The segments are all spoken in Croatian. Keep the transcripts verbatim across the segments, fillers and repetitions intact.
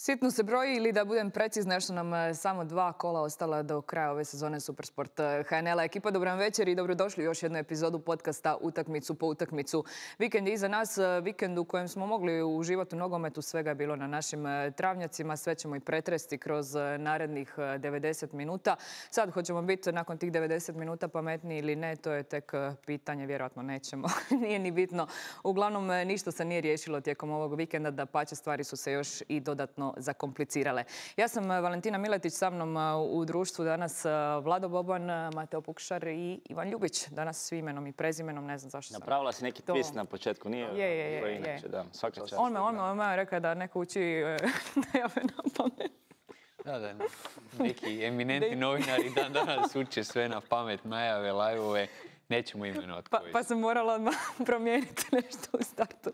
Sitno se broji ili da budem precizna, što nam samo dva kola ostala do kraja ove sezone Supersport H N L-a. Ekipa, dobro vam večer i dobrodošli u još jednu epizodu podcasta Utakmicu po utakmicu. Vikend je iza nas, vikend u kojem smo mogli uživati u nogometu, svega je bilo na našim travnjacima, sve ćemo i pretresti kroz narednih devedeset minuta. Sad hoćemo biti nakon tih devedeset minuta pametniji ili ne, to je tek pitanje, vjerojatno nećemo, nije ni bitno. Uglavnom, ništa se nije riješilo tijekom ovog vikenda, da pače stvari su se još i dodatno zakomplicirale. Ja sam Valentina Miletić, sa mnom u društvu danas Vlado Boban, Mateo Pukšar i Ivan Ljubić. Danas svi imenom i prezimenom, ne znam zašto sam. Napravila si neki twist na početku, nije? Je, je, je. Inače, da, svaka čast. On me, on me, on me rekao da neko uči najave na pamet. Da, da, neki eminentni novinari dan danas uče sve na pamet, najave, live-ove. Nećemo imenovati pa, koji. Pa sam morala odmah promijeniti nešto u startu.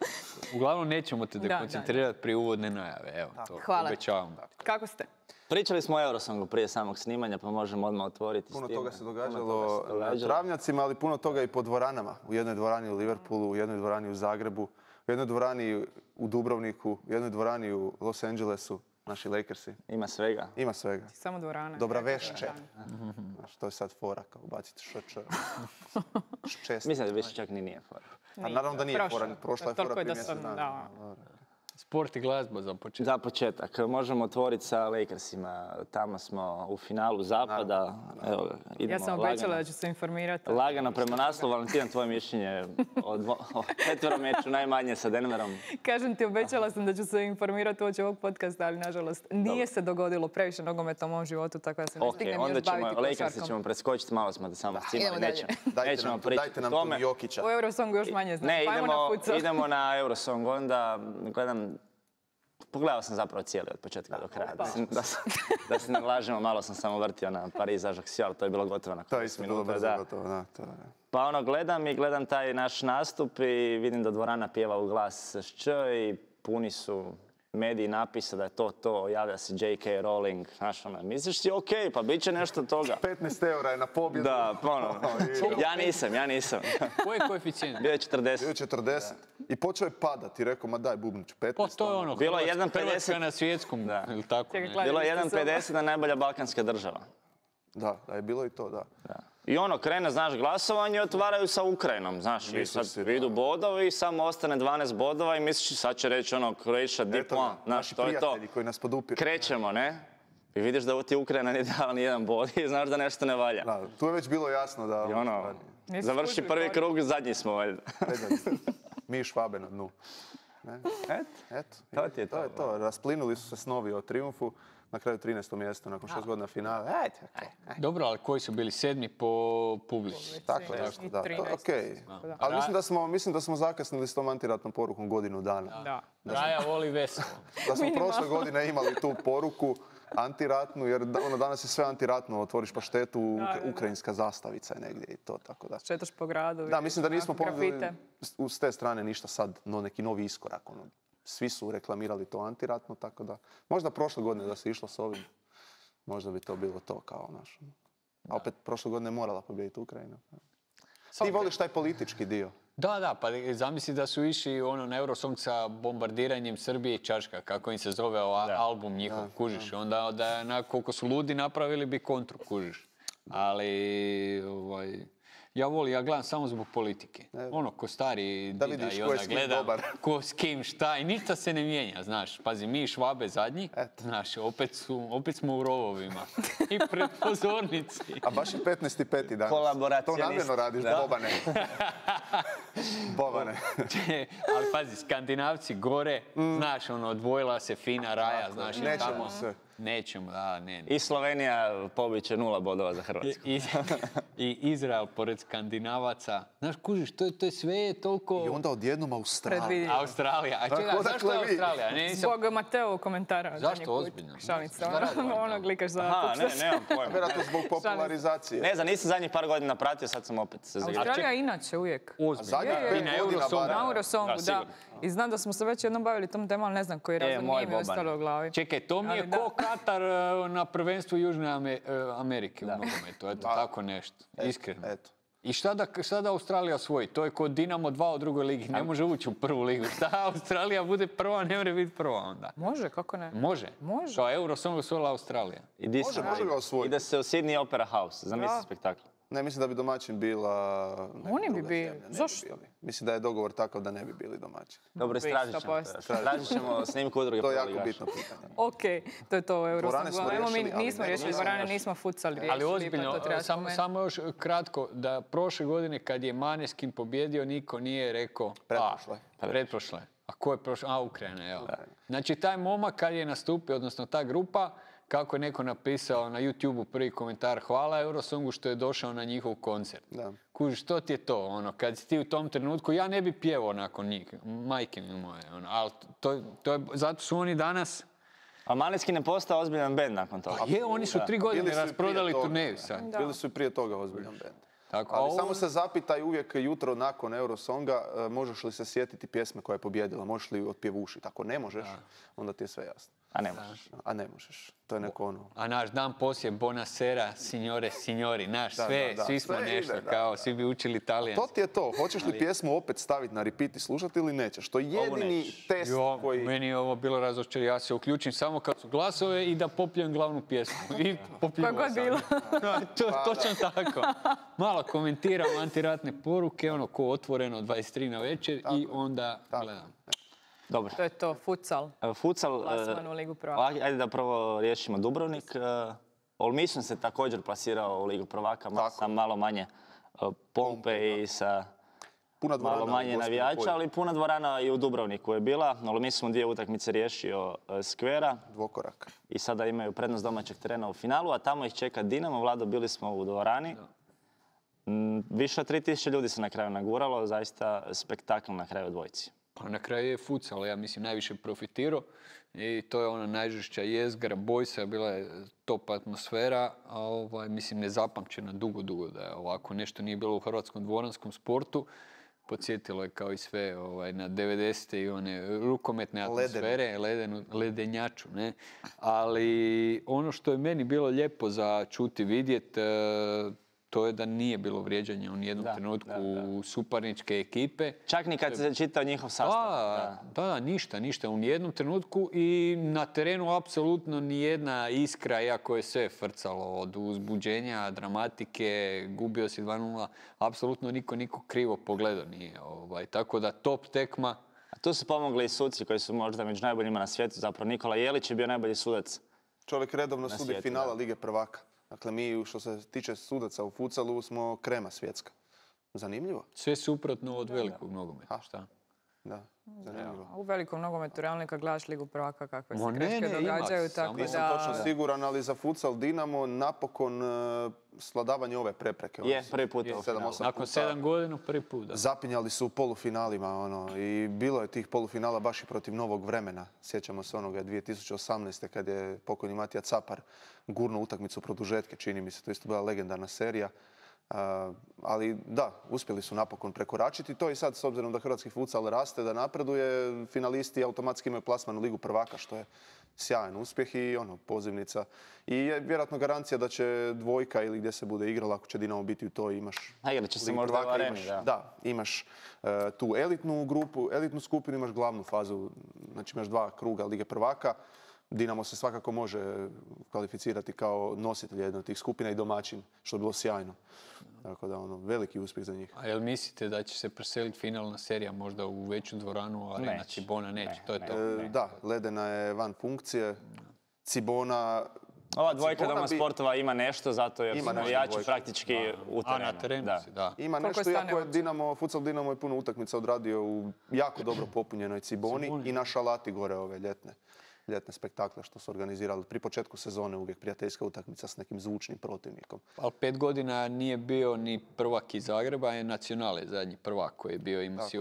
Uglavnom nećemo te dekoncentrirati prije uvodne najave. Evo, to Hvala. obećavam. Kako ste? Pričali smo o Eurosongu prije samog snimanja, pa možemo odmah otvoriti puno s time. Toga se događalo na travnjacima, ali puno toga i po dvoranama. U jednoj dvorani u Liverpoolu, u jednoj dvorani u Zagrebu, u jednoj dvorani u Dubrovniku, u jednoj dvorani u Los Angelesu. Naši Lakersi. Ima svega. Ima svega. Samo dvorana. Dobra vešće. Što je sad fora, kao baciti šč. Ščest. Mislim da više čak ni nije fora. A naravno da nije fora. Prošla je fora prije mjesec dana. Sport i glazba za početak. Za početak. Možemo otvoriti sa Lakersima. Tamo smo u finalu zapada. Evo, idemo ja sam obećala da ću se informirati. Lagano prema naslovu. Valentina, tvoje mišljenje o, dvo, o četverom meču najmanje sa Denverom. Kažem ti, obećala sam da ću se informirati uoči ovog podcasta, ali nažalost nije se dogodilo previše nogometa u mom životu, tako da se ne okay, stignem još baviti košarkom. Lakersi ćemo preskočiti, malo smo da samo cimali. Nećemo, dajte nećemo nam, pričati dajte nam tome. tu Jokića. U Eurosongu još manje znam. Ne, pa idemo, na idemo na Eurosong, onda gledam. Pogledao sam zapravo cijeli od početka do kraja. Da se, da, se, da se ne lažemo, malo sam samo vrtio na Pariz Ajax, ali to je bilo gotovo na to isto bilo brzo gotovo, da. To je. Pa ono, gledam i gledam taj naš nastup i vidim da dvorana pjeva u glas šč i puni su mediji napisa da je to to, javlja se J K. Rowling, znaš ono, misliš si ok, pa bit će nešto toga. petnaest eura je na pobjedu. Da, ono, ja nisam, ja nisam. Koji je koeficijent? Bio je četrdeset. Bio je četrdeset. I počeo je padati, rekao, ma daj bubnić, petnaest. Pa to je ono, bilo je jedan pedeset Hrvatska na svjetskom, da. Ili tako, ne? Bilo je jedan pedeset na najbolja balkanska država. Da, da je bilo i to, da. da. I ono, krene, znaš, glasovanje i otvaraju sa Ukrajinom, znaš, i sad idu bodovi i samo ostane dvanaest bodova i misliš, sad će reći ono, Croatia deep one, znaš, to je to. Koji nas podupiru. Krećemo, ne? I vidiš da ti Ukrajina nije dala ni jedan bod i znaš da nešto ne valja. Da, tu je već bilo jasno da... I ono, završi prvi krug, zadnji smo, valjda. Mi i Švabe na dnu. Et, Eto, to ti je to. To je to, rasplinuli su se snovi o triumfu. Na kraju trinaesto mjesto, nakon šest godina finale. Ajde, okay. Dobro, ali koji su bili sedmi po publici? Tako je, da, to je okej. Ali mislim da, smo, mislim da smo zakasnili s tom antiratnom porukom godinu dana. Da. Da. Raja voli veselo. Da smo prošle godine imali tu poruku antiratnu, jer ono, danas je sve antiratno, otvoriš paštetu, ukrajinska zastavica je negdje i to, tako da. Šetaš po gradu. Da, mislim da nismo ponudili s te strane ništa sad, no neki novi iskorak, ono. Svi su reklamirali to antiratno, tako da možda prošle godine da se išlo s ovim, možda bi to bilo to kao naš. A opet prošle godine je morala pobijediti Ukrajina. Ti voliš taj politički dio? Da, da, pa zamisli da su išli ono, na Eurosong sa bombardiranjem Srbije i Čačka, kako im se zove da. album njihov, da, kužiš. Da. Onda da, na, koliko su ludi napravili bi kontru, kužiš. Ali, ovaj... Ja volim, ja gledam samo zbog politike. Ne. Ono, ko stari da dida vidiš i onda gledam ko s kim šta i ništa se ne mijenja, znaš. Pazi, mi Švabe zadnji, Eto. znaš, opet, su, opet smo u rovovima. I pred pozornici. A baš je petnaesti peti danas. Kolaboracionist. To namjerno radiš, da. Bobane. Bobane. Ali pazi, Skandinavci gore, mm. znaš, ono, odvojila se fina Raja, Tako, znaš. Nećemo tamo, se. Nećemo, da, ne, ne. I Slovenija pobiće nula bodova za Hrvatsku. I, i, i Izrael pored Skandinavaca. Znaš, kužiš, to, to je sve toliko... I onda odjednom Australija. Australija. A čekaj, zašto je Australija? Ne, nisam... Zbog Mateo komentara. Zašto ozbiljno? Šalica, ono klikaš za Aha, ne, nemam pojma. Vjerojatno zbog popularizacije. Ne znam, nisam zadnjih par godina pratio, sad sam opet se zagrao. Australija inače uvijek. Ozbiljno. I na Eurosongu. Na Eurosongu, da. I znam da smo se već jednom bavili tom temom, ali ne znam koji razlog nije mi ostalo u glavi. Čekaj, to mi je ko Katar na prvenstvu Južne Amerike u nogometu. Eto, tako nešto. Iskreno. Eto. I šta da, šta da Australija osvoji? To je kod Dinamo dva u drugoj ligi. Ne može ući u prvu ligu. Šta Australija bude prva, ne može biti prva onda. Može, kako ne? Može. Može. Kao Eurosong osvojila Australija. I di Može, se- može ga osvojiti. Ide se u Sydney Opera House, zamisli Da. spektakl. Ne, mislim da bi domaćin bila... neka Oni bi druga bili. zemlja, ne bi Zašto? bili. Mislim da je dogovor takav da ne bi bili domaćini. Dobro, Bi, istražit ćemo. sto posto. to. Tražit ćemo snimku udruge To je jako prvoligaša. bitno pitanje. Ok, to je to u Dvorane smo Eurosongu. Evo, mi riješili, ali nismo ne- riješili nismo dvorane, još. nismo futsal riješili. Ali pa ozbiljno, to treba samo, spomenuti. samo još kratko, da prošle godine kad je Maneskin pobjedio, niko nije rekao... Pretprošle. A, pretprošle. A ko je prošle? A, Ukrajina, evo. Znači, taj momak kad je nastupio, odnosno ta grupa, kako je neko napisao na YouTubeu prvi komentar, hvala Eurosongu što je došao na njihov koncert. Da. Kuži, što ti je to? Ono, kad si ti u tom trenutku, ja ne bi pjevao nakon njih, majke mi moje. Ono, ali to, to je, zato su oni danas... A Maneskin je postao ozbiljan band nakon toga. Je, oni su tri godine Bili su i prije rasprodali toga, turneju da. sad. Da. Bili su i prije toga ozbiljan band. Tako, Ali a ovo- samo se zapitaj uvijek jutro nakon Eurosonga, e, možeš li se sjetiti pjesme koja je pobjedila, možeš li otpjevušiti. Ako ne možeš, onda ti je sve jasno. A ne možeš. A ne možeš. To je neko ono... A naš dan poslije Bonasera, signore, signori, naš, Da, sve, da, da, svi smo sve nešto, ide, da, kao, da. svi bi učili To talijanski. ti je to. Hoćeš li pjesmu opet staviti na repeat i slušati ili nećeš? To je jedini nećeš. test Jo, koji... meni je ovo bilo razočaranje, ja se uključim samo kad su glasove i da popljujem glavnu pjesmu. I popljuvao Koja god sam. bila. Da, to je točno tako. Malo komentiram antiratne poruke, ono ko otvoreno dvadeset tri na večer i onda gledam. Dobro. To je to, futsal. E, Futsal, Plasman e, u Ligu prvaka. ajde ajde da prvo riješimo Dubrovnik. E, Olmison se također plasirao u Ligu prvaka, ma- sa malo manje e, pompe i sa Puna dvorana malo u manje Gospiću navijača, polju. ali puna dvorana i u Dubrovniku je bila. Olmison dvije utakmice riješio e, Skvera Dvokorak. i sada imaju prednost domaćeg terena u finalu, a tamo ih čeka Dinamo. Vlado, bili smo u dvorani. Mm, Više od tri tisuće ljudi se na kraju naguralo, zaista spektakl na kraju dvojci. Pa na kraju je futsal, ja mislim, najviše profitirao i to je ona najžešća jezgra, bojsa, bila je top atmosfera, a ovaj, mislim, nezapamćena dugo, dugo da je ovako nešto nije bilo u hrvatskom dvoranskom sportu. Podsjetilo je kao i sve ovaj, na devedesete i one rukometne atmosfere, ledenu, ledenjaču, ne? Ali ono što je meni bilo lijepo za čuti, vidjet, e, to je da nije bilo vrijeđanja u nijednom Da, trenutku da, da. suparničke ekipe. Čak ni kad se čitao njihov sastav. Da, da, da, ništa, ništa u nijednom trenutku i na terenu apsolutno nijedna iskra, iako je sve frcalo od uzbuđenja, dramatike, gubio si dva nula, apsolutno niko niko krivo pogledao nije. Ovaj. Tako da top tekma, A tu su pomogli i suci koji su možda među najboljima na svijetu. Zapravo Nikola Jelić je bio najbolji sudac. Čovjek redovno sudi svijetu, finala da. Lige prvaka. Dakle, mi što se tiče sudaca u futsalu smo krema svjetska. Zanimljivo. sve suprotno od velikog nogometa, šta? Da, zanimljivo. A u velikom nogometu realno kad gledaš Ligu prvaka kakve se Ma ne, greške ne, ima, događaju, samo- tako Nisam da... točno siguran, ali za futsal Dinamo napokon uh, svladavanje ove prepreke. Je, Oni su prvi put u sedam, finalu. osam Nakon puta sedam godina prvi put. Da. Zapinjali su u polufinalima ono, i bilo je tih polufinala baš i protiv novog vremena. Sjećamo se onoga dvije tisuće osamnaeste kad je pokojni Matija Capar gurnuo utakmicu produžetke, čini mi se, to je isto bila legendarna serija. Uh, ali da, uspjeli su napokon prekoračiti to i sad s obzirom da hrvatski futsal raste, da napreduje, finalisti automatski imaju plasman u Ligu prvaka, što je sjajan uspjeh i ono, pozivnica. I je vjerojatno garancija da će dvojka ili gdje se bude igrala, ako će Dinamo biti u to, imaš... A igrat će se Ligu možda u prvaka, areni, imaš, da. da, imaš e, tu elitnu grupu, elitnu skupinu, imaš glavnu fazu, znači imaš dva kruga Lige prvaka. Dinamo se svakako može kvalificirati kao nositelj jedne od tih skupina i domaćin, što je bilo sjajno. Tako da, ono, veliki uspjeh za njih. A jel mislite da će se preseliti finalna serija možda u veću dvoranu, ali na Neće. Cibona neće, Ne, to je ne. to. E, da, Ledena je van funkcije. Cibona... Ova dvojka Cibona Doma bi- sportova ima nešto, zato jer Ima su nešto navijači dvojka. praktički u A terenu. na terenu Da. si, da. Ima Koliko nešto, stane iako je od- Dinamo, futsal Dinamo je puno utakmica odradio u jako dobro popunjenoj Ciboni, Ciboni. i na Šalati gore ove ljetne, ljetne spektakle što su organizirali. Pri početku sezone uvijek prijateljska utakmica s nekim zvučnim protivnikom. Ali pet godina nije bio ni prvak iz Zagreba, je Nacionale zadnji prvak koji je bio, ima si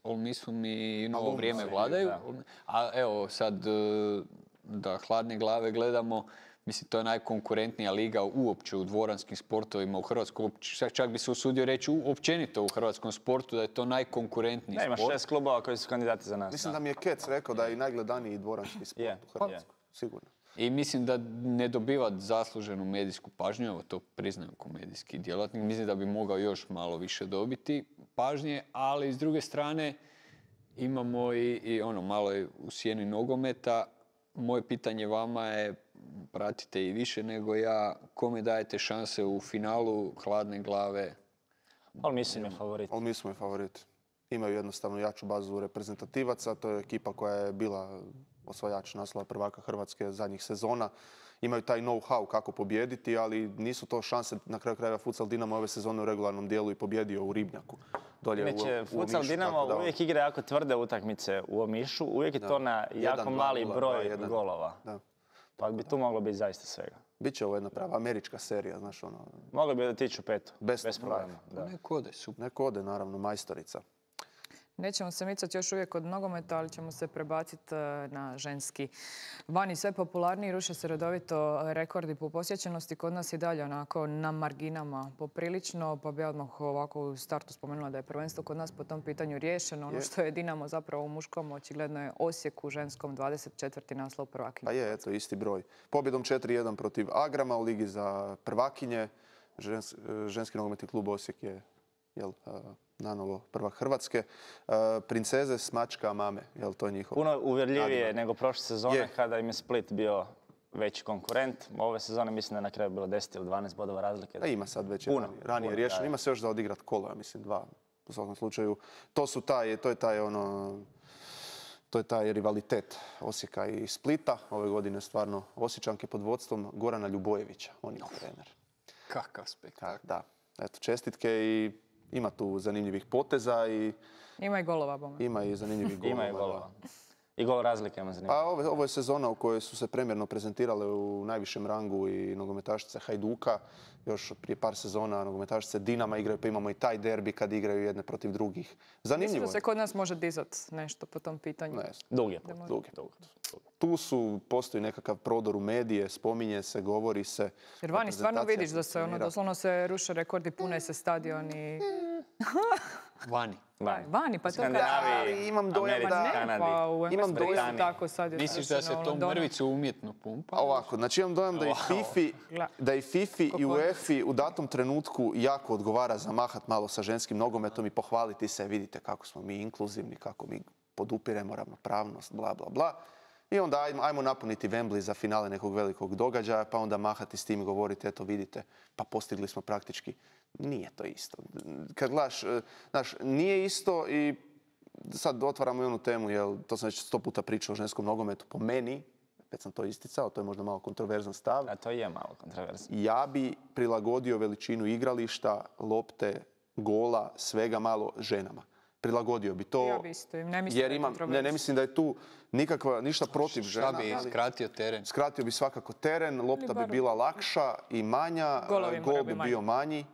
Olmisum i novo Alumni vrijeme je bio, vladaju. da. A evo sad e, da hladne glave gledamo, mislim to je najkonkurentnija liga uopće u dvoranskim sportovima u Hrvatskoj. Čak, čak bi se usudio reći u- općenito u hrvatskom sportu da je to najkonkurentniji Ne, ima sport. šest klubova koji su kandidati za nas. Mislim da mi je Kec rekao da je i najgledaniji dvoranski sport Je, u Hrvatskoj. Sigurno. I mislim da ne dobiva zasluženu medijsku pažnju, evo to priznajem kao medijski djelatnik, mislim da bi mogao još malo više dobiti pažnje, ali s druge strane imamo i, i ono malo je u sjeni nogometa. Moje pitanje vama je, pratite i više nego ja, kome dajete šanse u finalu hladne glave? Ali mislim je favorit. Ali mi smo i favorit. Imaju jednostavno jaču bazu reprezentativaca, to je ekipa koja je bila osvajač naslova prvaka Hrvatske zadnjih sezona. Imaju taj know-how kako pobijediti, ali nisu to šanse. Na kraju krajeva Futsal Dinamo ove sezone u regularnom dijelu i pobjedio u Ribnjaku. Dolje Inače, u, u Futsal Omišu, Dinamo da, uvijek igra jako tvrde utakmice u Omišu. Uvijek je da. to na jako Jedan, mali dva, broj dva, jedan. golova. Da. Pa bi tu moglo biti zaista svega. Biće ovo jedna prava američka serija, znaš ono. Moglo bi otići u petu. Best Bez of problema. Da. Neko ode, super. Neko ode, naravno, majstorica. Nećemo se micati još uvijek od nogometa, ali ćemo se prebaciti na ženski. Vani sve popularniji, ruše se redovito rekordi po posjećenosti. Kod nas i dalje onako na marginama poprilično, pa bi odmah ovako u startu spomenula da je prvenstvo kod nas po tom pitanju riješeno. Ono što je Dinamo zapravo u muškom, očigledno je Osijek u ženskom dvadeset četvrti naslov prvakinje. Pa je, eto, isti broj. Pobjedom četiri jedan protiv Agrama u Ligi za prvakinje. Žens, ženski nogometni klub Osijek je jel, nanovo prvak Hrvatske. Princeze s mačka mame, jel to je njihov? Puno uvjerljivije nadimak. nego prošle sezone Je. kada im je Split bio veći konkurent. Ove sezone mislim da je na kraju bilo deset ili dvanaest bodova razlike. Da, ima sad već Puno, ranije, ranije puno, riješeno. da. Ima se još za odigrat kolo, ja mislim dva. U svakom slučaju, to su taj, to je taj ono, to je taj rivalitet Osijeka i Splita. Ove godine stvarno Osječanke pod vodstvom Gorana Ljubojevića. On je trener. Kakav spektakl. Da, eto, čestitke i ima tu zanimljivih poteza i Ima i golova, bome. ima i zanimljivih golova. Ima je golova. I gol razlike ima zanimljivo. Pa ovo, ovo je sezona u kojoj su se premjerno prezentirale u najvišem rangu i nogometašice Hajduka. Još od prije par sezona nogometašice Dinama igraju, pa imamo i taj derbi kad igraju jedne protiv drugih. Mislim Zanimljivo da se je. kod nas može dizat nešto po tom pitanju. Ne, Dug je put. dug je. Dug. tu su, postoji nekakav prodor u medije, spominje se, govori se. Jer vani stvarno reprezentacija vidiš da se ono, funkcionira. doslovno se ruše rekordi, pune se stadioni. Vani. Vani. Vani, pa to Skandinaviji, Ali imam dojam Americi, da- Ne, Kanadi. pa u Imam Engleskoj dojam- isto tako sad je Misliš da se srušeno u to Londonu. mrvicu umjetno pumpa? A ovako, znači imam dojam da i Fifi, Gle. da i Fifi i Kako? UEFA u datom trenutku jako odgovara zamahat malo sa ženskim nogometom i pohvaliti se, vidite kako smo mi inkluzivni, kako mi podupiremo ravnopravnost, bla, bla, bla. I onda ajmo, ajmo napuniti Wembley za finale nekog velikog događaja, pa onda mahati s tim i govoriti, eto vidite, pa postigli smo praktički. Nije to isto. Kad gledaš, e, znaš, nije isto i sad otvaramo i onu temu, jel, to sam već sto puta pričao o ženskom nogometu, po meni, već sam to isticao, to je možda malo kontroverzan stav, A to je malo kontroverzno. ja bi prilagodio veličinu igrališta, lopte, gola, svega malo ženama. Prilagodio bi to. Ja bi isto, ne mislim jer da je imam, ne, kontroverzno. ne mislim da je tu nikakva, ništa protiv žena. Šta bi ali skratio teren? skratio bi svakako teren, lopta bi barem. bila lakša i manja, Golovi gol moraju bi biti bio manji,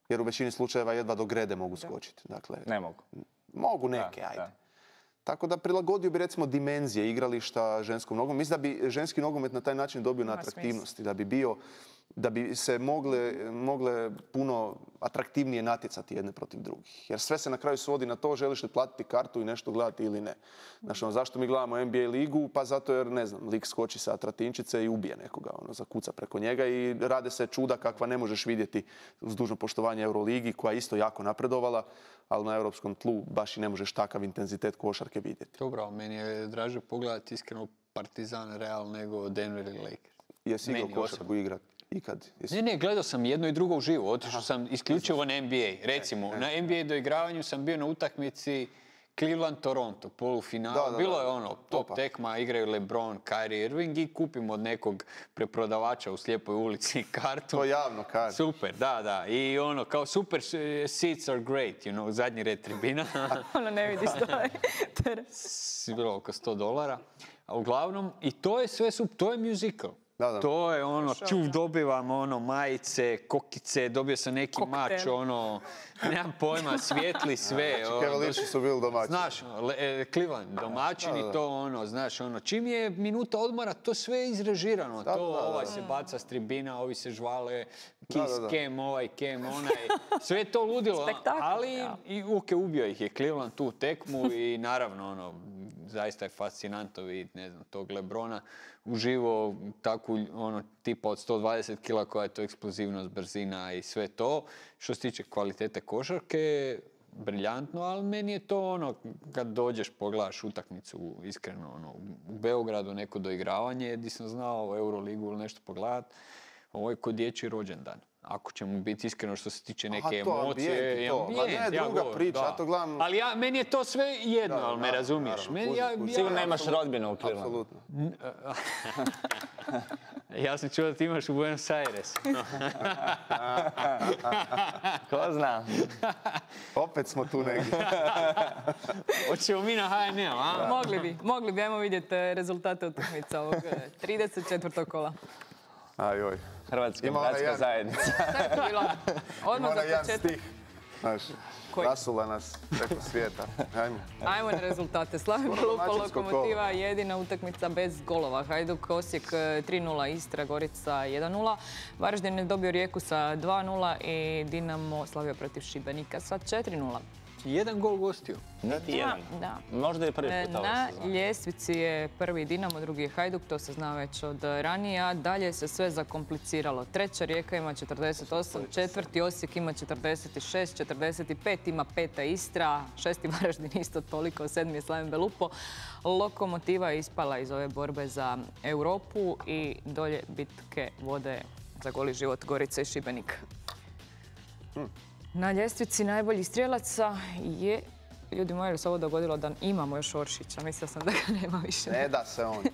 jer u većini slučajeva jedva do grede mogu skočiti. Dakle, Ne mogu. mogu neke, Da, ajde. da. Tako da prilagodio bi recimo dimenzije igrališta ženskom nogometu. Mislim da bi ženski nogomet na taj način dobio na Ima atraktivnosti, da bi bio, da bi se mogle, mogle puno atraktivnije natjecati jedne protiv drugih. Jer sve se na kraju svodi na to želiš li platiti kartu i nešto gledati ili ne. Znači, ono, zašto mi gledamo N B A ligu? Pa zato jer, ne znam, lik skoči sa tratinčice i ubije nekoga, ono, zakuca preko njega i rade se čuda kakva ne možeš vidjeti uz dužno poštovanje Euroligi, koja je isto jako napredovala, ali na europskom tlu baš i ne možeš takav intenzitet košarke vidjeti. Dobro, meni je draže pogledati iskreno Partizan Real nego Denver ili Lakers. Jesi igrao Meni košarku igrat ikad? Jesi- Ne, ne, gledao sam jedno i drugo uživo. Otišao sam isključivo na N B A. Recimo, E, na N B A doigravanju sam bio na utakmici Cleveland-Toronto, polufinal. Da, da, da. Bilo je ono, top Opa. tekma, igraju LeBron, Kyrie Irving i kupim od nekog preprodavača u slijepoj ulici kartu. To javno kaže. Super, da, da. I ono, kao super eh, seats are great, you know, zadnji red tribina. Ono ne vidiš taj teren. S- bilo oko sto dolara. A uglavnom, i to je sve, sup- to je musical. Da, da. To je ono, čuv, dobivam ono, majice, kokice, dobio sam neki Koktel. mač, ono, nemam pojma, svijetli sve. ono, Cavaliers su bili domaći. Znaš, le- e, Cleveland, domaćini, Da, da. to ono, znaš, ono, čim je minuta odmora, to sve je izrežirano. Da, to, da, da, ovaj da. se baca s tribina, ovi se žvale, kiss, Da, da, da. kem, ovaj, kem, onaj, sve je to ludilo. Spektakl, Ali, ja. i ok, ubio ih je Cleveland tu tekmu i naravno, ono, zaista je fascinantno vidjeti, ne znam, tog Lebrona uživo takvu, ono, tipa od sto dvadeset kila koja je to eksplozivnost, brzina i sve to. Što se tiče kvalitete košarke, briljantno, ali meni je to ono, kad dođeš, pogledaš utakmicu, iskreno, ono, u Beogradu neko doigravanje, gdje sam znao Euroligu ili nešto pogledat, ovo je kod dječji rođendan. Ako ćemo biti iskreno što se tiče neke Aha, to, emocije. ambijent i to. Ambijent, Ma ne, ja druga govorim, priča, da. ja to gledam... Ali ja, meni je to sve jedno, Da, ali me naravno, razumiješ. naravno, Meni, kužim, ja, kužim. ja, Sigurno nemaš rodbinu u Clevelandu. Apsolutno. ja sam čuo da ti imaš u Buenos Aires. Ko zna? Opet smo tu negdje. Hoćemo mi na H N L, a? Mogli bi, mogli bi, ajmo vidjeti eh, rezultate utakmica ovog eh, trideset četvrtog kola. Ajoj. Hrvatska Ima onaj bratska jedan- zajednica. Šta je to bilo? Odmah Ima za jedan početak. stih. Znaš, Koji? rasula nas preko svijeta. Ajmo. Ajmo na rezultate. Slavim Skoro Lupa, domaćinsko Lokomotiva, jedina utakmica bez golova. Hajduk, Osijek tri nula, Istra, Gorica jedan nula. Varaždin je dobio Rijeku sa dva nula i Dinamo slavio protiv Šibenika sa četiri nula. Jedan gol gostio. Niti jedan. Da. Možda je prvi put ove Na sezone. ljestvici je prvi Dinamo, drugi je Hajduk, to se zna već od ranije, a dalje se sve zakompliciralo. Treća Rijeka ima četrdeset osam, četvrti Osijek ima četrdeset šest, četrdeset pet ima peta Istra, šesti Varaždin isto toliko, sedmi je Slaven Belupo. Lokomotiva je ispala iz ove borbe za Europu i dolje bitke vode za goli život Gorica i Šibenik. Na ljestvici najboljih strijelaca je, ljudi moji, li se ovo dogodilo da imamo još Oršića? Mislila sam da ga nema više. Ne da se on.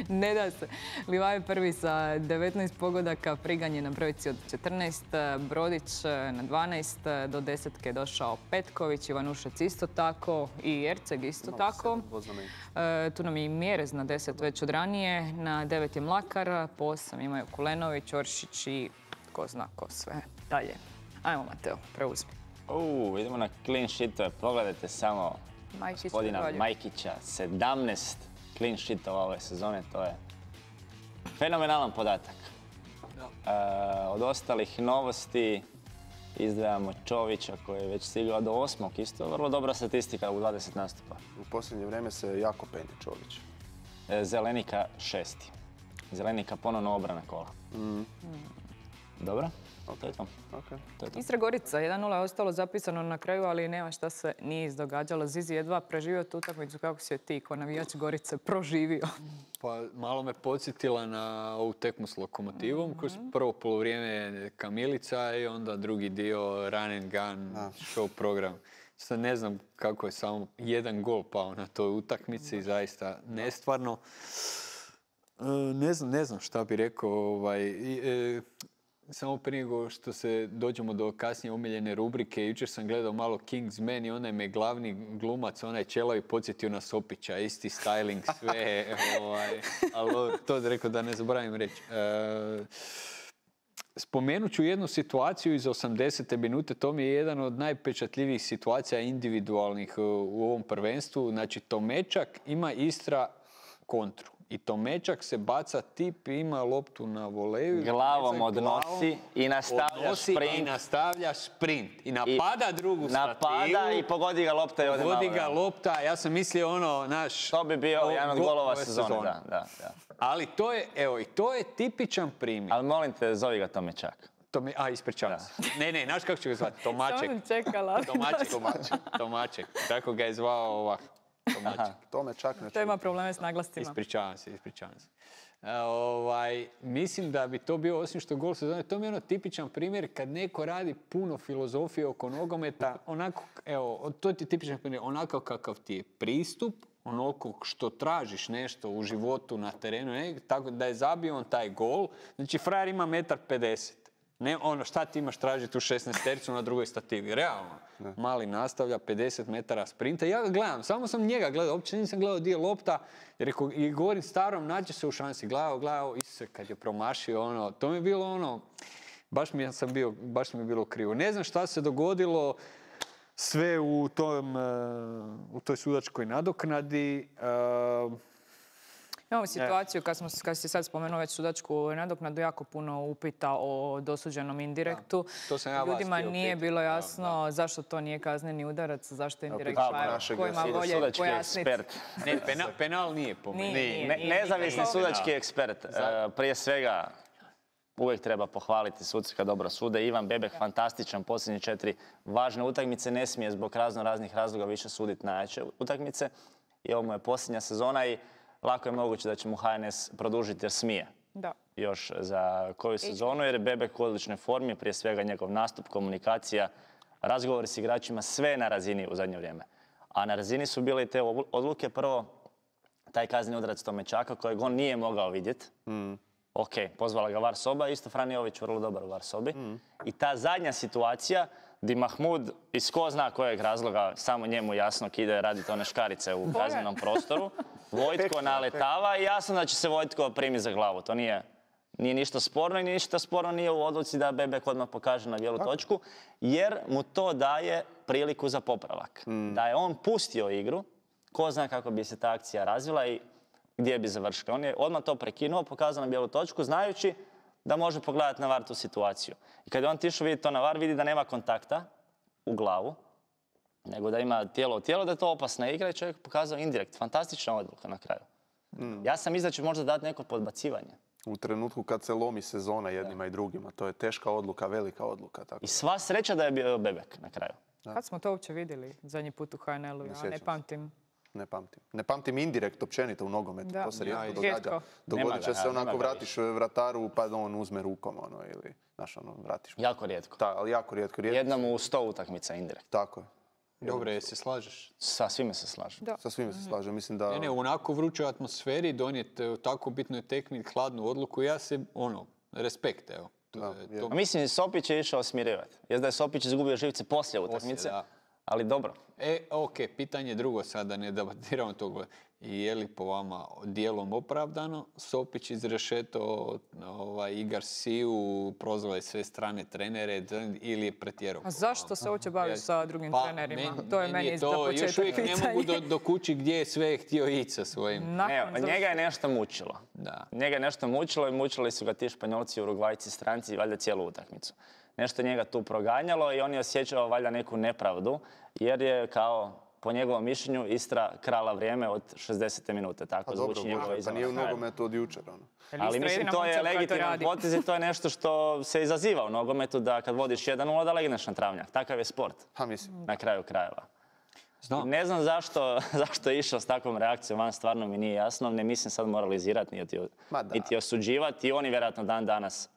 Ne da se. Livaj prvi sa devetnaest pogodaka, Prigan je na brojici od četrnaest, Brodić na dvanaest, do desetke je došao Petković, Ivanušec isto tako i Erceg isto tako. E, tu nam je i Mjerez na deset već od ranije, na devet je Mlakar, po osam imaju Kulenović, Oršić i ko zna ko sve dalje. Ajmo, Mateo, preuzmi. Uuu, idemo na clean sheetove. Pogledajte samo Majkić, gospodina Dragoljev. Majkića. sedamnaest clean sheetova ove sezone, to je fenomenalan podatak. E, od ostalih novosti izdvajamo Čovića koji je već stigao do osmog. Isto vrlo dobra statistika u dvadeset nastupa. U posljednje vrijeme se jako peni Čović. E, Zelenika šesti. Zelenika ponovno obrana kola. Dobro, to je to. Okay. To je to. Istra Gorica, jedan nula je ostalo zapisano na kraju, ali nema šta se nije izdogađalo. Zizi jedva preživio tu utakmicu, kako si je ti, ko navijač Gorice, proživio. Pa malo me podsjetila na ovu tekmu s Lokomotivom, koji su prvo polovrijeme Kamilica i onda drugi dio Run and Gun show program. Sad ne znam kako je samo jedan gol pao na toj utakmici, zaista nestvarno. E, ne znam, ne znam šta bi rekao. Ovaj, e, samo prije nego što se dođemo do kasnije omiljene rubrike, jučer sam gledao malo Kingsman i onaj me glavni glumac, onaj Čelavi podsjetio na Sopića, isti styling, sve, ovaj, ali to je rekao da ne zaboravim reći. E, spomenut ću jednu situaciju iz osamdesete minute, to mi je jedan od najpečatljivijih situacija individualnih u ovom prvenstvu. Znači, Tomečak ima Istra kontru. I Tomečak se baca tip i ima loptu na voleju. Glavom odnosi i nastavlja odnosi sprint. I nastavlja sprint. I napada drugu stativu. Napada i pogodi ga lopta i ode malo. Pogodi ga da. lopta. Ja sam mislio ono, naš... To bi bio o- jedan od go- golova ove sezone. sezone. Da, da, da. Ali to je, evo, i to je tipičan primjer. Ali molim te, zovi ga Tomečak. Tome, a, ispričavam se. Ne, ne, znaš kako ću ga zvati? Tomaček. Samo sam čekala. Tomaček, Tomaček, Tomaček. Tako ga je zvao ovako. Tomaček. To me čak ne To ima čudi. probleme s naglascima. Ispričavam se, ispričavam se. E, ovaj, mislim da bi to bio, osim što gol sezone, to mi je ono tipičan primjer kad neko radi puno filozofije oko nogometa, onako, evo, to ti je tipičan primjer, onako kakav ti je pristup, onoliko što tražiš nešto u životu, na terenu, ne, tako da je zabio on taj gol. Znači, frajer ima metar pedeset. Ne, ono, šta ti imaš tražiti u šesnaestercu na drugoj stativi? Realno. Mali nastavlja, pedeset metara sprinta. Ja ga gledam, samo sam njega gledao, uopće nisam gledao gdje je lopta. Jer rekao, i govorim starom, nađe se u šansi. Gledao, gledao, Isuse, kad je promašio, ono, to mi je bilo ono, baš mi, sam bio, baš mi je bilo krivo. Ne znam šta se dogodilo sve u, tom, uh, u toj sudačkoj nadoknadi. Uh, Imamo situaciju, kad, smo, kad si sad spomenuo već sudačku nadoknadu, jako puno upita o dosuđenom indirektu. To sam ja vas Ljudima htio nije pitati. bilo jasno Da, da. zašto to nije kazneni udarac, zašto indirekt, pitamo pa evo, našeg ko ima volje Sudački pojasniti. ekspert. Ne, pena, penal nije po meni. Nije, Ne- nije, Nezavisni nije. sudački ekspert. E, Prije svega, uvijek treba pohvaliti suce kad dobro sude. Ivan Bebek, fantastičan, posljednje četiri važne utakmice. Ne smije zbog razno raznih razloga više suditi najjače utakmice. I ovo mu je posljednja sezona i lako je moguće da će mu H N S produžiti jer smije. Da. Još za koju sezonu, jer je Bebek u odličnoj formi, prije svega njegov nastup, komunikacija, razgovori s igračima, sve je na razini u zadnje vrijeme. A na razini su bile i te odluke. Prvo, taj kazneni udarac Tomečaka kojeg on nije mogao vidjeti. Mm. Ok, pozvala ga var soba, isto Frani Jović vrlo dobar u var sobi. Mm. I ta zadnja situacija di Mahmud iz ko zna kojeg razloga, samo njemu jasno ide raditi one škarice u kaznenom prostoru. Vojtko naletava i jasno da će se Vojtko primiti za glavu. To nije, nije ništa sporno i ništa sporno nije u odluci da Bebek odmah pokaže na bijelu točku, jer mu to daje priliku za popravak. Mm. Da je on pustio igru, ko zna kako bi se ta akcija razvila i gdje bi završila. On je odmah to prekinuo, pokazao na bijelu točku, znajući da može pogledati na var tu situaciju. I kad je on tišao vidjeti to na var, vidi da nema kontakta u glavu, nego da ima tijelo u tijelo, da je to opasna igra i čovjek pokazao indirekt. Fantastična odluka na kraju. Mm. Ja sam mislio da će možda dati neko podbacivanje. U trenutku kad se lomi sezona jednima i drugima, to je teška odluka, velika odluka. Tako. I sva sreća da je bio Bebek na kraju. Kad smo to uopće vidjeli zadnji put u H N L-u? Ja sjećam ne se. pamtim. Ne pamtim. Ne pamtim indirekt općenito u nogometu, Da. to se Ja, rijetko rijetko. događa. Nema Dogodit će ga, se ja, onako, nema ga vratiš vrataru pa da on uzme rukom, ono, ili, znaš, ono, vratiš. Jako rijetko. Ta, ali jako rijetko, rijetko. Jednom u sto utakmica indirekt. Tako je. Dobro, je se slažeš? Sa svime se slažem. Da. Sa svime se slažem, mislim da... Ne, ne, u onako vrućoj atmosferi donijeti u tako bitnoj tekmi hladnu odluku, ja se, ono, respekt, evo. To Da, je- je. to- A mislim, Sopić je išao smirivati. Jest da je Sopić izgubio živce poslije utakmice, da. ali dobro. E, ok, pitanje drugo sada, ne debatiramo to. Je li po vama dijelom opravdano Sopić izrešeto ovaj, i Garciju, prozvao je sve strane trenere ili je pretjerao? A zašto se uopće baviš sa drugim Pa, trenerima? meni- to je meni meni za to, još početak uvijek pitanje. ne mogu do, do kući gdje je sve htio ići sa svojim. Nakon Ne, završetka- njega je nešto mučilo. Da. Njega je nešto mučilo i mučili su ga ti Španjolci, Urugvajci, stranci, valjda cijelu utakmicu. Nešto je njega tu proganjalo i on je osjećao valjda neku nepravdu, jer je kao, po njegovom mišljenju, Istra krala vrijeme od šezdesete minute. Tako Pa dobro, zvuči njegova Bože, pa izjava nije u na kraju. nogometu od jučer, ono. Jer Ali Istra mislim, jedina to je momčad koja to legitiman radi. potez i to je nešto što se izaziva u nogometu, da kad vodiš jedan nula da legneš na travnjak. Takav je sport, Ha, mislim. na kraju krajeva. Znam. Ne znam zašto, zašto je išao s takvom reakcijom, van stvarno mi nije jasno. Ne mislim sad moralizirati niti, Ma da. niti osuđivati. I on je vjerojatno dan danas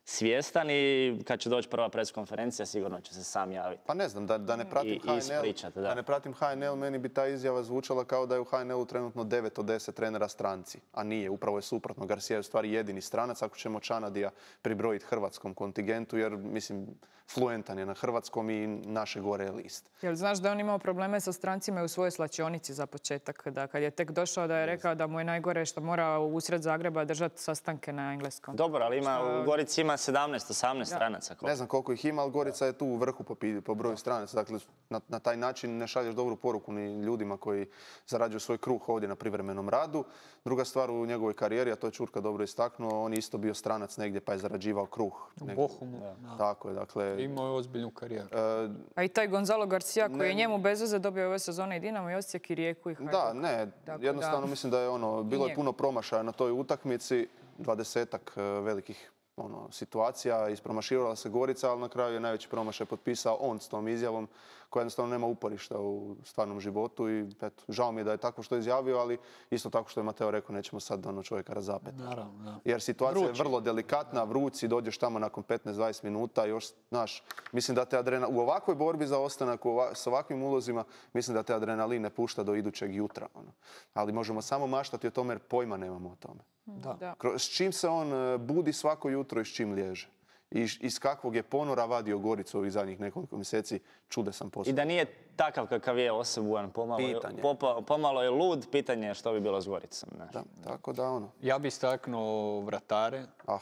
svjestan i kad će doći prva preskonferencija sigurno će se sam javiti. Pa ne znam, da, da ne pratim I- H N L, ispričat, da. da ne pratim H N L, meni bi ta izjava zvučala kao da je u H N L-u trenutno devet od deset trenera stranci. A nije, upravo je suprotno. Garcia je u stvari jedini stranac, ako ćemo Čanadija pribrojiti hrvatskom kontingentu, jer, mislim, fluentan je na hrvatskom i naše gore je list. Jel znaš da je on imao probleme sa strancima i u svojoj slačionici za početak? Da kad je tek došao da je rekao da mu je najgore što mora usred Zagreba držati sastanke na engleskom. Dobro, ali ima, u Gorici ima sedamnaest osamnaest stranaca. Ne znam koliko ih ima, ali Gorica je tu u vrhu po, pi- po broju stranaca. Dakle, na, na taj način ne šalješ dobru poruku ni ljudima koji zarađuju svoj kruh ovdje na privremenom radu. Druga stvar u njegovoj karijeri, a to je Čurka dobro istaknuo, on je isto bio stranac negdje pa je zarađivao kruh. U negdje. Bohumu. Da. Tako je, dakle... Imao je ozbiljnu karijeru. e, A i taj Gonzalo Garcia koji Ne. je njemu bez veze dobio ove sezone i Dinamo i Osijek i Rijeku i Hajduk. Da, ne, Tako jednostavno da- mislim da je ono, bilo je njemu. puno promašaja na toj utakmici, dvadesetak e, velikih ono, situacija, ispromašivala se Gorica, ali na kraju je najveći promašaj potpisao on s tom izjavom koja jednostavno nema uporišta u stvarnom životu i eto, žao mi je da je tako što je izjavio, ali isto tako što je Mateo rekao, nećemo sad ono čovjeka razapeti. Naravno, da. Jer situacija Vruć je vrlo delikatna, vruć si, dođeš tamo nakon petnaest dvadeset minuta i još, znaš, mislim da te adrenalin, u ovakvoj borbi za ostanak, u ova- s ovakvim ulozima, mislim da te adrenalin ne pušta do idućeg jutra. Ono. Ali možemo samo maštati o tome jer pojma nemamo o tome. Da. Da. Kro- S čim se on e, budi svako jutro i s čim liježe. I š- iz kakvog je ponora vadio Goricu ovih zadnjih nekoliko mjeseci, čudesan I posao. da nije takav kakav je osobujan, pomalo, je- Pitanje. popa- pomalo je lud, pitanje je što bi bilo s Goricom. Ne? Da, tako da ono, Ja bi istaknuo vratare, ah,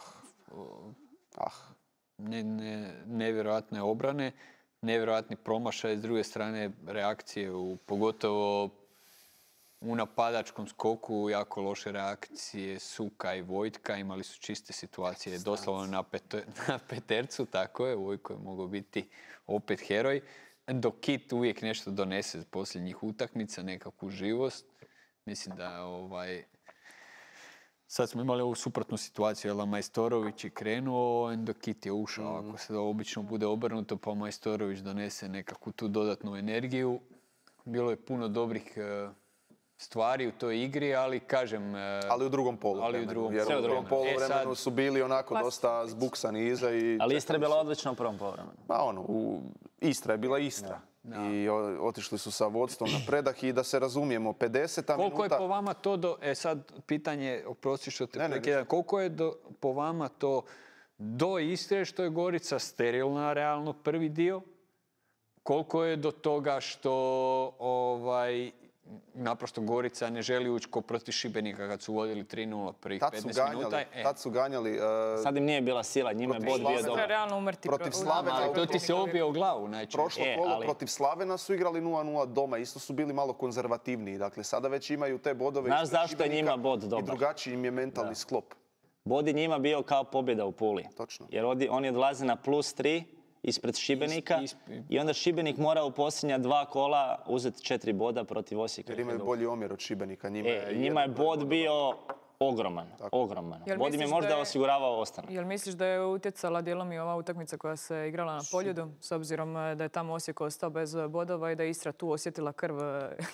ah. ne, ne, nevjerojatne obrane, nevjerojatni promašaj, s druge strane reakcije, u, pogotovo u napadačkom skoku jako loše reakcije Suka i Vojtka, imali su čiste situacije doslovno na, peto, na petercu, tako je, Vojko je mogao biti opet heroj, dok Kit uvijek nešto donese posljednjih utakmica, nekakvu živost. Mislim da ovaj, sad smo imali ovu suprotnu situaciju, jel Majstorović je krenuo, dok Kit je ušao, mm. ako se obično bude obrnuto, pa Majstorović donese nekakvu tu dodatnu energiju. Bilo je puno dobrih stvari u toj igri, ali kažem... Ali u drugom polu. Ali u drugom, jer u drugom poluvremenu e, su bili onako Plastic. dosta zbuksani iza i... Ali Istra je bila odlična u prvom poluvremenu. Pa ono, u... Istra je bila Istra. Ja. I otišli su sa vodstvom na predah i da se razumijemo, pedeseta koliko minuta... Koliko je po vama to do... E sad, pitanje, oprosti što te prekidam, koliko je do, po vama to do Istre, što je Gorica sterilna, realno, prvi dio? Koliko je do toga što ovaj, naprosto Gorica ne želi ući ko protiv Šibenika kad su vodili tri nula prvih petnaest minuta? E. Tad su ganjali... Uh, Sad im nije bila sila, njima je bod bio dobro. Realno umrti protiv Slavena. Ali to ti se obio u glavu najčešće. Prošlo e, kolo ali... protiv Slavena su igrali nula nula doma, isto su bili malo konzervativniji. Dakle, sada već imaju te bodove... Znaš zašto je njima bod dobar? I drugačiji im je mentalni da. sklop. Bod je njima bio kao pobjeda u Puli. Točno. Jer oni odlaze na plus tri ispred Šibenika isp, isp. i onda Šibenik mora u posljednja dva kola uzeti četiri boda protiv Osijeka. Jer imaju bolji omjer od Šibenika. Njima e, je, njima je bod bio ogroman. Tako. ogroman. Bod im je možda je, osiguravao ostanak. Jel misliš da je utjecala dijelom i ova utakmica koja se igrala na Poljudu, s obzirom da je tamo Osijek ostao bez bodova i da je Istra tu osjetila krv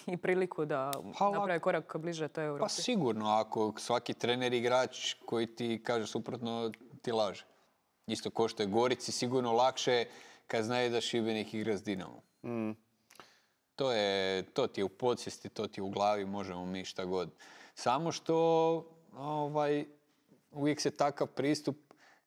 i priliku da pa, napravi korak bliže toj Europi? Pa sigurno, ako svaki trener igrač koji ti kaže suprotno ti laže. Isto ko što je Gorici sigurno lakše kad znaju da Šibenik igra s Dinamom. Mm. To, je, to ti je u podsvijesti, to ti je u glavi, možemo mi šta god. Samo što ovaj, uvijek se takav pristup,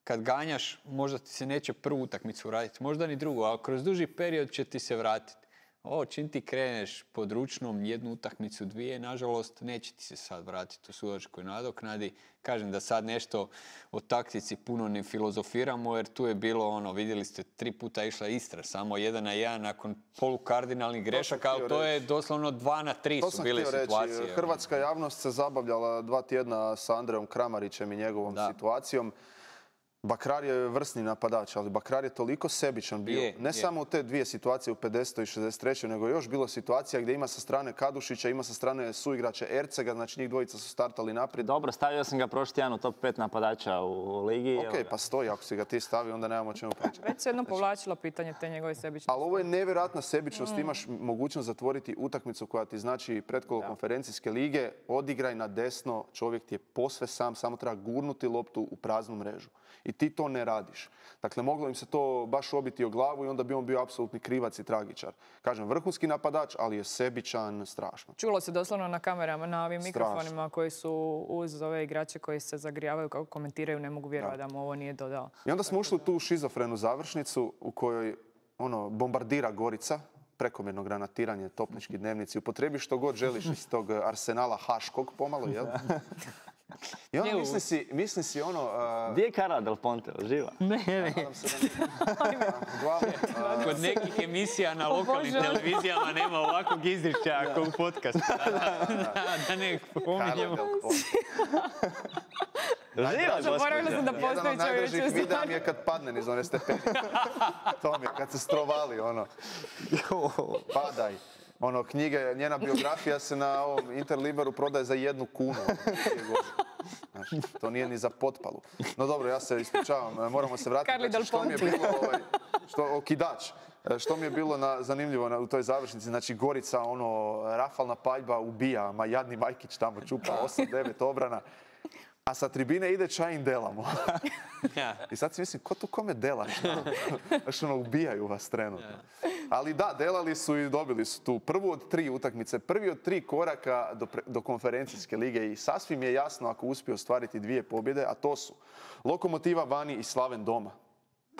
kad ganjaš, možda ti se neće prvu utakmicu vratiti, možda ni drugu, ali kroz duži period će ti se vratiti. O, čim ti kreneš pod ručnom jednu utakmicu, dvije, nažalost, neće ti se sad vratiti u sudačkoj nadoknadi. Kažem da sad nešto o taktici puno ne filozofiramo, jer tu je bilo ono, vidjeli ste, tri puta išla Istra, samo jedan na jedan nakon polukardinalnih grešaka, ali to je doslovno dva na tri su bile situacije. Reći. Hrvatska javnost se zabavljala dva tjedna sa Andrejom Kramarićem i njegovom da. situacijom. Bakrar je vrsni napadač, ali Bakrar je toliko sebičan bio. Je, ne je. samo u te dvije situacije u pedesetoj i šezdeset trećoj nego još bilo situacija gdje ima sa strane Kadušića, ima sa strane suigrača Ercega, znači njih dvojica su startali naprijed. Dobro, stavio sam ga prošli tjedan u top pet napadača u ligi. Ok, pa stoji, ako si ga ti stavio, onda nemamo čemu pričati. Već se jedno povlačilo pitanje te njegove sebičnosti. Ali ovo je nevjerojatna sebičnost, mm. imaš mogućnost zatvoriti utakmicu koja ti znači pretkolo da. konferencijske lige, odigraj na desno, čovjek ti je posve sam, samo treba gurnuti loptu u praznu mrežu. I ti to ne radiš. Dakle, moglo im se to baš obiti o glavu i onda bi on bio apsolutni krivac i tragičar. Kažem, vrhunski napadač, ali je sebičan strašno. Čulo se doslovno na kamerama, na ovim strašno. mikrofonima koji su uz ove igrače koji se zagrijavaju, kako komentiraju, ne mogu vjerovati da mu ovo nije dodao. I onda smo ušli u tu šizofrenu završnicu u kojoj ono, bombardira Gorica, prekomjerno granatiranje, topnički dnevnici, upotrebi što god želiš iz tog arsenala haškog pomalo, jel? I onda misli si, misli si ono... Uh... Gdje je Carla Del Ponte? Živa? Ne, ne. Kod nekih emisija na lokalnim televizijama nema ovakvog izričaja ako u podcastu. Da ne pominjemo. Živa, zaboravila sam da postoji čovječe. Jedan od najdražih videa mi je kad padne niz one stepenice. To mi je, kad se strovali, ono. Padaj. Ono, knjige, njena biografija se na ovom Interliberu prodaje za jednu kunu. Znači, to nije ni za potpalu. No dobro, ja se ispričavam, moramo se vratiti. Znači, što mi je bilo, ovaj, što, okidač, što mi je bilo na, zanimljivo na, u toj završnici, znači Gorica, ono, rafalna paljba ubija, ma jadni Majkić tamo čupa osam devet obrana. A sa tribine ide Čajin Delamo. I sad si mislim, ko tu kome dela? Znaš, ono, ubijaju vas trenutno. Ali da, delali su i dobili su tu prvu od tri utakmice, prvi od tri koraka do, do konferencijske lige i sasvim je jasno ako uspije ostvariti dvije pobjede, a to su Lokomotiva vani i Slaven doma.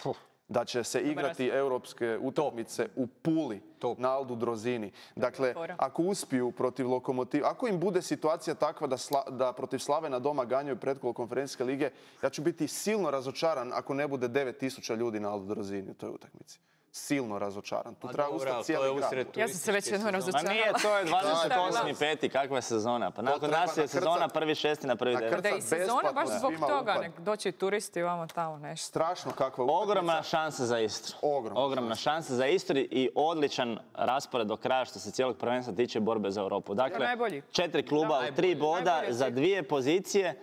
Puh. Da će se igrati europske utakmice u Puli Top. na Aldu Drozini. Dakle, ako uspiju protiv Lokomotiva, ako im bude situacija takva da, sla, da protiv Slavena doma ganjaju pretkolo konferencijske lige, ja ću biti silno razočaran ako ne bude devet tisuća ljudi na Aldu Drozini u toj utakmici. silno razočaran. Tu A treba dobro, ustati ali to cijeli je grad. usred Ja sam se već jednom turističke Ma sezone. razočarala. nije, to je dvadeset Da, osmi da. peti kakva je sezona? Pa nakon treba nas je nakrcat- sezona prvi šesti na prvi nakrcat- devet. Da i sezona baš besplatno zbog svima toga, upad. nek doći turisti vamo tamo nešto. Strašno kakva utakmica. Ogromna šansa za Istru. Ogromna Ogromna šansa za Istru i odličan raspored do kraja što se cijelog prvenstva tiče borbe za Europu. Dakle, najbolji. četiri kluba Da, u tri boda najbolji za od svih. dvije pozicije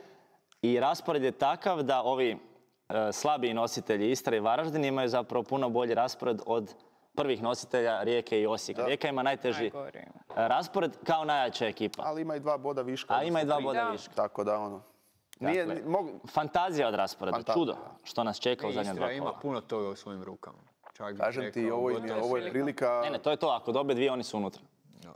i raspored je takav da ovi e, slabiji nositelji Istra i Varaždin imaju zapravo puno bolji raspored od prvih nositelja Rijeke i Osijeka. Rijeka ima najteži Najgori. e, raspored kao najjača ekipa. Ali ima i dva boda viška. A ima i dva odnosno tri. boda Da. viška. Tako da ono... Nije, Dakle, ni- mogu- Fantazija od rasporeda, Fantazija, čudo da. što nas čeka u zadnja dva Istra ima kola. puno toga u svojim rukama. Čak bih Kažem ti, rekao, ovo, im je, gotovo ovo je prilika, Ne, ne, to je to, ako dobe dvije, oni su unutra.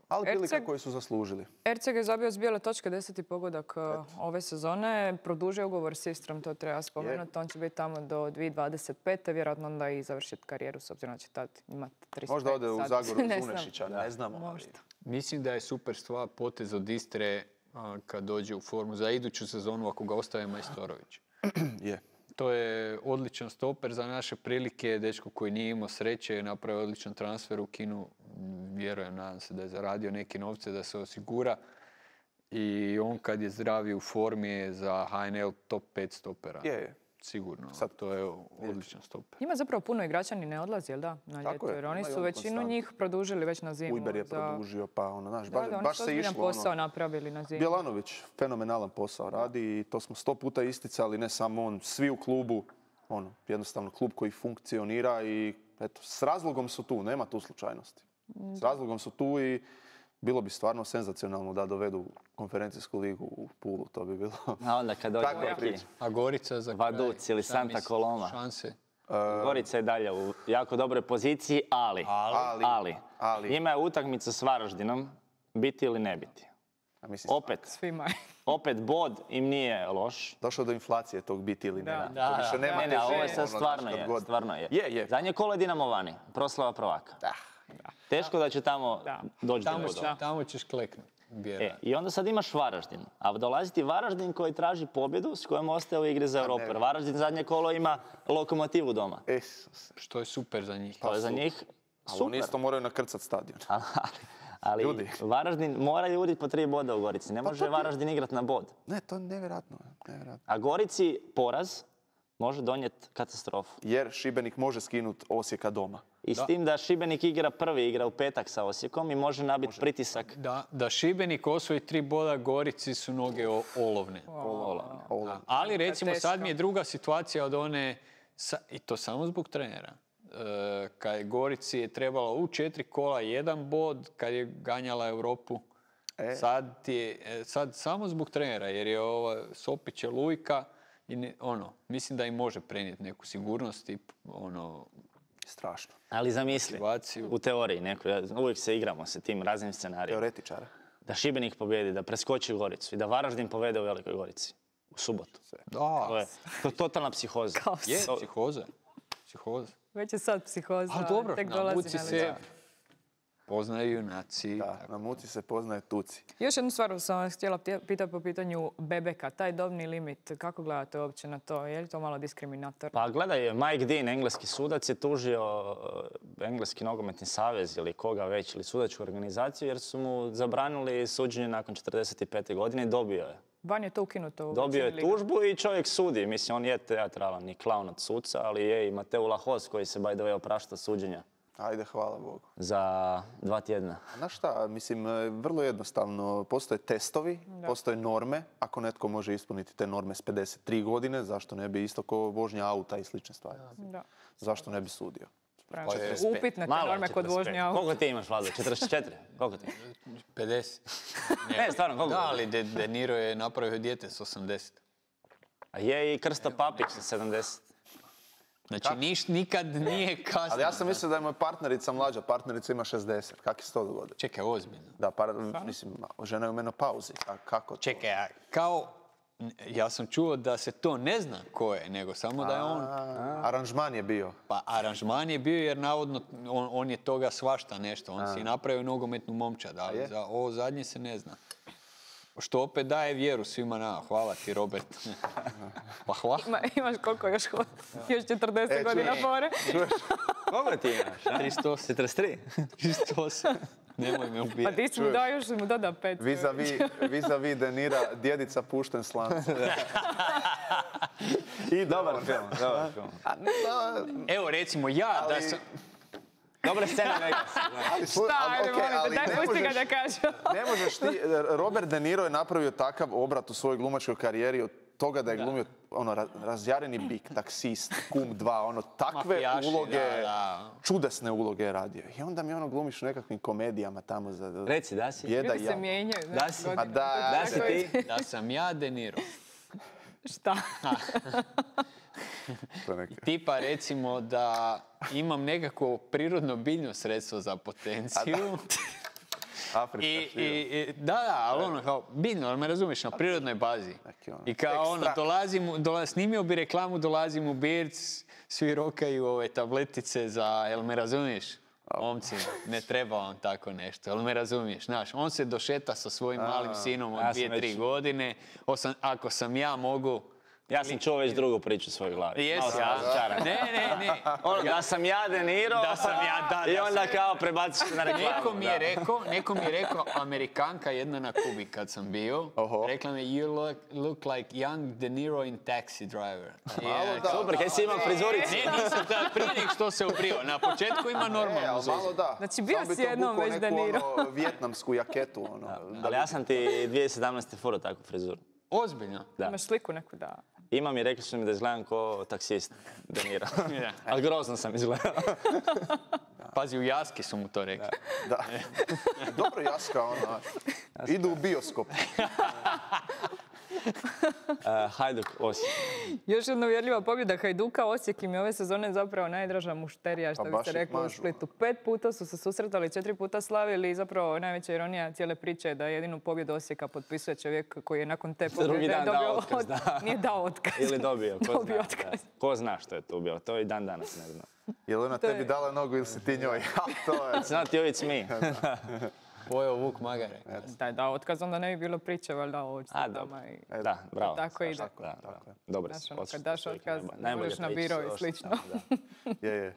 ali prilika Erceg- koju su zaslužili. Erceg je zabio s bijele točke deseti pogodak uh, ove sezone. Produžio ugovor s Istrom, to treba spomenuti. On će biti tamo do dvije tisuće dvadeset pete, vjerojatno onda i završiti karijeru, s obzirom da će tad imati trideset pet. Možda ode u sad. Zagoru Ne uz znam. Unešića, ne znamo. ali- Možda. Mislim da je super stvar potez od Istre a, kad dođe u formu za iduću sezonu ako ga ostave Majstorović. Je. To je odličan stoper za naše prilike, dečko koji nije imao sreće, napravio odličan transfer u Kinu, vjerujem, nadam se da je zaradio neke novce da se osigura. I on kad je zdravi u formi je za H N L top pet stopera. Je, je. Sigurno, Sad- to je odličan stoper. Ima zapravo puno igrača ni ne odlazi, jel da? Na Tako ljeto, je, jer oni imaju su oni većinu konstantno. njih produžili već na zimu. Ujber je za- produžio, pa ono, znaš, Da, baš, da, oni baš su se ozbiljan išlo. posao Ono, napravili na zimu. Bjelanović fenomenalan posao radi i to smo sto puta isticali, ne samo on, svi u klubu, ono, jednostavno klub koji funkcionira i eto, s razlogom su tu, nema tu slučajnosti. S razlogom su tu i bilo bi stvarno senzacionalno da dovedu konferencijsku ligu u Pulu, to bi bilo. A onda kad dođe Takva neki priča. A Gorica za Vaduc kraj, ili šta Santa misliš, Coloma. Šanse. Gorica je dalje u jako dobroj poziciji, ali, Ali, ali, ali. njima je utakmica s Varaždinom biti ili ne biti. A mislim, Opet, Svima. opet bod im nije loš. došlo do inflacije tog biti ili ne. Da. Da, To više da. nema Ne, ne, ovo je težine, sad ono, stvarno znaš, kad je, god. stvarno je. Je, je. Zadnje kolo je Dinamo vani, proslava prvaka. Da. Teško da će tamo Da. doći do Tamo, bodova. tamo ćeš kleknuti. E, I onda sad imaš Varaždin, a dolazi ti Varaždin koji traži pobjedu s kojom ostaje u igri za Europu. Jer Varaždin zadnje kolo ima Lokomotivu doma. Isuse. Što je super za njih. To je za super. njih Ali oni super. isto moraju nakrcat stadion. Ali, ali Ljudi. Varaždin mora uditi po tri boda u Gorici. Ne može to ti- Varaždin igrat na bod. Ne, to je nevjerojatno. nevjerojatno. A Gorici poraz može donijeti katastrofu. Jer Šibenik može skinuti Osijeka doma. I s tim da Šibenik igra prvi, igra u petak sa Osijekom i može nabiti pritisak. Da, da Šibenik osvoji tri boda, Gorici su noge o- olovne. Olovne. Ovo- Ali recimo Teško. sad mi je druga situacija od one, sa- i to samo zbog trenera. E, kad je Gorici je trebalo u četiri kola jedan bod, kad je ganjala Europu. E. Sad, ti je, e, sad samo zbog trenera, jer je ova Sopić je lujka i ne- ono, mislim da im može prenijeti neku sigurnost i ono, Strašno. Ali zamisli, motivaciju. u teoriji, neko, uvijek se igramo sa tim raznim scenarijima. Teoretičara. Da Šibenik pobjedi, da preskoči Goricu i da Varaždin povede u Velikoj Gorici. U subotu. Da, To je, to je totalna psihoza. Kaos. je psihoza. Psihoza. Već je sad psihoza, Ali dobro, tek na dolazi muci na se lice. poznaju junaci. Da, na muci se poznaje tuci. Još jednu stvar sam vas htjela pitati po pitanju Bebeka. Taj dobni limit, kako gledate uopće na to? Je li to malo diskriminatorno? Pa gledaj, Mike Dean, engleski sudac, je tužio eh, engleski nogometni savez ili koga već, ili sudačku organizaciju, jer su mu zabranili suđenje nakon četrdeset pete godine i dobio je. Van je to ukinuto u Dobio je većini liga. tužbu i čovjek sudi. Mislim, on je teatralan i klaun od suca, ali je i Mateo Lahos koji se by the way oprašta suđenja Ajde, hvala Bogu. za dva tjedna. Znaš šta, mislim, e, vrlo jednostavno. Postoje testovi, postoje norme. Ako netko može ispuniti te norme s pedeset tri godine, zašto ne bi isto kao vožnja auta i slične stvari? Da. Zašto ne bi sudio? Prema Pa je- upitne te Malo je norme kod četrdeset pet. vožnje auta. Koliko ti imaš, Vlado? četrdeset četiri? Koliko ti? pedeset. Ne, stvarno, koliko? Da, ali De, De Niro je napravio dijete s osamdeset. A je i Krsto Papić sa sedamdeset. Znači, niš, nikad nije kasno. Ali ja sam mislio da je moja partnerica mlađa, partnerica ima šezdeset. Kako se to dogodilo? Čekaj, ozbiljno. Da, par, mislim, žena je u menopauzi. A kako to? Čekaj, a kao... Ja sam čuo da se to ne zna ko je, nego samo da je on... A, aranžman je bio. Pa aranžman je bio jer navodno on, on je toga svašta nešto. On si je napravio nogometnu momčad, ali je? za ovo zadnje se ne zna. što opet daje vjeru svima nama. Hvala ti, Robert. Pa hvala. Ima, imaš koliko još, još četrdeset E, godina čuješ. fore. Koliko ti imaš? a? tristo osam. četrdeset tri? tristo osam. Nemoj me Pa ubijati. ti si mu dao još mu doda pet. Vis-a-vis vis-a-vis De Nira, djedica pušten s lanca. I dobar film, dobar film. Evo, recimo, ja da Ali- sam... Dobra scena Vegas. Ali, slu- Šta, ali, ajde, okej, molim te, ali daj ne pusti ga možeš- da kaže. Ne možeš ti, Robert De Niro je napravio takav obrat u svojoj glumačkoj karijeri od toga da je glumio ono, ra- razjareni bik, taksist, kum dva, ono, takve Mafijaši, uloge, da, da. čudesne uloge je radio. I onda mi ono glumiš u nekakvim komedijama tamo za... Reci, da si? Jeda Ljudi i se jad. mijenjaju. Da znaš, si? godinama. Ma da, To Da si tako je. ti? Da sam ja De Niro. Šta? To je neka- Tipa recimo da imam nekako prirodno biljno sredstvo za potenciju. Afrička I, šljiva. i, i- da, da, ali ono kao biljno, ali me razumiješ, na prirodnoj bazi. Neki ono, I kao ono, ekstrakt. dolazim, u- dola, snimio bi reklamu, dolazim u Birc, svi rokaju ove tabletice za, jel me razumiješ? Momci, ne treba vam tako nešto, jel me razumiješ? Znaš, on se došeta sa svojim malim sinom od ja sam dvije, tri već- godine. Osam, ako sam ja mogu... Ja sam čuo već drugu priču u svojoj glavi. Jes, Malo sam ja? razočaran. Ne, ne, ne. Ono, da sam ja De Niro, Da sam ja, da, i da onda sam- kao prebaciš na reklamu. Neko mi je da. rekao, neko mi je rekao, Amerikanka jedna na Kubi kad sam bio, Oho. rekla mi you look, look like young De Niro in Taxi Driver. Malo da. Super, kaj si imam frizuricu? Ne, nisam da, prije nek što se obrio. Na početku ima E, normalnu ali malo zuzu. da. Znači, bio Samo bi si to jednom bukao već neku, De Niro. ono, vijetnamsku jaketu, ono. Ali ja sam ti dvije tisuće sedamnaeste furao takvu frizuru. Ozbiljno. Da. Imaš sliku neku da... Imam i rekli su mi da izgledam ko taksist De Niro. Da. Ali grozno sam izgledao. Pazi, u Jaski su mu to rekli. Da. Dobro jaska, ono. Idu u bioskop. Uh, Hajduk Osijek. Još jedna uvjerljiva pobjeda Hajduka. Osijek im je ove sezone zapravo najdraža mušterija, što Pa bi baš se ih reklo u mažu. Splitu. Pet puta su se susretali, četiri puta slavili i zapravo najveća ironija cijele priče je da jedinu pobjedu Osijeka potpisuje čovjek koji je nakon te pobjede Drugi dan dao dobio otkaz, od- da. Nije dao otkaz. Ili dobio, ko Dobio zna. otkaz. da. Ko zna što je tu bilo, to i dan danas ne znam. Je li ona To je- tebi dala nogu ili si ti njoj? to je... It's not you, it's me. Pojeo Vuk Magare. Da je dao otkaz, onda ne bi bilo priče, valjda o A, odstupama dobro. i... Da, bravo. Tako ide. Da, da. Dobre Znaš, si ono, odsud, kad daš čovjek, otkaz, najbolje- ne najbolje budeš na priče biro su i ošli slično. tamo, da. Je, je.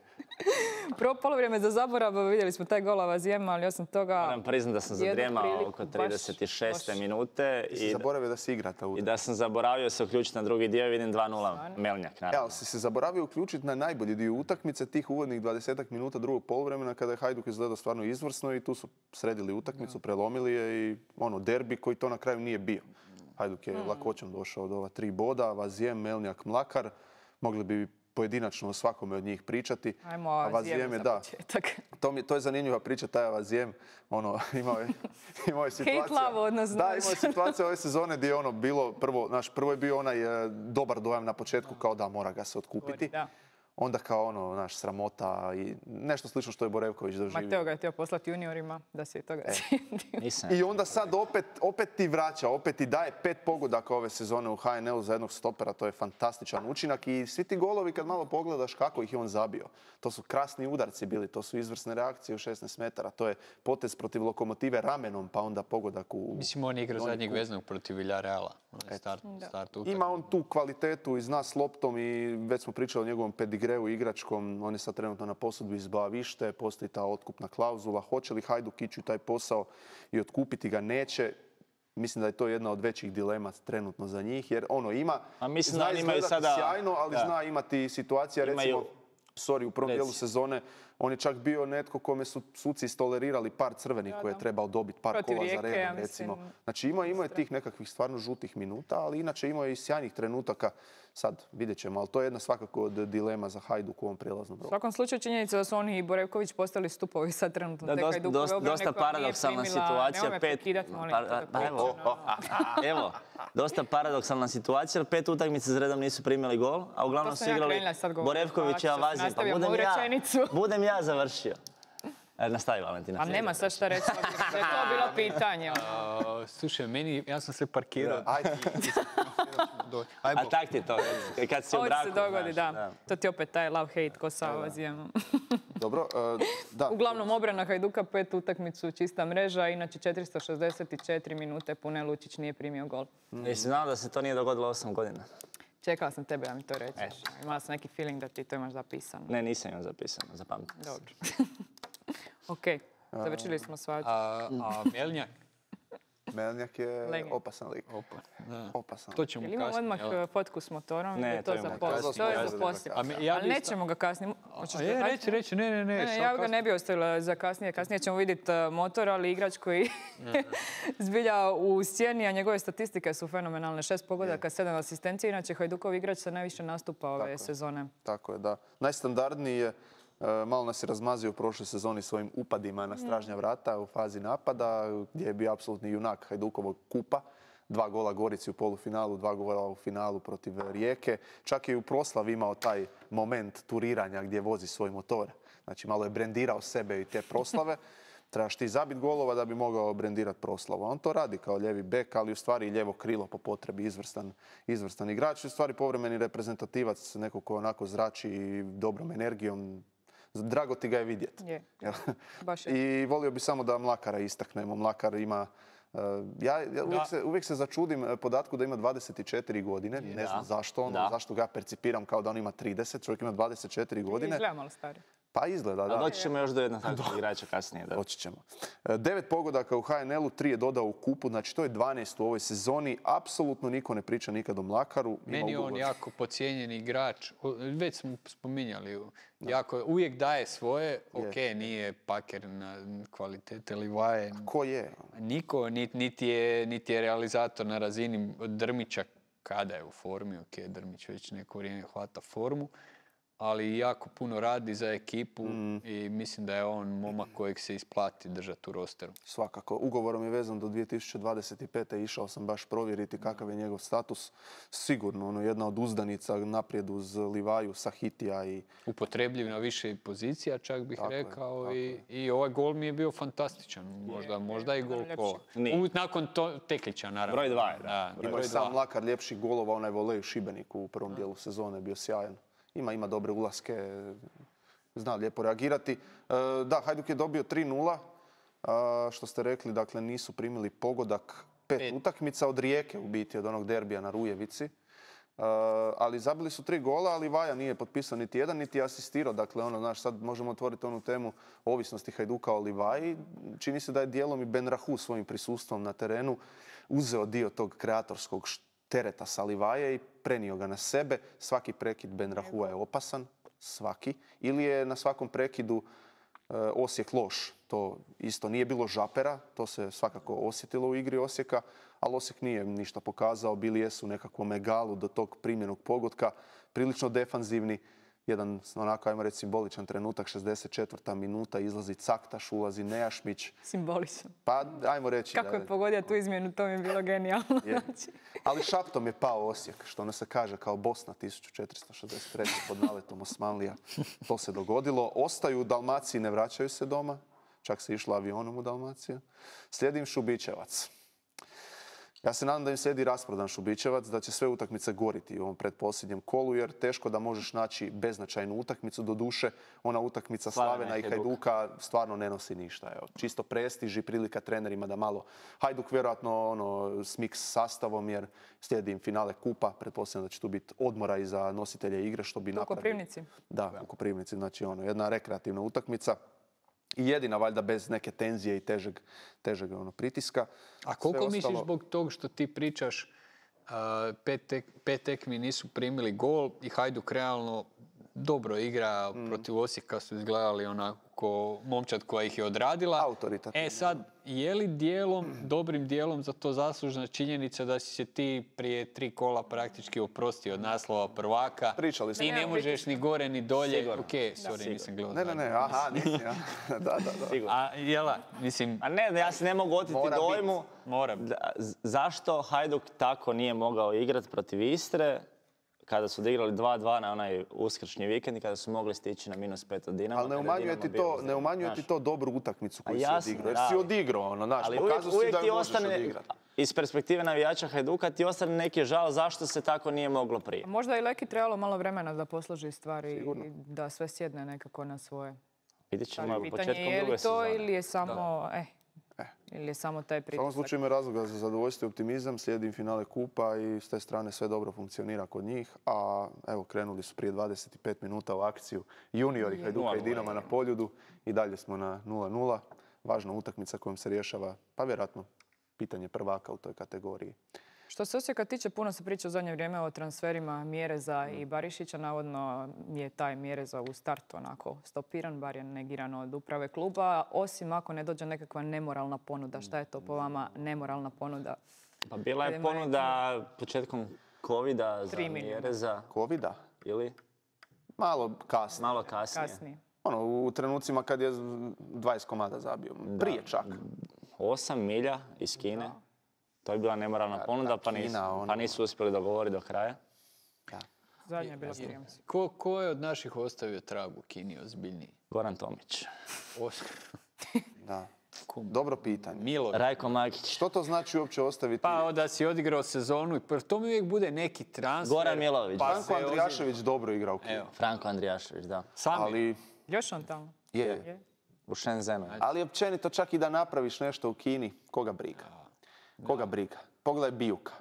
Prvo polovrijeme za zaborav, vidjeli smo taj gol Avazijema, ali osim toga... Moram priznat da sam jednu zadrijemao priliku oko baš trideset šeste loš. minute Ti si i, zaboravio da si igra ta i utakmica. da sam zaboravio se uključiti na drugi dio i vidim dva nula Melnjak, Ja, naravno. ali si se zaboravio uključiti na najbolji dio utakmice, tih uvodnih dvadesetak minuta drugog poluvremena kada je Hajduk izgledao stvarno izvrsno i tu su sredili utakmicu, prelomili je i ono derbi koji to na kraju nije bio. Hajduk je lakoćom došao do ova tri boda, Vazijem, Melnjak, Mlakar. Mogli bi pojedinačno o svakome od njih pričati. Ajmo A Avazijemu Vazijem je, za da, početak. to, mi, to je zanimljiva priča, taj Avazijem, ono, imao je, imao je situacija... love odnos, Da, znaš. imao je situacija ove sezone gdje je ono bilo, prvo, naš, prvo je bio onaj e, dobar dojam na početku, kao da mora ga se otkupiti. Da. Onda kao ono, naš, sramota i nešto slično što je Borevković doživio. Mateo ga je htio poslati juniorima, da se i toga E. sjetio. Nisam. I onda sad opet, opet ti vraća, opet ti daje pet pogodaka ove sezone u H N L-u za jednog stopera, to je fantastičan učinak i svi ti golovi kad malo pogledaš kako ih je on zabio. To su krasni udarci bili, to su izvrsne reakcije u šesnaest metara, to je potez protiv Lokomotive ramenom pa onda pogodak u... Mislim, on igra donji zadnjeg kut. veznog protiv Villareala. Onaj Start, start utakmice. Ima on tu kvalitetu i zna s loptom i već smo pričali o njegovom pedigreu igračkom. On je sad trenutno na posudbi iz Boavište, postoji ta otkupna klauzula. Hoće li Hajduk ići u taj posao i otkupiti ga? Neće. Mislim da je to jedna od većih dilema trenutno za njih, jer ono ima, A mislim zna da oni imaju izgledati sada- sjajno, ali da. zna imati situacija, Imaju- recimo, sorry, u prvom Reci. dijelu sezone, on je čak bio netko kome su suci istolerirali par crvenih koje je trebao dobiti par Protiv kola za Rijeke, redom, ja mislim. recimo. Znači imao, imao je tih nekakvih stvarno žutih minuta, ali inače imao je i sjajnih trenutaka. Sad, vidjet ćemo, ali to je jedna svakako od dilema za Hajduk u ovom prijelaznom U roku. svakom slučaju činjenica da su oni i Borevković postali stupovi sad trenutno Da, te dosta, Hajdukove dosta, obrane dosta koja nije paradoksalna primila- situacija. Nemoj me Pet, prekidat, molim pa, te, da pa, evo, pričam, ono. evo, dosta paradoksalna situacija, jer pet utakmica za redom nisu primili gol, a uglavnom To su sam ja igrali krenula sad govorit. Borevković i Hvala ti što si Avazije. Pa nastavio budem moju ja, rečenicu. budem ja završio. Nastavi, Valentina. A nema sad šta reći, da je to bilo pitanje. A, slušaj, meni, ja sam se parkirao. Ajde. A tak ti je to, kad si u Ovo braku. se dogodi, znaš, da. To ti opet taj love-hate ko sa ovazijemo. Dobro, uh, da. Uglavnom, obrana Hajduka, pet utakmicu, čista mreža, inače četiristo šezdeset četiri minute pune Lučić nije primio gol. Jesi znao da se to nije dogodilo osam godina? Čekala sam tebe da mi to reći. E. Imala sam neki feeling da ti to imaš zapisano. Ne, nisam imao zapisano, zapamtim. Dobro. Ok, završili smo svađu. A, a Mjelnjak? Melnjak je Legend. opasan lik. Opa, da. Opasan. To ćemo Jel imamo kasnije. odmah jel? uh, fotku s motorom? Ne, Ili je to to imamo za poslije? kasnije. To je za Kasnije. poslije. A me- ja Ali bi isto- nećemo ga kasnije. Hoćeš A ga je, kasnije? reći, reći, ne, ne, ne. Ne, šta ja ga kasnije? ne bi ostavila za kasnije. Kasnije ćemo vidjeti uh, motor, ali igrač koji zbilja u sjeni, a njegove statistike su fenomenalne. Šest pogodaka, sedam asistencija. Inače, Hajdukov igrač sa najviše nastupa ove Tako je. sezone. Tako je, da. Najstandardniji je, e, malo nas je razmazio u prošloj sezoni svojim upadima na stražnja vrata u fazi napada, gdje je bio apsolutni junak Hajdukovog kupa. Dva gola Gorici u polufinalu, dva gola u finalu protiv Rijeke. Čak je i u proslavi imao taj moment turiranja gdje vozi svoj motor. Znači, malo je brendirao sebe i te proslave. Trebaš ti zabit golova da bi mogao brendirati proslavu. On to radi kao lijevi bek, ali u stvari i lijevo krilo po potrebi, izvrstan, izvrstan igrač. U stvari povremeni reprezentativac, neko ko onako zrači dobrom energijom. Drago ti ga je vidjeti. Je. Jel? Baš je. I volio bi samo da Mlakara istaknemo. Mlakar ima... uh, ja ja uvijek, Da. se, uvijek se začudim uh, podatku da ima dvadeset četiri godine. Ne znam zašto, ono, Da. zašto ga percipiram kao da on ima trideset. Čovjek ima dvadeset četiri godine. Izgleda malo stari. Pa izgleda, da. A doći ćemo još do jednog takvog igrača kasnije. Da. Doći ćemo. E, Devet pogodaka u H N L-u, tri je dodao u kupu, znači to je dvanaest u ovoj sezoni. Apsolutno niko ne priča nikad o Mlakaru. Ima Meni je on ugovor. jako podcijenjen igrač. O, Već smo spominjali. Jako, uvijek daje svoje. Ok, nije paker na kvalitete Livaje. Ko je? Niko, niti, niti, je, niti je realizator na razini Drmića kada je u formi. Ok, Drmić već neko vrijeme hvata formu. Ali jako puno radi za ekipu i mislim da je on momak kojeg se isplati držati u rosteru. Svakako. Ugovorom je vezan do dvije tisuće dvadeset pete. Išao sam baš provjeriti kakav je njegov status. Sigurno, ono, jedna od uzdanica naprijed uz Livaju, Sahitija i... Upotrebljiv na više pozicija, čak bih Tako je, rekao. tako I, I ovaj gol mi je bio fantastičan. Možda, možda i gol ljepši. kola. Nije. U- Nakon to, Teklića, naravno. Broj dva je, da. Da, Ima broj i sam dva. Mlakar ljepših golova, onaj volej u Šibeniku u prvom dijelu sezone je bio sjajan. Ima, ima dobre ulaske, zna lijepo reagirati. E, da, Hajduk je dobio tri nula, a, što ste rekli, dakle nisu primili pogodak pet, Pet. utakmica od Rijeke u biti, od onog derbija na Rujevici. E, ali zabili su tri gola, ali Vaja nije potpisao niti jedan, niti asistirao. Dakle, ono, znaš, sad možemo otvoriti onu temu ovisnosti Hajduka o Livaji. Čini se da je dijelom i Ben Rahu svojim prisustvom na terenu uzeo dio tog kreatorskog tereta sa Livaje i prenio ga na sebe. Svaki prekid Ben Rahua je opasan, svaki. Ili je na svakom prekidu e, Osijek loš. To isto nije bilo žapera, to se svakako osjetilo u igri Osijeka, ali Osijek nije ništa pokazao. Bili jesu u nekakvom egalu do tog primljenog pogotka, prilično defanzivni. Jedan, onako, ajmo reći, simboličan trenutak, šezdeset četvrta minuta, izlazi Caktaš, ulazi Nejašmić. Simbolično. Pa, ajmo reći... Kako da- je pogodio tu izmjenu, to mi je bilo genijalno. Je. Ali šaptom je pao Osijek, što ono se kaže kao Bosna tisuću četiristo šezdeset treće pod naletom Osmanlija. To se dogodilo. Ostaju u Dalmaciji, ne vraćaju se doma. Čak se išlo avionom u Dalmaciju. Slijedi im Šubićevac. Ja se nadam da im slijedi rasprodan Šubićevac, da će sve utakmice goriti u ovom predposljednjem kolu, jer teško da možeš naći beznačajnu utakmicu. Do duše, ona utakmica Slavena Slavena i i Hajduka. Hajduka stvarno ne nosi ništa. Evo, čisto prestiž i prilika trenerima da malo... Hajduk vjerojatno ono, smiks s sastavom, jer slijedi im finale kupa. Pretpostavljam da će tu biti odmora i za nositelje igre, što bi U napravili. Koprivnici. Da, u Koprivnici. Znači, ono, jedna rekreativna utakmica. I jedina, valjda, bez neke tenzije i težeg, težeg ono, pritiska. A koliko Sve misliš ostalo- zbog tog što ti pričaš, a, pet, tek, pet tekmi nisu primili gol i Hajduk realno dobro igra, Mm. protiv Osijeka su izgledali onako momčad koja ih je odradila. Autoritativno. E sad, je li dijelom, dobrim dijelom za to zaslužna činjenica da si se ti prije tri kola praktički oprostio od naslova prvaka? Pričali smo. I ne možeš ni gore ni dolje. Sigurno. Ok, sorry, nisam gledao. Ne, ne, ne, dalje. aha, nisi, ja. Da, da, da. Sigurno. A jela, mislim, A ne, ja se ne mogu oteti Mora dojmu mora. da- z- zašto Hajduk tako nije mogao igrati protiv Istre kada su odigrali dva dva na onaj uskršnji vikend i kada su mogli stići na minus pet od Dinama. Ali ne umanjuje ti to, ne umanjuje ti to dobru utakmicu koju si odigrao. Jer si odigrao, ono, znaš, pokazao si da je možeš odigrati. Iz perspektive navijača Hajduka ti ostane neki žao zašto se tako nije moglo prije. Možda i Leki trebalo malo vremena da posloži stvari i da sve sjedne nekako na svoje. Vidjet ćemo početkom druge sezone. Je li to ili je samo, eh, eh. ili je samo taj pritisak? U svakom slučaju ima razloga za zadovoljstvo i optimizam, slijedi finale kupa i s te strane sve dobro funkcionira kod njih. A evo, krenuli su prije dvadeset pet minuta u akciju juniori Hajduka i Dinama na Poljudu i dalje smo na nula nula. Važna utakmica kojom se rješava, pa vjerojatno, pitanje prvaka u toj kategoriji. Što se Osijeka tiče, puno se priča u zadnje vrijeme o transferima Mjereza i Barišića. Navodno je taj Mjereza u startu onako stopiran, bar je negiran od uprave kluba, osim ako ne dođe nekakva nemoralna ponuda. Šta je to po vama nemoralna ponuda? Pa bila je ponuda početkom Covida za Mjereza. Covida? Ili? Malo kasnije. Malo kasnije. Kasnije. Ono, u trenucima kad je dvadeset komada zabio. Prije čak. Osam milja iz Kine. Da. To je bila nemoralna da, ponuda, da, pa, nisu, Kina, ono... pa nisu uspjeli dogovoriti do kraja. Da. Zadnja je bila prijemci. Ko, ko je od naših ostavio trag u Kini ozbiljniji? Goran Tomić. Da. Dobro pitanje. Milo. Rajko Makić. Što to znači uopće ostaviti? Pa da si odigrao sezonu i to mi uvijek bude neki transfer. Goran Milović. Pa Franko Andrijašević ozim... dobro igra u Kini. Franko Andrijašević, da. Sami. Ali... Još on tamo. Je. je. U Shenzhenu. Ali općenito čak i da napraviš nešto u Kini, koga briga? Koga briga? Pogledaj Bijuka.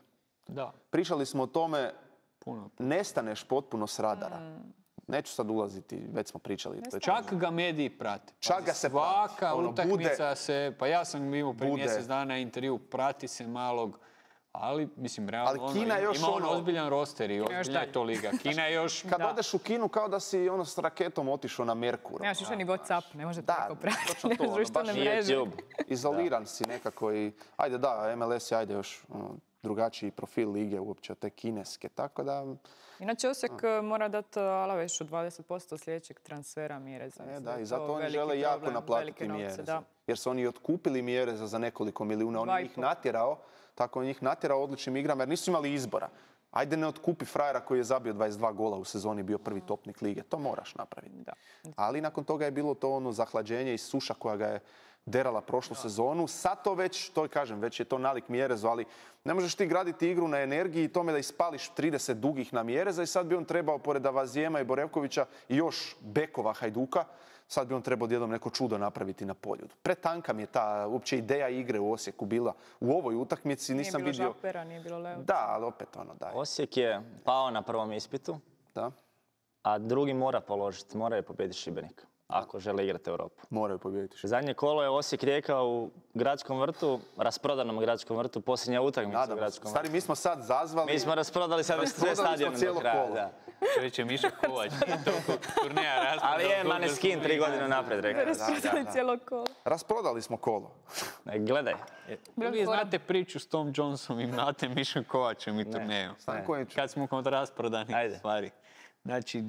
Da. Pričali smo o tome, puno. Nestaneš potpuno s radara. Mm. Neću sad ulaziti, već smo pričali. Čak ga mediji prate. Čak ga se prati. Svaka ono, utakmica bude, se, pa ja sam imao prije mjesec dana intervju, prati se malog, ali mislim realno ali Kina ono, još ima on ono, ozbiljan roster i ozbiljna je to liga. Kina je još... Kad da. odeš u Kinu kao da si ono s raketom otišao na Merkur. Nemaš više ni WhatsApp, ne možete tako pratiti. Da, ne društvene mreže. Izoliran si nekako i... Ajde da, M L S je ajde još ono, drugačiji profil lige uopće od te kineske, tako da... Inače, Osijek a. mora dati Alavešu dvadeset posto sljedećeg transfera Mjereza. E, da, i zato oni žele jako problem, naplatiti Mjereza. Jer su oni otkupili Mjereza za nekoliko milijuna. On je njih natjerao, tako on njih natjerao odličnim igrama, jer nisu imali izbora. Ajde ne otkupi frajera koji je zabio dvadeset dva gola u sezoni, bio prvi topnik lige. To moraš napraviti. Da. Ali nakon toga je bilo to ono zahlađenje i suša koja ga je derala prošlu da. sezonu. Sad to već, to kažem, već je to nalik Mjerezu, ali ne možeš ti graditi igru na energiji i tome da ispališ trideset dugih na Mjereza i sad bi on trebao, pored Avazijema i Borevkovića, i još bekova Hajduka, sad bi on trebao odjednom neko čudo napraviti na Poljudu. Pretanka mi je ta uopće ideja igre u Osijeku bila u ovoj utakmici. Nisam nije bilo vidio... Žapera, nije bilo Leovića. Da, ali opet ono daj. Osijek je pao na prvom ispitu, da. a drugi mora položiti, mora je pobijediti Šibenik. Ako žele igrati Europu. Moraju pobijediti. Zadnje kolo je Osijek Rijeka u Gradskom vrtu, rasprodanom Gradskom vrtu, posljednja utakmica u Gradskom vrtu. Stari, mi smo sad zazvali... Mi smo rasprodali sad sve stadione do kraja. Da. Čovječe, Mišo Kovač, toliko turneja rasprodali. Ali je Maneskin tri godine napred, rekao. Rasprodali cijelo kolo. Rasprodali smo kolo. Ne, gledaj. Vi znate priču s Tom Johnsonom i znate Mišom Kovačem i turnejom. Kad smo kod rasprodanih stvari. Znači,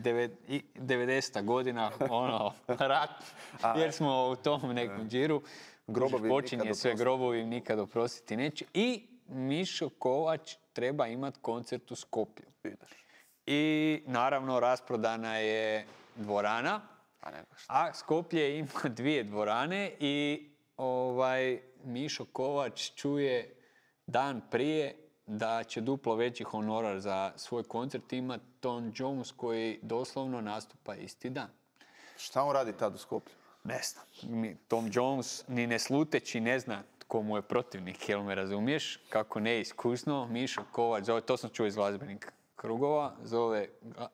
devedeseta godina, ono, rat, jer smo u tom nekom džiru. Grobovi počinje sve grobovi, nikad oprostiti neće. I Mišo Kovač treba imati koncert u Skopju. I naravno, rasprodana je dvorana, a Skoplje ima dvije dvorane i ovaj, Mišo Kovač čuje dan prije da će duplo veći honorar za svoj koncert ima Tom Jones koji doslovno nastupa isti dan. Šta on radi tad u Skoplju? Ne znam. Tom Jones ni ne sluteći ne zna tko mu je protivnik, jel me razumiješ? Kako neiskusno, Mišo Kovač, zove, to sam čuo iz glazbenih krugova, zove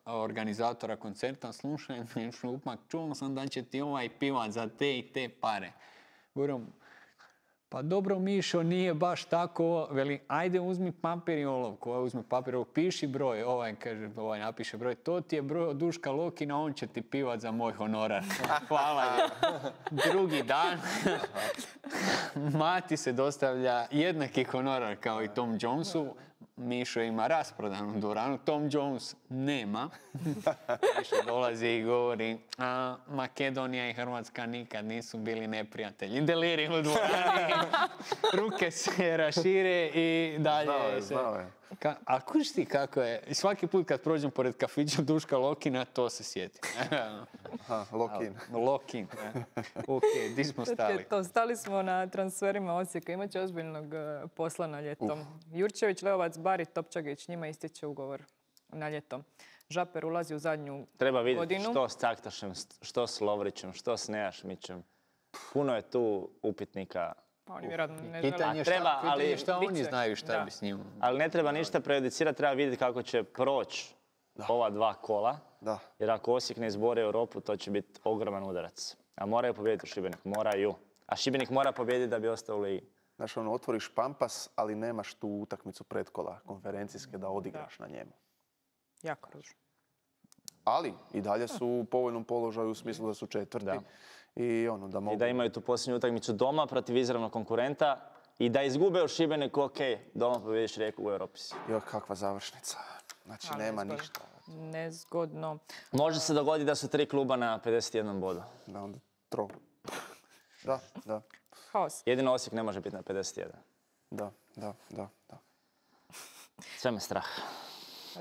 organizatora koncerta, slušaj, šupak, čuo sam da će ti ovaj pivat za te i te pare. Govorim, pa dobro Mišo, nije baš tako, veli, ajde uzmi papir i olovku, ovaj uzmi papir i olovku, piši broj, ovaj kaže, ovaj napiše broj, to ti je broj od Duška Lokina, on će ti pivat za moj honorar. Hvala je. Drugi dan, Mati se dostavlja jednaki honorar kao i Tom Jonesu, Mišo ima rasprodanu dvoranu, Tom Jones nema. Mišo dolazi i govori, a Makedonija i Hrvatska nikad nisu bili neprijatelji. Deliri u dvorani, ruke se rašire i dalje znao je, se... Znao je. Ka, a kužiš ti kako je? I svaki put kad prođem pored kafića Duška Lokina, to se sjeti. Aha, Lokin. Lokin. Ok, di smo stali? To, stali smo na transferima Osijeka. Imaće ozbiljnog uh, posla na ljetom. Uh. Jurčević, Leovac, Bari, Topčagić, njima ističe ugovor na ljetom. Žaper ulazi u zadnju godinu. Treba vidjeti što s Caktašem, što s Lovrićem, što s Nejašmićem. Puno je tu upitnika. Oni vjerojatno ne Pitanje žele. Treba, šta, ali- pitanje šta oni Biće, znaju šta da. bi s njim. Ali ne treba ništa prejudicirati, treba vidjeti kako će proći ova dva kola. Da. Jer ako Osijek ne izbori Europu, to će biti ogroman udarac. A moraju pobijediti u Šibenik, moraju. A Šibenik mora pobijediti da bi ostao u ligi. Znaš, ono, otvoriš Pampas, ali nemaš tu utakmicu pretkola konferencijske da odigraš na njemu. Jako ružno. Ali i dalje su u povoljnom položaju u smislu da su četvrti. Da. I ono, da mogu... I da imaju tu posljednju utakmicu doma protiv izravnog konkurenta i da izgube u Šibeniku, ok, doma pobjediš Rijeku u Europi si. Jo, kakva završnica. Znači, Ali nema nezgodno. ništa. Nezgodno. Može se dogoditi da su tri kluba na pedeset jedan bodu. Da, onda tro. Da, da, Haos. Jedino Osijek ne može biti na pedeset jedan. da, da, da, da. Sve me strah.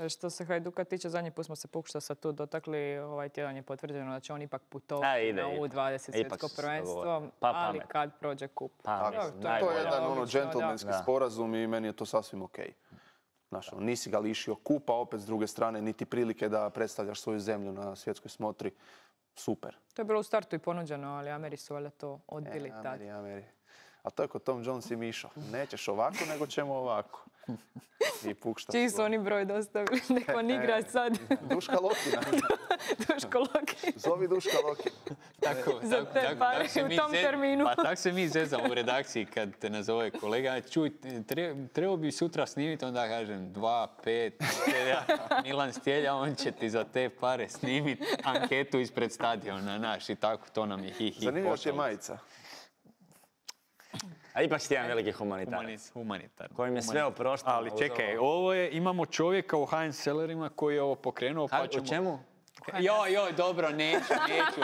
Što se Hajduka tiče, zadnji put smo se pokušali sad tu dotakli, ovaj tjedan je potvrđeno da će on ipak A, putovati ide, na ide. U dvadeset Ipak svjetsko su se prvenstvo, dogovorili. Pa ali pamet. kad prođe kup. Pa, Dobro, mislim, to je To je najbolje. jedan ono logično, džentlmenski da. sporazum i meni je to sasvim okej. Znaš, ono, nisi ga lišio kupa, opet s druge strane niti prilike da predstavljaš svoju zemlju na svjetskoj smotri. Super. To je bilo u startu i ponuđeno, ali Ameri su valjda to odbili E, tad. Ameri, Ameri. A to je kod Tom Jones i Mišo. Nećeš ovako, nego ćemo ovako. I pukšta. Čiji su oni broj dostavili? Nek on igra sad. Duška Lokina. Duško Loki. Zovi Duška Lokina. Tako, Za tako, te tako, pare tako se u mi tom zez- terminu. Pa tako se mi zezamo u redakciji kad te nazove kolega. Čuj, tre- trebao bi sutra snimiti, onda kažem dva, pet, Stjelja, Milan Stjelja, on će ti za te pare snimiti anketu ispred stadiona, naš, i tako, to nam je hi, hi. Zanimljivo ti je pošalje. majica. A ipak si jedan veliki humanitarac. Humanitar, humanitar. Kojim je sve oprošteno. Ali uz čekaj, ovo. ovo je, imamo čovjeka u Heinz Sellerima koji je ovo pokrenuo, pa Ka- ćemo... U čemu? Joj, joj, dobro, neću, neću.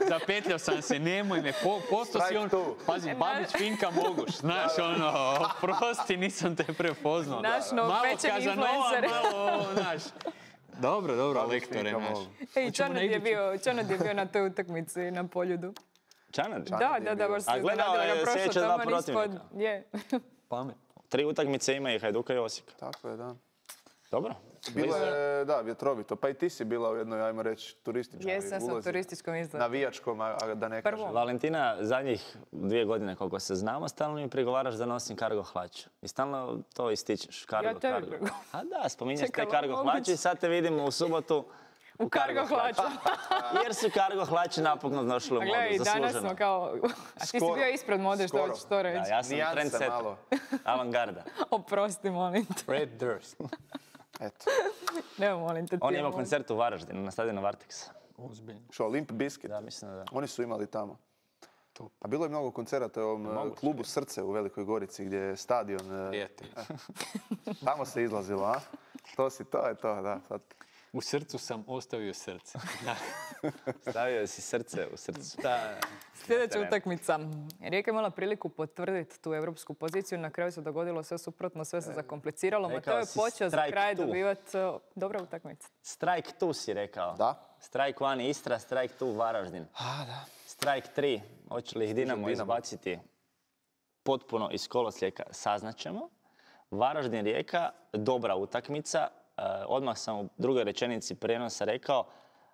Zapetljao sam se, nemoj me, po, posto si on... Strike two. Pazi, Babić, Finka, Moguš, znaš, ono, prosti, nisam te prepoznao. Naš Malo novopečeni Kazanova, influencer. malo, znaš. Dobro, dobro, Babić, lektore Finka, naš. Moguš. Ej, Hoćemo Čanad na je, iduću? bio, Čanad je bio na toj utakmici na Poljudu. Čanad? Da, je da, da, bio. baš se A gledao iznenadila je ga prošlo sljedeća dva taman ispod. protivnika. Je. Pametno. Tri utakmice ima i Hajduka i Osijeka. Tako je, da. Dobro. Bilo je, da, vjetrovito. Pa i ti si bila u jednoj, ajmo reći, turističkoj Jesam, sam u ulozi. turističkom izgledu. Navijačkom, a a da ne Prvo. kažem. Valentina, zadnjih dvije godine koliko se znamo, stalno mi prigovaraš da nosim kargo hlač. I stalno to ističeš, kargo, Ja tebi kargo. prigovaram. A da, spominješ Čekaj, te kargo moguće. hlače i sad te vidimo u subotu U kargo hlaču. Jer su kargo hlače napokon došli u A modu, gledaj, i danas zasluženo. smo kao... A ti si Skoro. bio ispred mode, što Skoro. hoćeš to reći. Da, ja sam Nijanse trendsetter, malo. avangarda. Oprosti, molim te. Fred Durst. Eto. Evo, molim te. ti On je ima moj. koncert u Varaždinu, na stadionu Varteksa. Ozbiljno. Što, Limp Bizkit? Da, mislim da. Oni su imali tamo. A bilo je mnogo koncerata u ovom eh, Moguće. klubu Srce u Velikoj Gorici gdje je stadion. eh, Prijatelj. Tamo se izlazilo, a? To si, to je to, da. Sad. U srcu sam ostavio srce. Stavio si srce u srcu. Da. Sljedeća Terenu. utakmica. Rijeka je imala priliku potvrditi tu europsku poziciju. Na kraju se dogodilo sve suprotno, sve se zakompliciralo. rekao Mateo je si počeo za strike kraj two. dobivati uh, dobra utakmica. Strike two si rekao. Da. Strike one Istra, strike two Varaždin. A, da. Strike tri, hoće li ih Dinamo Dinamo. izbaciti potpuno iz kolosijeka, saznaćemo. Varaždin Rijeka, dobra utakmica. E, odmah sam u drugoj rečenici prijenosa rekao,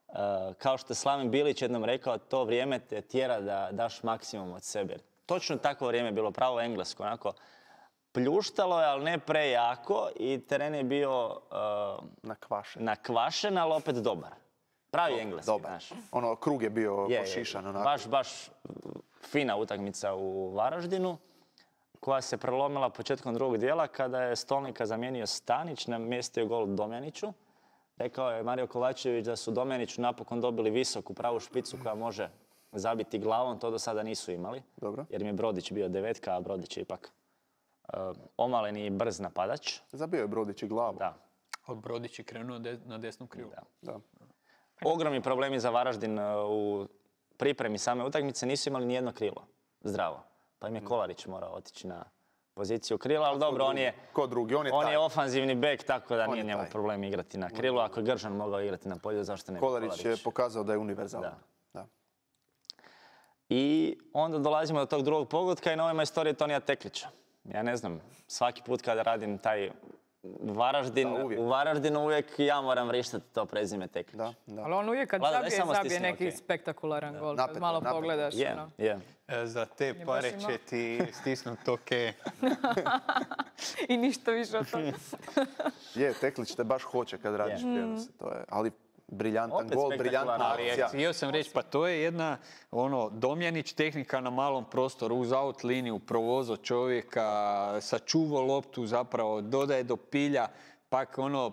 e, kao što je Slaven Bilić jednom rekao, to vrijeme te tjera da daš maksimum od sebe. Točno takvo vrijeme je bilo, pravo englesko, onako pljuštalo je, ali ne prejako i teren je bio e, Nakvašen. nakvašen, ali opet dobar. Pravi engleski, Dobar. znaš. Ono, krug je bio Je, je, pošišan, onako. Baš, baš fina utakmica u Varaždinu koja se prelomila početkom drugog dijela kada je Stolnika zamijenio Stanić, namjestio gol Domjaniću. Rekao je Mario Kovačević da su Domjaniću napokon dobili visoku pravu špicu koja može zabiti glavom, to do sada nisu imali. Dobro. Jer im je Brodić bio devetka, a Brodić je ipak uh, omalen i brz napadač. Zabio je Brodić i glavu. Da. Od Brodić je krenuo de- na desnu krilu. Da. Da. Ogromni problemi za Varaždin uh, u pripremi same utakmice, nisu imali nijedno krilo zdravo. Pa im je Kolarić morao otići na poziciju krila, ali dobro, on je, Ko drugi, on je on taj. je ofanzivni bek, tako da On nije je njemu taj. problem igrati na krilu. Ako je Gržan mogao igrati na polju, zašto ne bi Kolarić je pokazao da je univerzalan. Da. Da. I onda dolazimo do tog drugog pogotka i nova istorija Tonija Teklića. Ja ne znam, svaki put kada radim taj Varaždin, Da, uvijek. u Varaždinu uvijek ja moram vrištati to prezime Teklić. Da, da. Ali on uvijek kad Vlada, daj zabije, samo zabije stisni, neki okej. spektakularan gol. Napet, Kad malo napet. pogledaš. Je, ono. je. E, Za te baš pare ima- će ti stisnut oke. I ništa više od toga. Je, Teklić te baš hoće kad radiš Je. prijenose. To je, ali briljantan Opet gol, spektakularan, briljantna ali akcija. Htio sam reći, pa to je jedna, ono, Domjanić tehnika na malom prostoru, uz out liniju, provozo čovjeka, sačuvao loptu zapravo, dodaje do pilja, pak ono,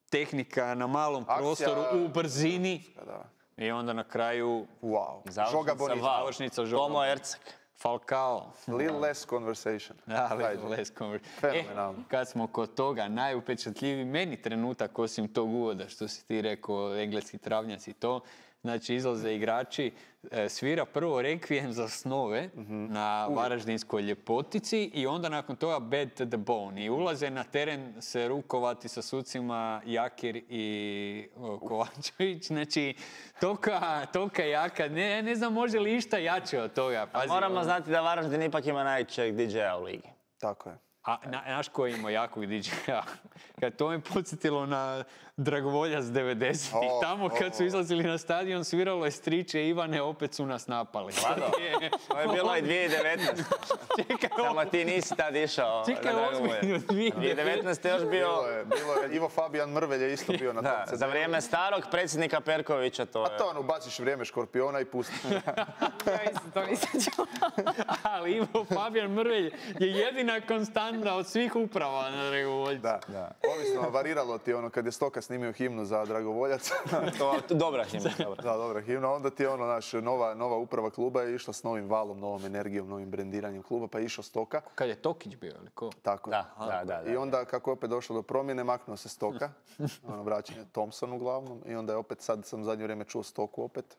tehnika na malom Akcija- prostoru u brzini Da. i onda na kraju Wow. Žoga Završnica Bonita. Val. završnica Žoga Tomo Ercak. Falcao. Little less conversation. Da, Ajde. little less conver- Fenomenalno. E, kad smo kod toga, najupečatljiviji meni trenutak osim tog uvoda, što si ti rekao, engleski travnjaci i to, znači izlaze igrači, e, svira prvo rekvijem za snove na varaždinskoj ljepotici i onda nakon toga bad to the bone i ulaze na teren se rukovati sa sucima Jakir i o, Kovačević, znači toka, toka jaka, ne, ne znam može li išta jače od toga. Pazi, Moramo ono- znati da Varaždin ipak ima najjačeg D J-a u ligi. Tako je. A na, naš koji ima jakog D J-a? Kad to me podsjetilo na Dragovoljac devedesetih. O, Tamo kad su o. izlazili na stadion, sviralo je Striče Ivane, opet su nas napali. Vlado, to je bilo i dvije tisuće devetnaeste. Čekaj, Samo ti nisi tad išao čekaj, na Dragovoljac. ozbiljno, dvije dvije tisuće devetnaeste još bio... Bilo je, bilo je. Ivo Fabijan Mrvelj je isto bio na tom Da, C D-u. za vrijeme starog predsjednika Perkovića to A je... to ono, ubaciš vrijeme Škorpiona i pustiš. Ja isto to nisam čula. Ali Ivo Fabijan Mrvelj je jedina konstanta od svih uprava na Dragovoljcu. Da. Ovisno, variralo ti ono, kad je Stoka snimio himnu za Dragovoljac. To, dobra himna, dobra. Da, dobra himna. Onda ti je ono, naš, nova, nova uprava kluba je išla s novim valom, novom energijom, novim brendiranjem kluba, pa je išao Stoka. Kad je Tokić bio, ili ko? Tako je. Da, da, da. I onda kako je opet došlo do promjene, maknuo se Stoka, ono, vraćanje Thompson uglavnom, i onda je opet, sad sam zadnje vrijeme čuo Stoku opet.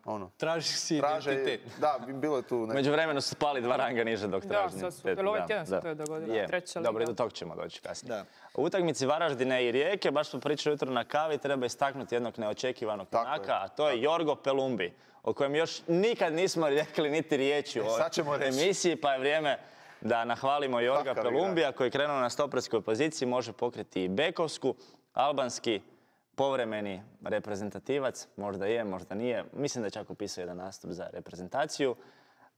Ono, Traži si traže, identitet. da, bilo je tu neko. Među vremenu su spali dva ranga niže dok Da, traži sad su- identitet. jel ovaj Da, tjedan se da. to je dogodilo? Je. Treća Dobro, i liga. do tog ćemo doći kasnije. Da. U utakmici Varaždine i Rijeke, baš smo pričali jutro na kavi, treba istaknuti jednog neočekivanog Tako Polaka, je. a to je Jorgo Pelumbi, o kojem još nikad nismo rekli niti riječi u ovoj sad ćemo reći. emisiji, pa je vrijeme da nahvalimo Jorga Kakav Pelumbija koji je krenuo na stoperskoj poziciji, može pokriti i bekovsku, albanski povremeni reprezentativac, možda je, možda nije. Mislim da je čak upisao jedan nastup za reprezentaciju.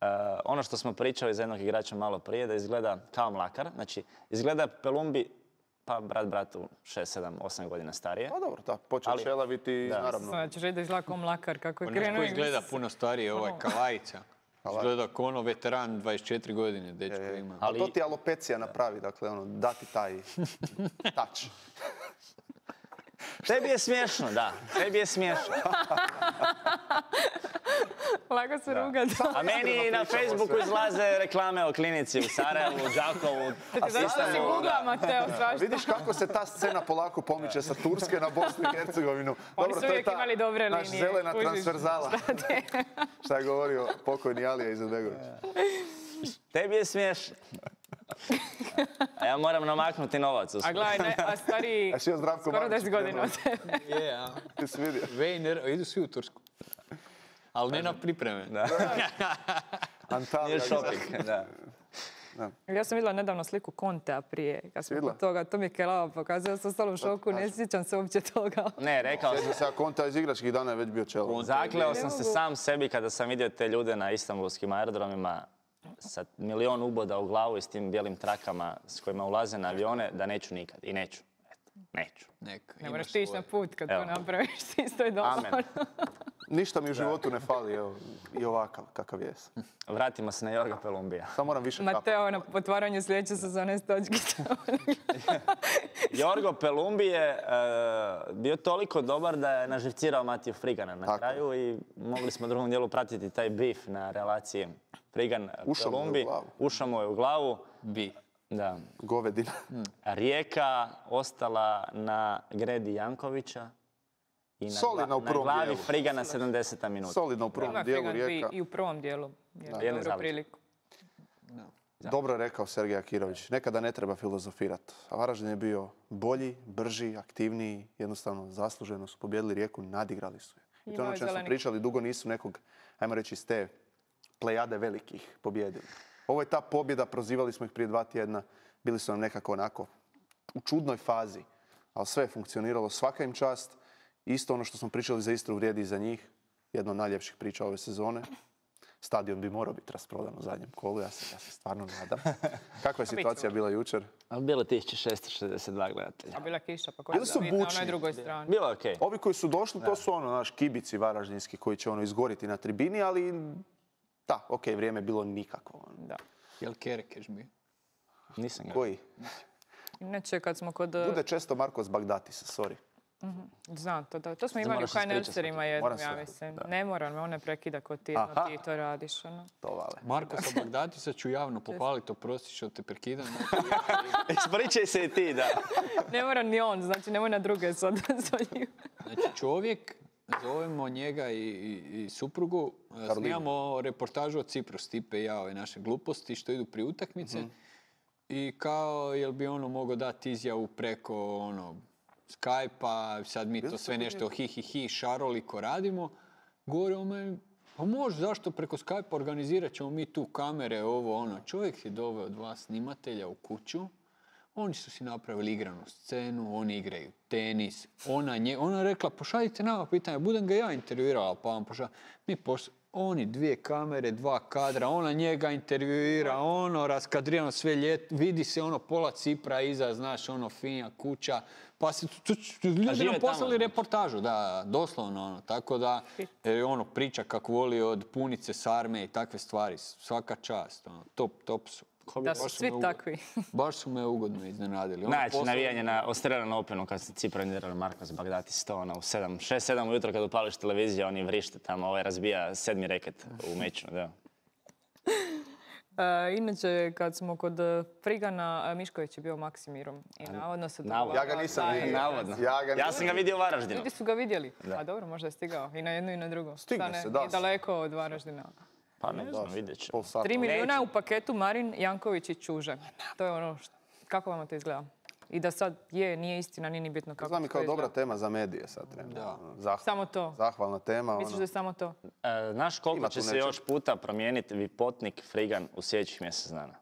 E, ono što smo pričali za jednog igrača malo prije, da izgleda kao Mlakar. Znači, izgleda Pelumbi, pa brat bratu šest, sedam, osam godina starije. Pa dobro, da, počeo Ali- čelaviti, Da. naravno. Znači, reći da izgleda kao Mlakar, kako je Pa znaš krenuo. ko i izgleda mislim- puno starije, ovaj Kalajica. Izgleda kao ono veteran, dvadeset četiri godine, dečko Je, je. ima. Ali to ti alopecija napravi, dakle, ono, dati taj touch. Tebi je smiješno, da. Tebi je smiješno. Lako se rugati. A meni i na Facebooku izlaze reklame o klinici u Sarajevu, u Đakovu, Zato si Istanbulu. googla, Mateo, svašta. Vidiš kako se ta scena polako pomiče sa Turske na Bosnu i Hercegovinu. Oni su uvijek imali dobre naš linije, zelena kužiš. transverzala. Šta je govorio pokojni Alija Izetbegović. Tebi je smiješno. A ja moram namaknuti novac. u A svoj- gledaj, ne, a stariji A si joj Zdravko skoro Mamić deset godina od krenuo. tebe. Je, a. Ti si vidio. Vejner, idu svi u Tursku. Ali ne na pripreme. Antalija. Nije shopping, da. Ja sam vidjela nedavno sliku Kontea prije, kad smo Vidjela? kod toga, to mi je Kelava pokazao, ja sam ostala u šoku, ne sjećam se uopće toga. Ne, rekao sam. Sjećam se, a Konta iz igračkih dana je već bio čelo. Zakleo sam Ne se mogu. sam sebi kada sam vidio te ljude na istanbulskim aerodromima sa milion uboda u glavu i s tim bijelim trakama s kojima ulaze na avione, da neću nikad. I neću. Eto, neću. Neka, Ne imaš moraš ti ići svoje. na put kad Evo. to napraviš, ti isto je dovoljno. Amen. Ništa mi u životu ne fali, evo, i ovakav, kakav jes. Vratimo se na Jorga Pelumbija. Samo moram više kapati. Mateo na otvaranju sljedeće sezone s točkice. Jorgo Pelumbi je e, bio toliko dobar da je naživcirao Matiju Frigana na Tako. kraju i mogli smo u drugom dijelu pratiti taj bif na relaciji Ušao mu je u Frigan-Pelumbi. glavu. Ušao mu je u glavu. Bi. Da. Govedina. Rijeka ostala na gredi Jankovića i na, Solidno u na prvom glavi dijelu. Frigana sedamdeseta minuta. Solidno u prvom Ima dijelu Frigan Rijeka. i u prvom dijelu. Jedne Jednu dobru završke. priliku. Dobro je rekao Sergej Akirović, nekada ne treba filozofirati. A Varaždin je bio bolji, brži, aktivniji, jednostavno zasluženo su pobjedili Rijeku, nadigrali su je. I to je ono čem smo pričali, dugo nisu nekog, ajmo reći, iz te plejade velikih pobjedili. Ovo je ta pobjeda, prozivali smo ih prije dva tjedna, bili su nam nekako onako u čudnoj fazi, ali sve je funkcioniralo, svaka im čast. Isto ono što smo pričali za Istru vrijedi i za njih, jedna od najljepših priča ove sezone. Stadion bi morao biti rasprodan u zadnjem kolu, ja se, ja se stvarno nadam. Kakva je situacija bila jučer? Bilo tisuću šesto šezdeset dva gledatelja. A bila kiša, pa koja Bili su na onoj bučni. drugoj strani. Bilo je okej. Ovi koji su došli, to su ono, naš kibici varaždinski koji će ono izgoriti na tribini, ali da, okej, vrijeme je bilo nikakvo. ono. Da. Jel Kerekeš bio? Nisam ga. Koji? Inače, kad smo kod... Bude često Markos Bagdatis, sorry. Znam, to, da. To smo Sad imali u moraš HNL-serima jednom, Moram ja se- mislim. Ne moram me, on ne prekida ko ti, Aha. no, ti to radiš. Ono. To vale. Markosa Bagdatisa ću javno pohvaliti, oprosti što te prekidam. Ispričaj se i ti, da. Ne mora ni on, znači nemoj na druge sad zvaljivati. Znači čovjek, zovemo njega i, i, i suprugu, Karolinu. snimamo reportažu od Cipru, Stipe i ja, ove naše gluposti što idu prije utakmice. I kao, jel bi ono mogao dati izjavu preko ono, Skype-a, sad mi to sve nešto hi hi hi šaroliko radimo. Govore o meni, pa može, zašto preko Skype-a organizirat ćemo mi tu kamere, ovo ono. Čovjek je doveo dva snimatelja u kuću, oni su si napravili igranu scenu, oni igraju tenis, ona, nje, ona je rekla, pošaljite nama pitanje, budem ga ja intervjuirala, pa vam pošalj. Mi poš... Oni dvije kamere, dva kadra, ona njega intervjuira, ono, raskadrirano sve ljet, vidi se ono pola Cipra iza, znaš, ono, finja kuća, pa se, tu, tu, tu, ljudi žive nam poslali tamo, reportažu, da, doslovno, ono, tako da, e, ono, priča kako voli od punice, sarme i takve stvari, svaka čast, ono, top, top su. Da su Baš svi me ugo- takvi. Baš su me ugodno iznenadili. Ono, Najjače poslali- navijanje na Australian Openu kad se Cipranirali Markos Bagdatis to ono u sedam, šest, sedam ujutro kad upališ televiziju, oni vrište tamo, ovaj razbija sedmi reket u meču, da. E, inače, kad smo kod e, Frigana, e, Mišković je bio Maksimirom. I navodno se Navodno. Ja ga nisam Da, vidio. Navodno. Ja ga Ja nisam sam ga vidio u Varaždinu. Ljudi su ga vidjeli. A dobro, možda je stigao. I na jednu i na drugu. Stigne Šta ne, se, da. I daleko od Varaždina. Pa ne znam, vidjet ćemo. Pol sata. Tri milijuna u paketu Marin, Janković i Čuže. To je ono, što, kako vam to izgleda? I da sad je, nije istina, nije ni bitno kako Znam i to kao dobra izgleda. tema za medije sad trenutno. Zah- Samo to. Zahvalna tema. Misliš ono. da je samo to? E, znaš koliko Ima tu će se nečeg. još puta promijeniti Vipotnik, Frigan u sljedećih mjesec dana?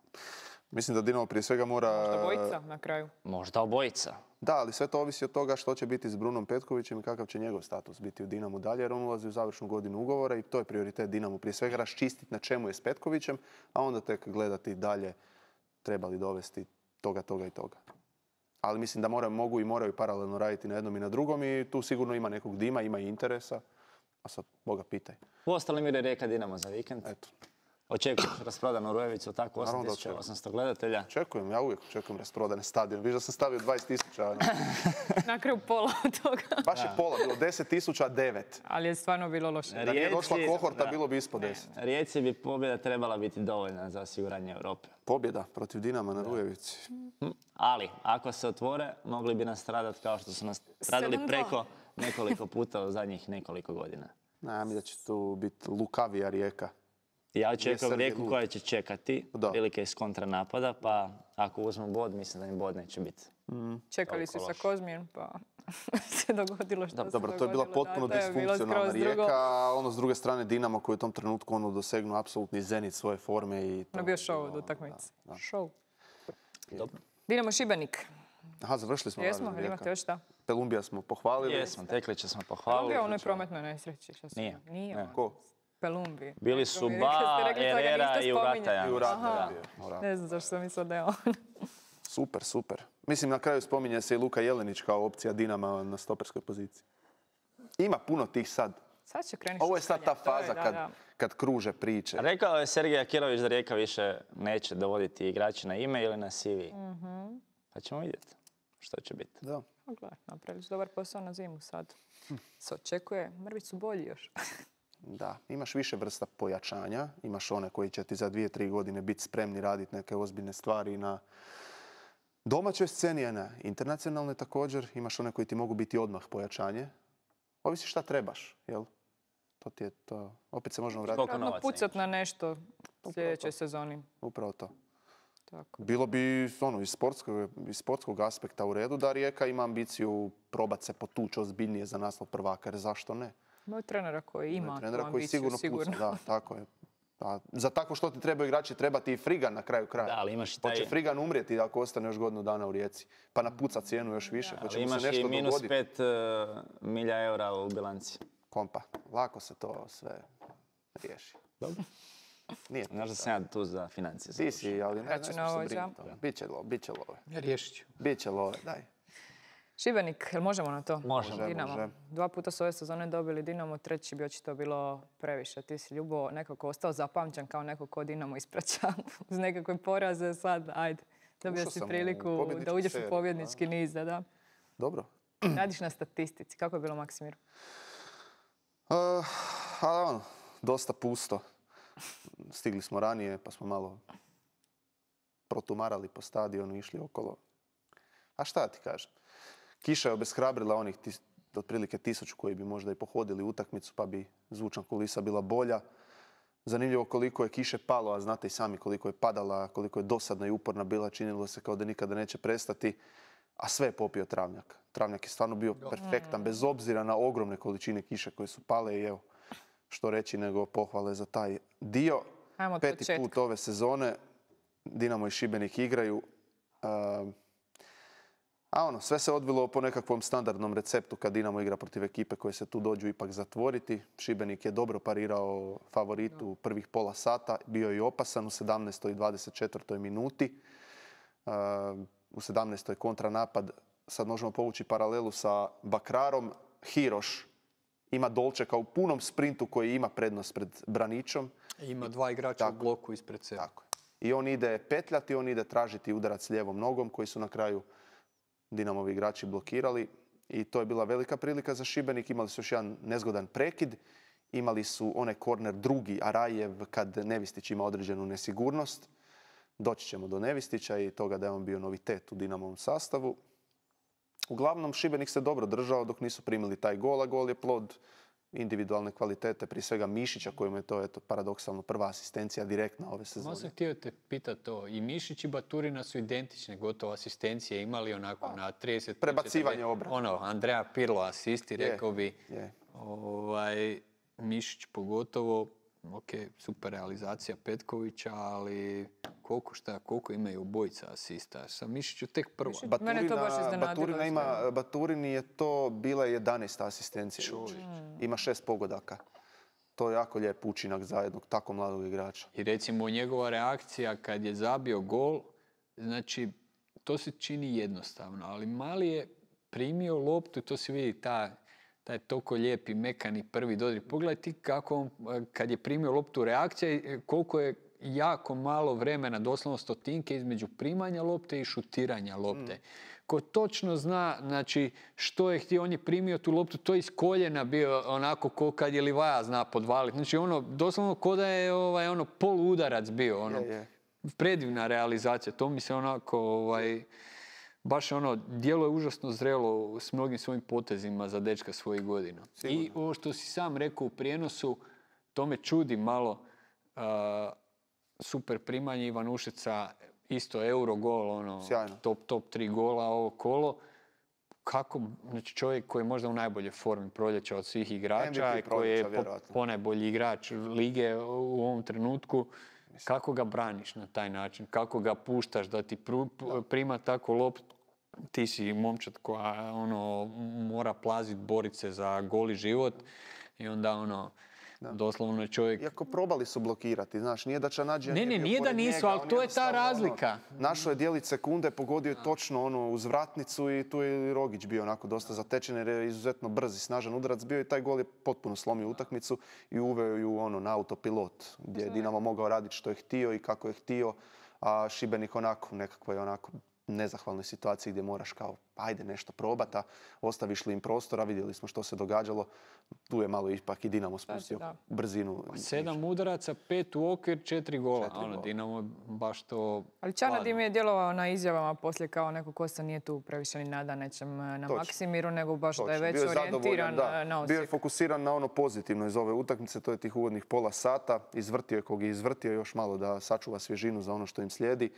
Mislim da Dinamo prije svega mora... Možda bojica na kraju. Možda obojica. Da, ali sve to ovisi od toga što će biti s Brunom Petkovićem i kakav će njegov status biti u Dinamu dalje, jer on ulazi u završnu godinu ugovora i to je prioritet Dinamu. Prije svega raščistiti na čemu je s Petkovićem, a onda tek gledati dalje treba li dovesti toga, toga i toga. Ali mislim da moraju, mogu i moraju paralelno raditi na jednom i na drugom i tu sigurno ima nekog dima, ima i interesa. A sad, Boga pitaj. U ostalim ide Rijeka Dinamo za vikend. Eto, Očekuješ rasprodanu Rujevicu, tako Naravno da osam tisuća očekujem. osamsto gledatelja. očekujem, ja uvijek očekujem rasprodane stadion. Viš da sam stavio dvadeset tisuća, ono. Na kraju pola od toga. Baš je pola, bilo deset tisuća devet. Ali je stvarno bilo loše. Da nije došla Rijeci- kohorta, da. bilo bi ispod deset. Rijeci bi pobjeda trebala biti dovoljna za osiguranje Europe. Pobjeda protiv Dinama na Rujevici. Ali, ako se otvore, mogli bi nas stradati kao što su nas stradali sedam dva. preko nekoliko puta u zadnjih nekoliko godina. Ne, mi da će tu biti lukavija Rijeka. Ja očekujem Srbija Rijeku lud. koja će čekati Da. prilike iz kontranapada, pa ako uzmu bod, mislim da im bod neće biti. Čekali su Toliko sa Kozmijem, pa se dogodilo što se Dobro, to je bila dogodilo. potpuno Da, to je bilo disfunkcionalna skroz drugo. Rijeka, a ono s druge strane Dinamo koji je u tom trenutku ono dosegnuo apsolutni zenit svoje forme i to Ono je bio je show bilo, od utakmice. da, da. Show. Dobro. Dinamo Šibenik. Aha, završili smo. Jesmo, Varaždin, ili imate Rijeka. još šta? Pelumbija smo pohvalili. Jesmo, Teklića smo On pohvalili. bio u onoj prometnoj nesreći. Što su- Nije. Nije. Ne. on. Ko? Pelumbi. Bili su Rekli ste- Ba, rekli ste da ga Herrera niste i spominjali. Urata. I u Rata Aha. je bio, u Rata. Ne znam zašto sam mislila da je on. Super, super. Mislim, na kraju spominje se i Luka Jelenić kao opcija Dinama na stoperskoj poziciji. Ima puno tih sad. Sad će krenuti Ovo je sad ta šutkanje, to je, faza da, kad, da. kad kruže priče. Rekao je Sergej Akirović da Rijeka više neće dovoditi igrače na ime ili na C V. Mhm. Pa ćemo vidjeti što će biti. Da. Pa gledaj, napravili su dobar posao na zimu sad. Se očekuje, mrvi su bolji još. Da, imaš više vrsta pojačanja. Imaš one koji će ti za dvije, tri godine biti spremni raditi neke ozbiljne stvari na domaćoj sceni, a na internacionalnoj također. Imaš one koji ti mogu biti odmah pojačanje. Ovisi šta trebaš, jel? To ti je to. Opet se možemo vratiti. Koliko Trebamo novaca pucat na nešto u sljedećoj sezoni. Upravo to. Tako. Bilo bi ono, iz, sportskog, iz sportskog aspekta u redu da Rijeka ima ambiciju probat se potući ozbiljnije za naslov prvaka, jer zašto ne? Imaju trenera koji ima tu trenera koji ambiciju, sigurno, sigurno. puca, da, tako je. A za tako što ti trebaju igrači treba ti i Frigan na kraju kraja. Da, ali imaš i taj... Hoće Frigan umrijeti ako ostane još godinu dana u Rijeci. Pa napuca cijenu još više. Da, Hoće ali mu se imaš nešto i minus dogoditi. pet uh, milja eura u bilanci. Kompa, lako se to sve riješi. Dobro. Nije to Znaš da tako. sam ja tu za financije. Ti si, ali ne, ne smiješ se Računovođa. brinuti. Biće love, biće love. Riješit ću. Biće love, daj. Šibenik, jel možemo na to? Možemo. Dinamo. Može. Dva puta su ove sezone dobili Dinamo, treći bi očito bilo previše. Ti si, Ljubo, nekako ostao zapamćen kao neko ko Dinamo ispraća uz nekakve poraze. Sad, ajde, dobio Ušao si sam u priliku pobjedničku da uđeš u seriju, pobjednički niz. Da, da. Dobro. Radiš na statistici. Kako je bilo, Maksimir? Uh, a ono, dosta pusto. Stigli smo ranije pa smo malo protumarali po stadionu, išli okolo. A šta ti kažem? Kiša je obeshrabrila onih tis, otprilike tisuću koji bi možda i pohodili utakmicu pa bi zvučna kulisa bila bolja. Zanimljivo koliko je kiše palo, a znate i sami koliko je padala, koliko je dosadna i uporna bila, činilo se kao da nikada neće prestati. A sve je popio travnjak. Travnjak je stvarno bio perfektan, bez obzira na ogromne količine kiše koje su pale i evo, što reći nego pohvale za taj dio. Ajmo od Peti početka. put ove sezone Dinamo i Šibenik igraju. Uh, a ono, sve se odvilo po nekakvom standardnom receptu kad Dinamo igra protiv ekipe koje se tu dođu ipak zatvoriti. Šibenik je dobro parirao favoritu prvih pola sata, bio je i opasan u sedamnaestoj i dvadeset četvrtoj minuti. Uh, u sedamnaestoj kontranapad, sad možemo povući paralelu sa Bakrarom. Hiroš ima Dolčeka u punom sprintu koji ima prednost pred Branićom. Ima dva igrača Tako. u bloku ispred sebe. Tako je. I on ide petljati, on ide tražiti udarac lijevom nogom koji su na kraju Dinamovi igrači blokirali. I to je bila velika prilika za Šibenik. Imali su još jedan nezgodan prekid. Imali su onaj korner drugi, Arajev, kad Nevistić ima određenu nesigurnost. Doći ćemo do Nevistića i toga da je on bio novitet u Dinamovom sastavu. Uglavnom, Šibenik se dobro držao dok nisu primili taj gol, a gol je plod individualne kvalitete, prije svega Mišića, kojemu je to eto, paradoksalno prva asistencija direktna ove Malo sezone. sam htio te pitati to. I Mišić i Baturina su identične, gotovo asistencije imali onako na trideset... Prebacivanje obrane. Ono, Andreja Pirlo asisti, Je, rekao bi. je. Ovaj, Mišić pogotovo, ok, super realizacija Petkovića, ali koliko šta, koliko imaju obojica asista. Sa Mišiću tek prvo. Mišić- Mene to baš iznenadilo, Baturina ima, iskreno. Baturini je to bila jedanaesta asistencija. Ima šest pogodaka. To je jako lijep učinak za jednog tako mladog igrača. I recimo njegova reakcija kad je zabio gol, znači to se čini jednostavno, ali Mali je primio loptu, to se vidi ta, taj toliko lijepi, mekani prvi dodir. Pogledaj ti kako on, kad je primio loptu reakcija, i koliko je jako malo vremena, doslovno stotinke između primanja lopte i šutiranja lopte. Ko točno zna, znači, što je htio, on je primio tu loptu, to je iz koljena bio onako ko kad je Livaja zna podvaliti. Znači, ono, doslovno ko da je ovaj, ono, poluudarac bio, ono, Je, je. predivna realizacija. To mi se onako, ovaj, baš ono, djelo je užasno zrelo s mnogim svojim potezima za dečka svojih godina. Sigurno. I ovo što si sam rekao u prijenosu, to me čudi malo, a, super primanje Ivanušica, isto euro gol, ono, Sjajno. top, top tri gola ovo kolo. Kako, znači čovjek koji je možda u najboljoj formi proljeća od svih igrača, M V P i koji je proljeća, po, vjerojatno. ponajbolji igrač lige u ovom trenutku, kako ga braniš na taj način? Kako ga puštaš da ti pru, prima tako loptu? Ti si momčad koja ono, mora plazit, borit se za goli život i onda ono, doslovno je čovjek... Iako probali su blokirati, znaš, nije da Čanađija Ne, ne, bio nije da pored nisu, njega, ali on to je ta jednostavno, razlika. Ono, našao je djelić sekunde, pogodio je točno ono uz vratnicu i tu je i Rogić bio onako dosta zatečen jer je izuzetno brz i snažan udarac bio i taj gol je potpuno slomio utakmicu i uveo ju ono na autopilot gdje je Dinamo mogao raditi što je htio i kako je htio, a Šibenik onako nekakvoj onako nezahvalnoj situaciji gdje moraš kao ajde nešto probati, a ostaviš li im prostora, vidjeli smo što se događalo, tu je malo ipak i Dinamo spustio da. brzinu. Sedam udaraca, pet u okvir, četiri gola. Četiri ono, gola. Dinamo baš to... Ali Čana hladno. Dim je djelovao na izjavama poslije kao neko ko se nije tu previše ni nada nečem na Točno. Maksimiru, nego baš da je Točno, već bio je orijentiran zadovoljan, da. na Bio je Osijek. fokusiran na ono pozitivno iz ove utakmice, to je tih uvodnih pola sata. Izvrtio je kog je izvrtio još malo da sačuva svježinu za ono što im slijedi.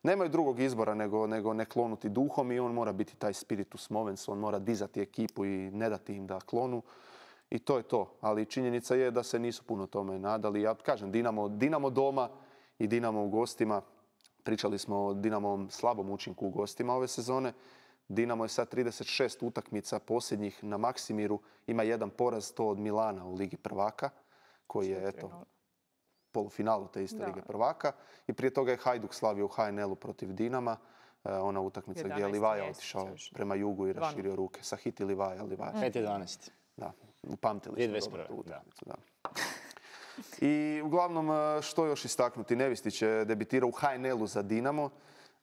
nemaju drugog izbora nego, nego ne klonuti duhom i on mora biti taj spiritus movens, on mora dizati ekipu i ne dati im da klonu. I to je to. Ali činjenica je da se nisu puno tome nadali. Ja kažem, Dinamo, Dinamo doma i Dinamo u gostima. Pričali smo o Dinamovom slabom učinku u gostima ove sezone. Dinamo je sad trideset šest utakmica posljednjih na Maksimiru. Ima jedan poraz, to od Milana u Ligi prvaka, koji je, eto, polufinalu te iste Lige prvaka. I prije toga je Hajduk slavio u ha en el-u protiv Dinama. Ona utakmica gdje je Livaja otišao prema jugu i raširio ruke. Sahiti Livaja, Livaja. pet jedanaest. Da, upamtili smo dobro tu Da. utakmicu, da. I uglavnom, što još istaknuti? Nevistić je debitirao u ha en el-u za Dinamo.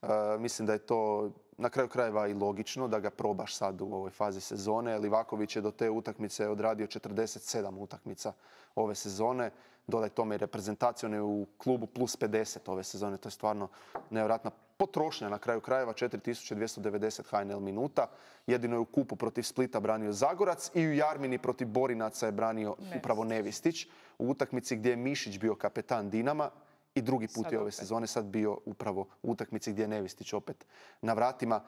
Uh, mislim da je to na kraju krajeva i logično da ga probaš sad u ovoj fazi sezone. Livaković je do te utakmice odradio četrdeset sedam utakmica ove sezone. Dodaj tome i reprezentacione u klubu plus pedeset ove sezone. To je stvarno nevjerojatna potrošnja na kraju krajeva. četiri tisuće dvjesto devedeset ha en el minuta. Jedino je u kupu protiv Splita branio Zagorac i u Jarmini protiv Borinaca je branio upravo Nevistić. U utakmici gdje je Mišić bio kapetan Dinama. I drugi put sad je ove opet. Sezone sad bio upravo u utakmici gdje je Nevistić opet na vratima.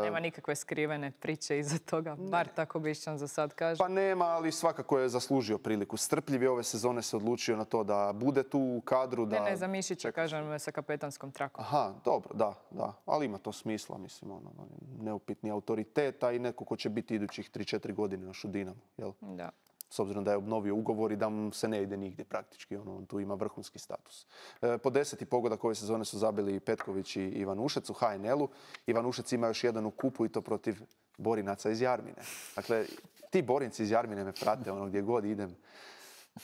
Nema nikakve skrivene priče iza toga, bar tako Bišćan za sad kaže. Pa nema, ali svakako je zaslužio priliku. Strpljiv je ove sezone se odlučio na to da bude tu u kadru. Da... Ne, ne, za Mišića kažem sa kapetanskom trakom. Aha, dobro, da, da. Ali ima to smisla, mislim, ono, neupitni autoritet, a i neko ko će biti idućih tri četiri godine još u Dinamu, jel? Da. S obzirom da je obnovio ugovor i da mu se ne ide nigdje praktički. Ono, on tu ima vrhunski status. E, po deseti pogodak ove sezone su zabili Petković i Ivanušec u ha en el-u. Ivanušec ima još jedan u kupu i to protiv Borinaca iz Jarmine. Dakle, ti Borinci iz Jarmine me prate ono gdje god idem.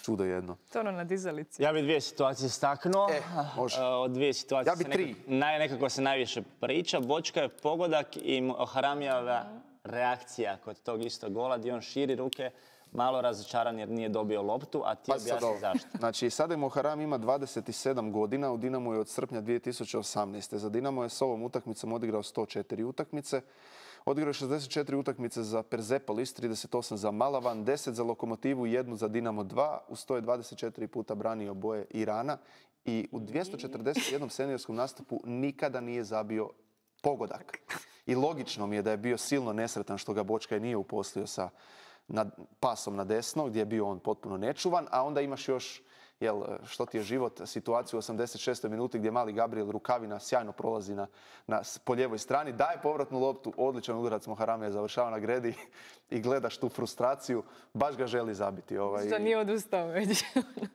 Čudo jedno. To ono na dizalici. Ja bi dvije situacije istaknuo. E, može. Od dvije situacije ja bi tri. Nekako, naj, nekako se najviše priča. Bočka je pogodak i Haramijeva reakcija kod tog istog gola gdje on širi ruke. Malo razočaran jer nije dobio loptu, a ti objasni zašto. Znači, sada je Moharam ima dvadeset sedam godina, u Dinamu je od srpnja dvije tisuće osamnaeste. Za Dinamo je s ovom utakmicom odigrao sto četiri utakmice. Odigrao je šezdeset četiri utakmice za Persepolis, trideset osam za Malavan, deset za Lokomotivu, jednu za Dinamo dva. Uz to je dvadeset četiri puta branio boje Irana. I u dvjesto četrdeset jednom seniorskom nastupu nikada nije zabio pogodak. I logično mi je da je bio silno nesretan što ga Bočka nije uposlio sa nad pasom na desno, gdje je bio on potpuno nečuvan, a onda imaš još, jel, što ti je život, situaciju u osamdeset šestoj minuti gdje mali Gabriel Rukavina sjajno prolazi na, na, po lijevoj strani, daje povratnu loptu, odličan udarac Moharamija završava na gredi i gledaš tu frustraciju, baš ga želi zabiti. Ovaj. Što nije odustao već.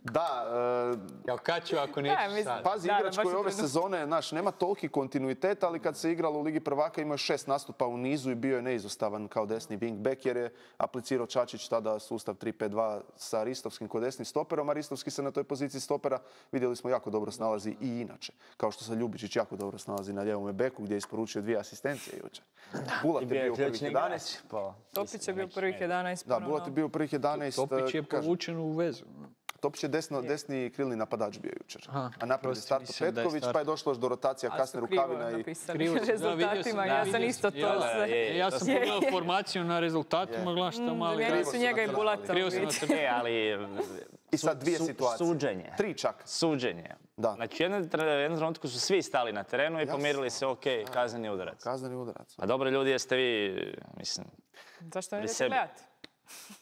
Da. Uh, ja kad ću ako neću sad. Pazi, da, igrač koji ove sezone, znaš, nema toliki kontinuitet, ali kad se igralo u Ligi prvaka imao je šest nastupa u nizu i bio je neizostavan kao desni wingback jer je aplicirao Čačić tada sustav tri pet dva sa Ristovskim kod desnim stoperom, a Ristovski se na toj poziciji stopera vidjeli smo jako dobro snalazi i inače. Kao što se Ljubičić jako dobro snalazi na lijevom beku gdje je isporučio dvije asistencije jučer. Bulat je bio u prvih jedanaest. Topić je bio prvih jedanaest. Da, Bulat je bio prvih jedanaest. Topić je povučen u vezu. Topić je desno, desni krilni napadač bio jučer. Aha, a napred je starto Petković, pa je došlo još do rotacija kasne Rukavina i... Krivo rezultatima, ja sam isto to sve. Ja sam pogledao formaciju na rezultatima, gledam šta mali... Zamijenili su njega i Bulata. Krivo sam na crtu. E, ali... I sad dvije situacije. Suđenje. Tri čak. Suđenje. Da. Znači, u jednom trenutku su svi stali na terenu i pomjerili se, ok, kazneni udarac. Kazneni udarac. A dobro, ljudi, jeste vi, mislim... Zašto ne idete gledati?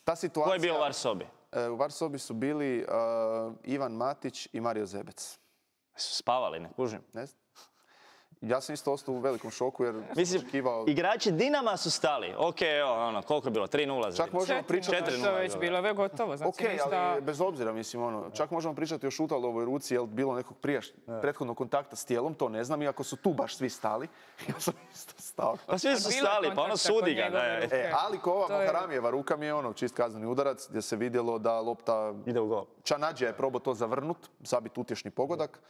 Ta situacija... Ko je bio u var sobi? U var sobi su bili uh, Ivan Matić i Mario Zebec. Su spavali, ne kužim. Ne znam. Ja sam isto ostao u velikom šoku jer mislim, sam očekivao... igrači Dinama su stali. Ok, evo, ono, koliko je bilo? tri nula. Čak možemo pričati... četiri nula. To je već bilo, već gotovo. Znači, ok, ali bez obzira, mislim, ono, čak možemo pričati o Šutalovoj ruci, jel bilo nekog prijaš, prethodnog kontakta s tijelom, to ne znam, iako su tu baš svi stali. Ja sam isto stao. Pa svi su stali, pa ono sudi ga. E, ali ko ova Moharamijeva ruka mi je ono, čist kazneni udarac, gdje se vidjelo da lopta... ide u gol. Čanađija je probao to zavrnut, zabit utješni pogodak.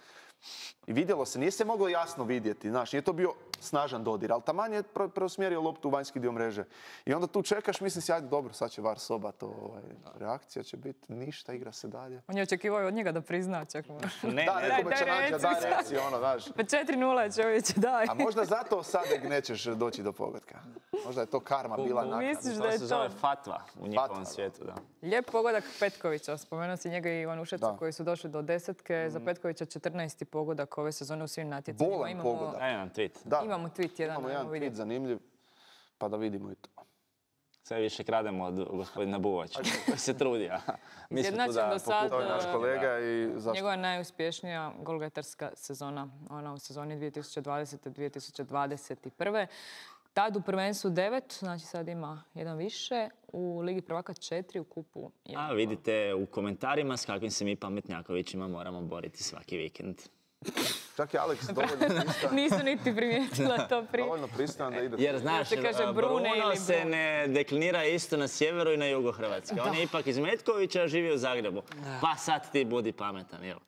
I vidjelo se, nije se moglo jasno vidjeti, znaš, nije to bio snažan dodir, ali taman je preusmjerio loptu u vanjski dio mreže. I onda tu čekaš, mislim si, ajde, dobro, sad će var soba, to ovaj, reakcija će biti, ništa, igra se dalje. On je očekivao od njega da prizna, čak možda. Ne, da, neko će nađa, da, reakciju, ono, znaš. Pa četiri nula čovječe, daj. A možda zato sad nećeš doći do pogotka. Možda je to karma bila nakon. Misliš da je to? To se zove fatva u njihovom svijetu, da. Lijep pogodak Petkovića, spomenuo si njega i Ivanušeca koji su došli do desetke, za Petkovića četrnaesti pogodak ove sezone u svim natjecanjima. Bolan Imamo, pogodak. Daj nam tweet. Da, imamo tweet jedan. imamo jedan ajmo vidjeti. tweet zanimljiv, pa da vidimo i to. Sve više krademo od gospodina Buvača, koji se trudi. a Mi smo tu Izjednačen da do sad, To je naš Da. kolega i zašto? Njegova najuspješnija golgetarska sezona, ona u sezoni dvije tisuće dvadesete dvije tisuće dvadeset prve. Tad u prvenstvu devet, znači sad ima jedan više, u Ligi prvaka četiri, u kupu jedan. A vidite u komentarima s kakvim se mi pametnjakovićima moramo boriti svaki vikend. Čak je Alex dovoljno pristojan, Nisam niti primijetila to prije. dovoljno pristojan da ide. Jer znaš, se kaže Bruno Brune ili se Brun. ne deklinira isto na sjeveru i na jugu Hrvatske. On je ipak iz Metkovića, živi u Zagrebu. Pa sad ti budi pametan, jel?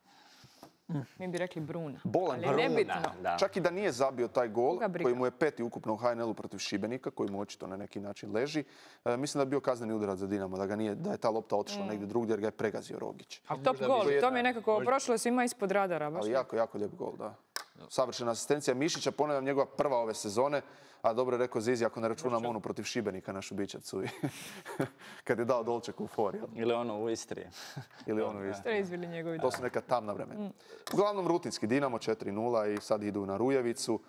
Mi bi rekli Bruna. Bolan, Ali Bruna. nebitno. Da, da. Čak i da nije zabio taj gol, Koga briga? koji mu je peti ukupno u H N L-u protiv Šibenika, koji mu očito na neki način leži, e, mislim da je bio kazneni udarac za Dinamo, da, ga nije, da je ta lopta otišla negdje drugdje jer ga je pregazio Rogić. A top gol, to mi je nekako prošlo svima ispod radara. Baš Ali jako, jako lijep gol, da. Savršena asistencija Mišića, ponavljam, njegova prva ove sezone, a dobro je rekao Zizi, ako ne računam onu protiv Šibenika, našu bičacu, i kad je dao Dolčeku u for, jel? Ili ono u Istri. Ili onu isto. To je izvili njegovi. To su neka tamna vremena. Uglavnom rutinski Dinamo četiri nula i sad idu na Rujevicu,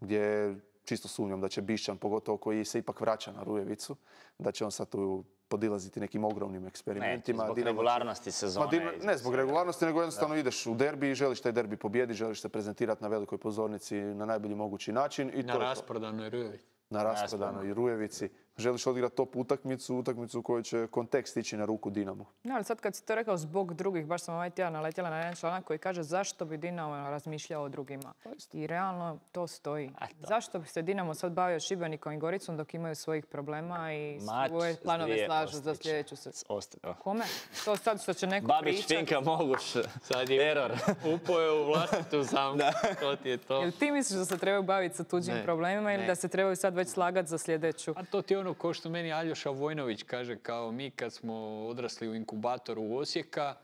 gdje čisto sumnjam da će Bišćan, pogotovo koji se ipak vraća na Rujevicu, da će on sad tu podilaziti nekim ogromnim Ne, eksperimentima. zbog Dinamo će- regularnosti Ma, sezone. Dinamo- ne zbog regularnosti, nego jednostavno ideš u derbi i želiš taj derbi pobijediti, želiš se prezentirati na velikoj pozornici na najbolji mogući način. I Na to je to. rasprodanoj Rujevi. Na rasprodanoj Rujevici. Želiš odigrati top utakmicu, utakmicu u kojoj će kontekst ići na ruku Dinamu. No, ali sad kad si to rekao zbog drugih, baš sam ovaj tjedan naletjela na jedan članak koji kaže zašto bi Dinamo razmišljao o drugima. I realno to stoji. Zašto bi se Dinamo sad bavio Šibenikom i Goricom dok imaju svojih problema i Mač svoje s planove dvije slažu za Ostić. sljedeću se. Ostao. Kome? To sad što će neko Babić, pričat. Finka, Moguš. Sad je Error. upao je u vlastitu zamku. To ti je to. Jel ti misliš da se trebaju baviti sa tuđim Ne, problemima ili ne. da se trebaju sad već slagati za sljedeću? A to ti je ono ko što meni Aljoša Vojnović kaže, kao mi kad smo odrasli u inkubatoru u Osijeka,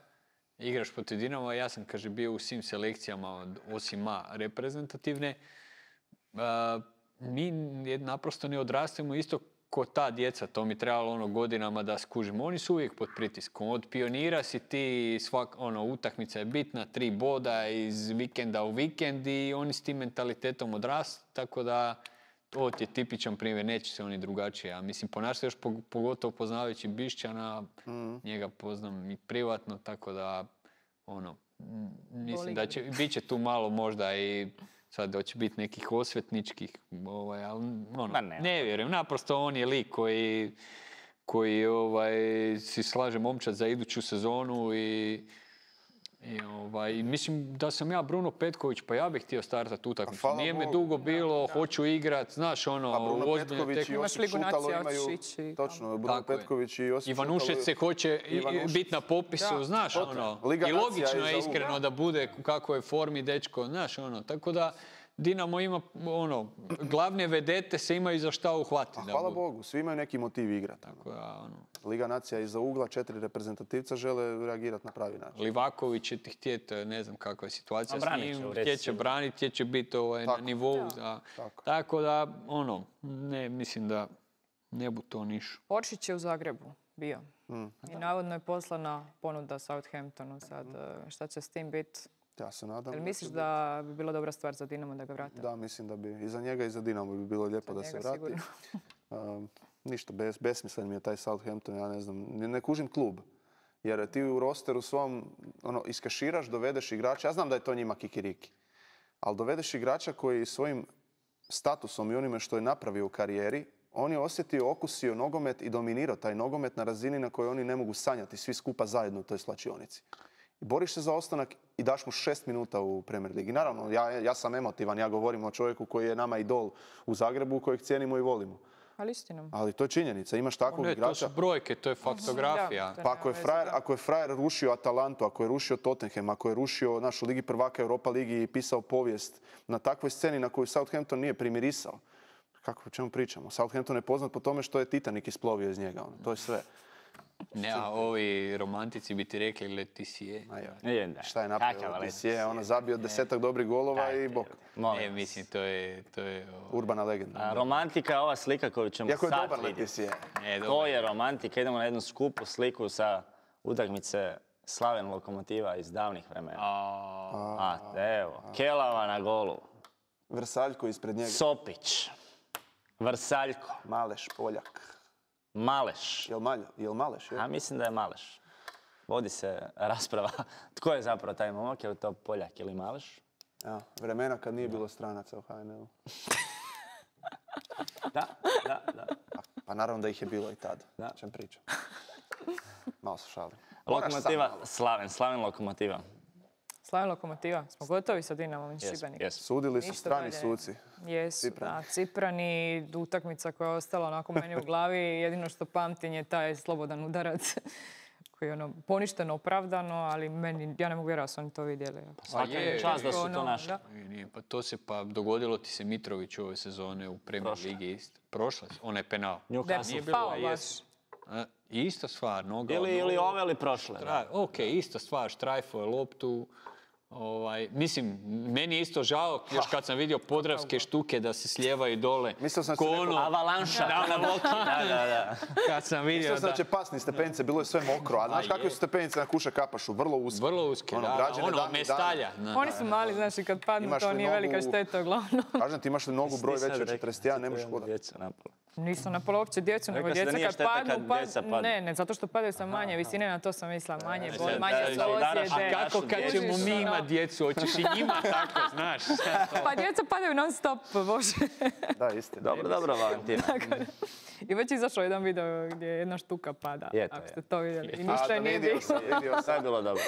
igraš protiv Dinama, ja sam, kaže, bio u svim selekcijama od osim A reprezentativne. A, mi naprosto ne odrastemo isto ko ta djeca, to mi trebalo ono godinama da skužimo. Oni su uvijek pod pritiskom. Od pionira si ti, svak, ono, utakmica je bitna, tri boda iz vikenda u vikend i oni s tim mentalitetom odrastu, tako da ovo ti je tipičan primjer, neće se oni drugačije. A mislim, ponaša se još pog- pogotovo poznavajući Bišćana, njega poznam i privatno, tako da, ono, m, mislim da će, bit će tu malo možda i sad da će biti nekih osvetničkih, ovaj, ali ono, Ma ne. ne vjerujem. Naprosto on je lik koji, koji ovaj, si slaže momčad za iduću sezonu i I ovaj, mislim da sam ja Bruno Petković, pa ja bih htio startati utakmicu. hvala Nije me Bogu. dugo bilo, hoću igrat, znaš ono, A Bruno ozbiljne Petković i tekme. Imaš Josip Ligu Šutalo nacija, imaju... hoćeš ići Točno, Bruno Tako je. Petković i Josip Ivanušec Šutalo- se hoće Ivanušec. biti na popisu, Da. znaš Točno. ono. Liga I nacija logično je je za iskreno uvijek. da bude u kakvoj formi dečko, znaš ono. Tako da Dinamo ima ono, glavne vedete se imaju za šta uhvatiti. A da hvala budu. Bogu, svi imaju neki motiv igrati. Tako da, ono, Liga nacija iza ugla, četiri reprezentativca žele reagirati na pravi način. Livaković će ti htjeti, ne znam kakva je situacija A s branit će, njim, u redu htjet će sigurno. braniti, htjet će biti ovaj, na Tako. nivou. Za, Tako. tako da, ono, ne, mislim da ne bu to niš. Oršić je u Zagrebu bio. I navodno je poslana ponuda Southamptonu sad. e, Šta će s tim biti? Ja se nadam. Jel da misliš će da bi bila dobra stvar za Dinamo da ga vrate? biti- Da, mislim da bi i za njega i za Dinamo bi bilo lijepo Za da se njega vrati. sigurno. Um, ništa, bes, besmislen mi je taj Southampton, ja ne znam, ne, ne kužim klub. Jer ti u rosteru svom ono, iskaširaš, dovedeš igrača, ja znam da je to njima kikiriki, ali dovedeš igrača koji svojim statusom i onime što je napravio u karijeri, on je osjetio, okusio nogomet i dominirao taj nogomet na razini na kojoj oni ne mogu sanjati svi skupa zajedno u toj slačionici. I boriš se za ostanak i daš mu šest minuta u Premier Ligi. Naravno, ja, ja sam emotivan, ja govorim o čovjeku koji je nama idol u Zagrebu, kojeg cijenimo i volimo. Ali istinom. Ali to je činjenica, imaš takvog Ne, to igrača. su brojke, to je faktografija. Da, to Pa ako je, nema frajer, veze, da. ako je frajer rušio Atalantu, ako je rušio Tottenham, ako je rušio našu Ligi prvaka Europa Ligi i pisao povijest na takvoj sceni na koju Southampton nije primirisao, kako o čemu pričamo? Southampton je poznat po tome što je Titanic isplovio iz njega. Ono. To je sve. Ne, a ovi romantici bi ti rekli Leticije. A ja. Je, da. Šta je napravio? Kakav Leticije? Ona zabio desetak dobrih golova Dajte, i bok. molim Ne, vas. mislim, to je... To je o, Urbana legenda. A, romantika je ova slika koju ćemo Iako je sad dobar vidjeti. Leticije. ne, To dobro. je romantika. Idemo na jednu skupu sliku sa utakmice Slaven Lokomotiva iz davnih vremena. A, A, evo, Kelava na golu. Vrsaljko ispred njega. Sopić. Vrsaljko. Maleš, Poljak. Maleš. Jel, malja, jel Maleš? Je? A mislim da je Maleš. Vodi se rasprava. Tko je zapravo taj momak? Je li to Poljak ili Maleš? Ja, vremena kad nije bilo stranaca u H N L-u. Da, da, da. Pa, pa naravno da ih je bilo i tad. Da. Čem pričam. Malo se šalim. Lokomotiva, Slaven, Slaven Lokomotiva. Slaven Lokomotiva. Smo gotovi sa Dinamom iz Jes, Šibenika. jes. Sudili su Ništa strani dalje. suci. Jesu, Ciprani. da. Ciprani, utakmica koja je ostala onako meni u glavi. Jedino što pamtim je taj slobodan udarac koji je ono poništeno, opravdano, ali meni, ja ne mogu vjerovati da su oni to vidjeli. Svaka je, čast da su to ono, našli. da. nije, nije, pa to se pa dogodilo ti se Mitrović ove sezone u Premier Prošle. Ligi isto. Prošle, onaj penal. Newcastle. Nije bilo a baš. jesu. A, ista stvar, noga. Ili, ili ove ili prošle. da. Tra- ok, ista stvar, štrajfo je loptu. Ovaj, mislim, meni je isto žao, još kad sam vidio podravske štuke da se slijevaju dole. Mislio sam ko si rekao- ono, Avalanša, kao na Loki. Da, da, da. kad sam vidio Mislio sam da... da će pasni stepenice, bilo je sve mokro. A znaš je. kakve su stepenice na Kuša Kapašu? Vrlo uske. Vrlo uske, Ono, da, građene ono, davnih mestalja. dana. da. Oni su mali, znaš, i kad padnu, Imaš to li nije velika nogu- šteta, uglavnom. Kažem ti, imaš li nogu broj Nisam veći od rekao, četrdeset jedan, ne možeš hodati. djecu napala. Nisam napala uopće djecu, nego Rekao si da djeca nije kad šteta padnu, kad pa- djeca padnu. ne, ne, zato što padaju sa manje visine, na to sam mislila, manje bol, da, manje da, da, udaraš ozljede. na Kako kad Kužiš, ćemo mi ono. imat djecu, hoćeš i njima tako, znaš. Pa djeca padaju non stop, bože. Da, istina. Dobro, dobro, Valentina. I već je izašao jedan video gdje jedna štuka pada, Je, to ako je. ste to vidjeli. I A, ništa da, nije vidio bilo. sam, vidio Sve sam. je bilo dobro.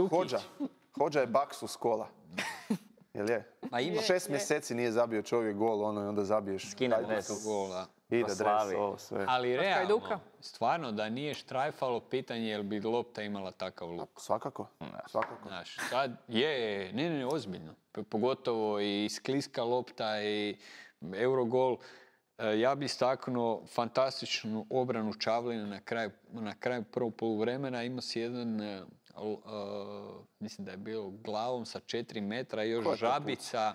Hođa. Hođa je baksu s kola. Jel je? A ima Šest mjeseci nije zabio čovjek gol, ono i onda zabiješ. Skine taj dres. gol. gola. Ide Pa dres, slavi. ovo sve. Ali realno, Hajduka. stvarno da nije štrajfalo, pitanje je li bi lopta imala takav luk. Svakako, svakako. Znaš, sad je, je, ne, ne, ne, ozbiljno. P- Pogotovo i skliska lopta i Eurogol. E, Ja bi istaknuo fantastičnu obranu Čavlina na kraju, na kraju prvog poluvremena. Ima si jedan, e, l- e, mislim da je bio glavom sa četiri metra i Ko još je to žabica.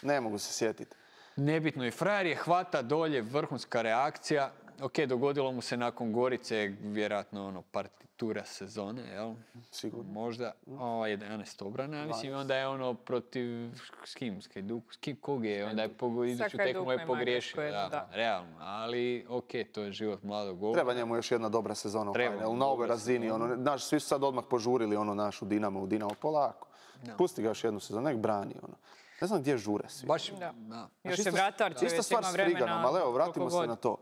Ne mogu se sjetiti. Nebitno i frajer je hvata dolje, vrhunska reakcija. Ok, dogodilo mu se nakon Gorice, vjerojatno ono, partitura sezone, jel? Sigurno. Možda o, jedanaest obrana, mislim, i onda je ono protiv, s kim, s Hajduk, s kim, kog je, onda je pogo, iduću tekmu Hajdukom je je pogriješio, Mađarsku, da, da. realno, ali ok, to je život mladog golmana. Treba njemu još jedna dobra sezona u Treba, H N L-u, na ovoj dobra razini. Ono, znaš, svi su sad odmah požurili ono našu Dinamo u Dinamo polako. Pusti ga još jednu sezonu, nek brani. Ono. Ne znam gdje žure svi. Baš, Da. da. Još Isto- je vratar, će Ista već stvar ima s vremena. Friganom, ali evo, vratimo koliko se god. na to.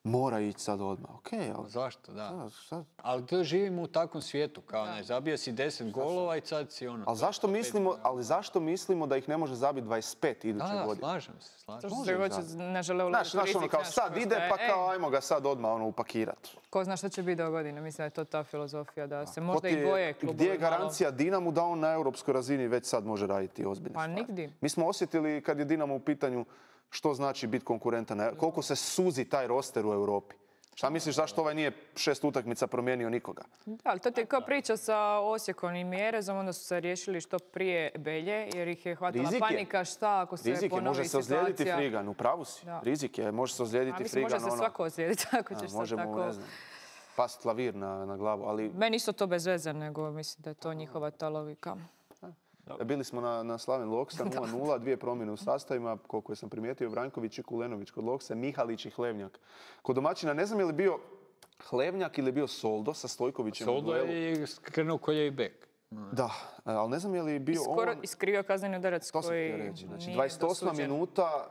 Mora ići sad odmah, okej, ali... Zašto, da. Sad- sad- Ali to živimo u takvom svijetu, kao ne, zabio si deset golova i sad si ono... Ali zašto mislimo, ali zašto mislimo da ih ne može zabiti dvadeset pet iduće Da, da, godine? slažem se, slažem To se. što Može se hoće, zabiti. ne žele Znaš, uložiti znaš, ono rizik, kao znaš, sad ko ide, šta je, pa kao ej, ajmo ga sad odmah ono upakirati. Ko zna šta će biti do godine, mislim da je to ta filozofija, da se možda Ko ti i je- boje klubovi Gdje je malo. garancija Dinamu da on na europskoj razini već sad može raditi ozbiljne Pa stvari? nigdje. Mi smo osjetili kad je Dinamo u pitanju što znači biti konkurentan, na- koliko se suzi taj roster u Europi. Šta misliš zašto ovaj nije šest utakmica promijenio nikoga? Da, ali to ti je kao priča sa Osijekom i Mjerezom, onda su se riješili što prije Belje, jer ih je hvatala Rizik je. panika šta ako se Rizik je, ponovi može se ozlijediti situacija. Frigan, u pravu si. Da. Rizik je, može se A ozlijediti mislim, Frigan. može se ono, svako ozlijediti ako a, ćeš sad može mu, tako... ne znam, past klavir na, na glavu, ali Meni isto to bez veze, nego mislim da je to njihova ta logika. bili smo na, na Slaven Loksa, nula nula, dvije promjene u sastavima, koliko sam primijetio, Vranković i Kulenović kod Loksa, Mihalić i Hlevnjak. Kod domaćina ne znam je li bio Hlevnjak ili je bio Soldo sa Stojkovićem u Soldo duelu. je krenuo kolje i bek. Da, ali ne znam je li bio Skoro on... iskrivio kazneni udarac To sam koji htio reći. Znači, nije dvadeset osma dosuđen. minuta,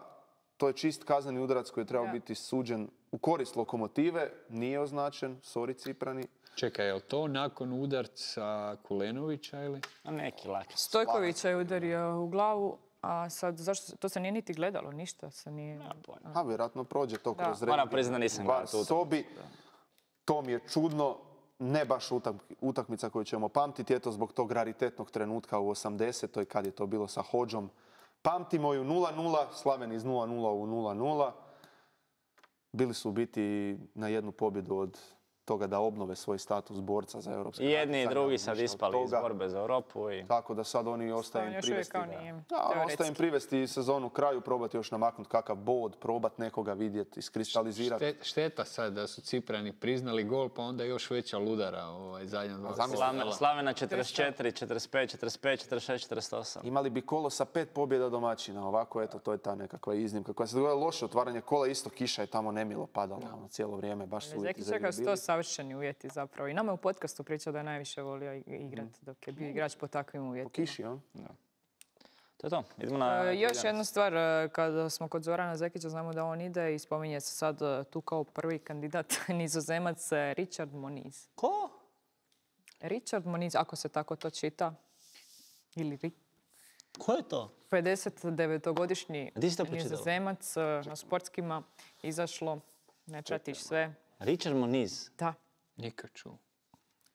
to je čist kazneni udarac koji je trebao Da. biti suđen u korist Lokomotive, nije označen, sorry Ciprani. Čekaj, je li to nakon udarca Kulenovića ili? A neki laki. Stojkovića je udario u glavu, a sad zašto, to se nije niti gledalo, ništa se nije... A vjerojatno prođe to Da. kroz Moram rentgen. priznat da nisam Bar gledao tu utakmicu, sobi. To mi je čudno, ne baš utak- utakmica koju ćemo pamtiti, eto zbog tog raritetnog trenutka u osamdesetoj kad je to bilo sa Hođom. Pamtimo ju nula nula, Slaven iz nula nula u nula nula. Bili su u biti na jednu pobjedu od toga da obnove svoj status borca za europske I jedni i natjecanja, drugi ništa sad od ispali iz toga. borbe za Europu. I... Tako da sad oni ostaje im još uvijek privesti. kao ga. nije, Da, ostaje im teoretski. privesti sezonu kraju, probati još namaknuti kakav bod, probati nekoga vidjeti, iskristalizirati. Šte- šteta sad da su Ciprani priznali gol, pa onda još veća ludara ovaj, zadnja dva zamisli- kola. Slaven- Slavena četrdeset četiri, četrdeset pet, četrdeset pet, četrdeset šest, četrdeset osam. Imali bi kolo sa pet pobjeda domaćina, ovako eto, to je ta nekakva iznimka. Koja se dogodila loše otvaranje kola, isto kiša je tamo nemilo padala ono, cijelo vrijeme, baš su uvjeti Zeki za igru čeka su to bili. savršeni uvjeti zapravo. I nama je u podcastu pričao da je najviše volio igrati dok je bio igrač po takvim Po uvjetima. kiši, on? To je to. Idemo na... E, još jedna stvar, e, kada smo kod Zorana Zekića, znamo da on ide i spominje se sad e, tu kao prvi kandidat Nizozemac e, Richard Moniz. Ko? Richard Moniz, ako se tako to čita, ili Ri- Ko je to? pedesetdevetogodišnji Di si to pročitala? Nizozemac e, na sportskima, izašlo, ne pratiš sve. Richard Moniz. Da, Nikad čuo.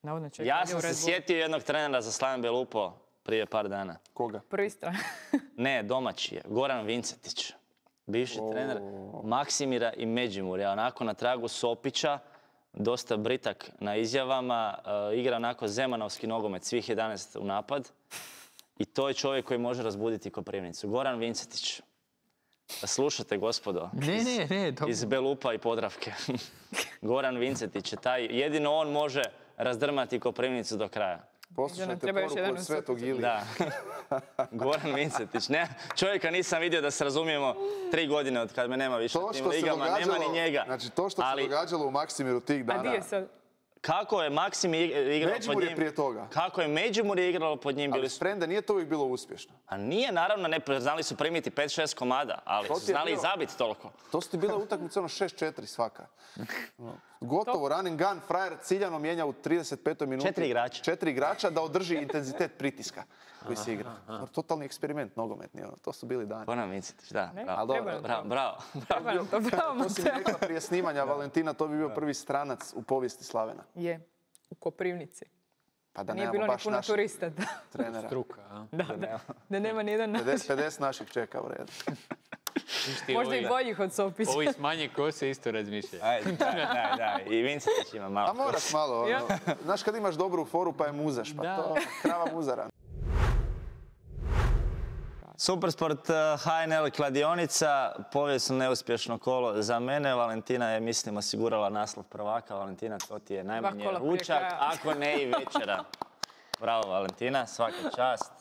navodno čeka. Ja sam se sjetio jednog trenera za Slaven Belupo prije par dana. Koga? Prvi stran. Ne, domaći je. Goran Vincetić. Bivši trener Maksimira i Međimurja. Onako na tragu Sopića, dosta britak na izjavama. e, igra onako zemanovski nogomet, svih jedanaest u napad. I to je čovjek koji može razbuditi Koprivnicu. Goran Vincetić. Slušajte, gospodo. Ne, ne, ne, dobro. Iz Belupa i Podravke. Goran Vincetić je taj, jedino on može razdrmati Koprivnicu do kraja. Poslušajte treba još poruku jedan od u Svetog Ilije. Da. Goran Vincetić. Ne, čovjeka nisam vidio, da se razumijemo, tri godine od kad me nema više To u tim što se ligama, nema događalo, ni njega. znači to što Ali se događalo u Maksimiru tih A dana. di je sad? kako je Maksim ig- igrao pod Međimurje njim? prije toga. Kako je Međimurje igralo pod njim? Ali Bili su... Frenda nije to uvijek bilo uspješno. A nije, naravno, ne, znali su primiti pet šest komada, ali To su ti je znali i bilo- zabiti toliko. To su ti bile utakmice ono šest četiri svaka. Gotovo, run and gun, frajer ciljano mijenja u trideset petoj minuti. Četiri igrača. Četiri igrača da održi intenzitet pritiska koji se igra. Totalni eksperiment nogometni, ono. To su bili dani. Goran Vincetić, da. Ne, Bravo, Ali dobro, treba nam bravo, to. bravo. Treba nam to, bravo, To si mi Mateo. rekla prije snimanja Valentina, to bi bio prvi stranac u povijesti Slavena. Je, u Koprivnici. Pa da Nije nemamo bilo ni baš puno naših turista. Da, trenera. Struka, a? da, da. Da nema ni jedan naš. pedeset pedeset naših čeka u redu. Viš ti Možda ovi- i boljih od Sopića. Ovi s manje kose isto razmišljaju. Ajde, da, da, da. I Vincetić ima malo. A moraš malo, ono. Ja. Znaš kad imaš dobru foru pa je muzaš, pa Da. to krava muzara. Supersport eh, H N L kladionica, povijesno neuspješno kolo za mene. Valentina je, mislim, osigurala naslov prvaka. Valentina, to ti je najmanje kola prije ručak, kraja. ako ne i večera. Bravo, Valentina, svaka čast.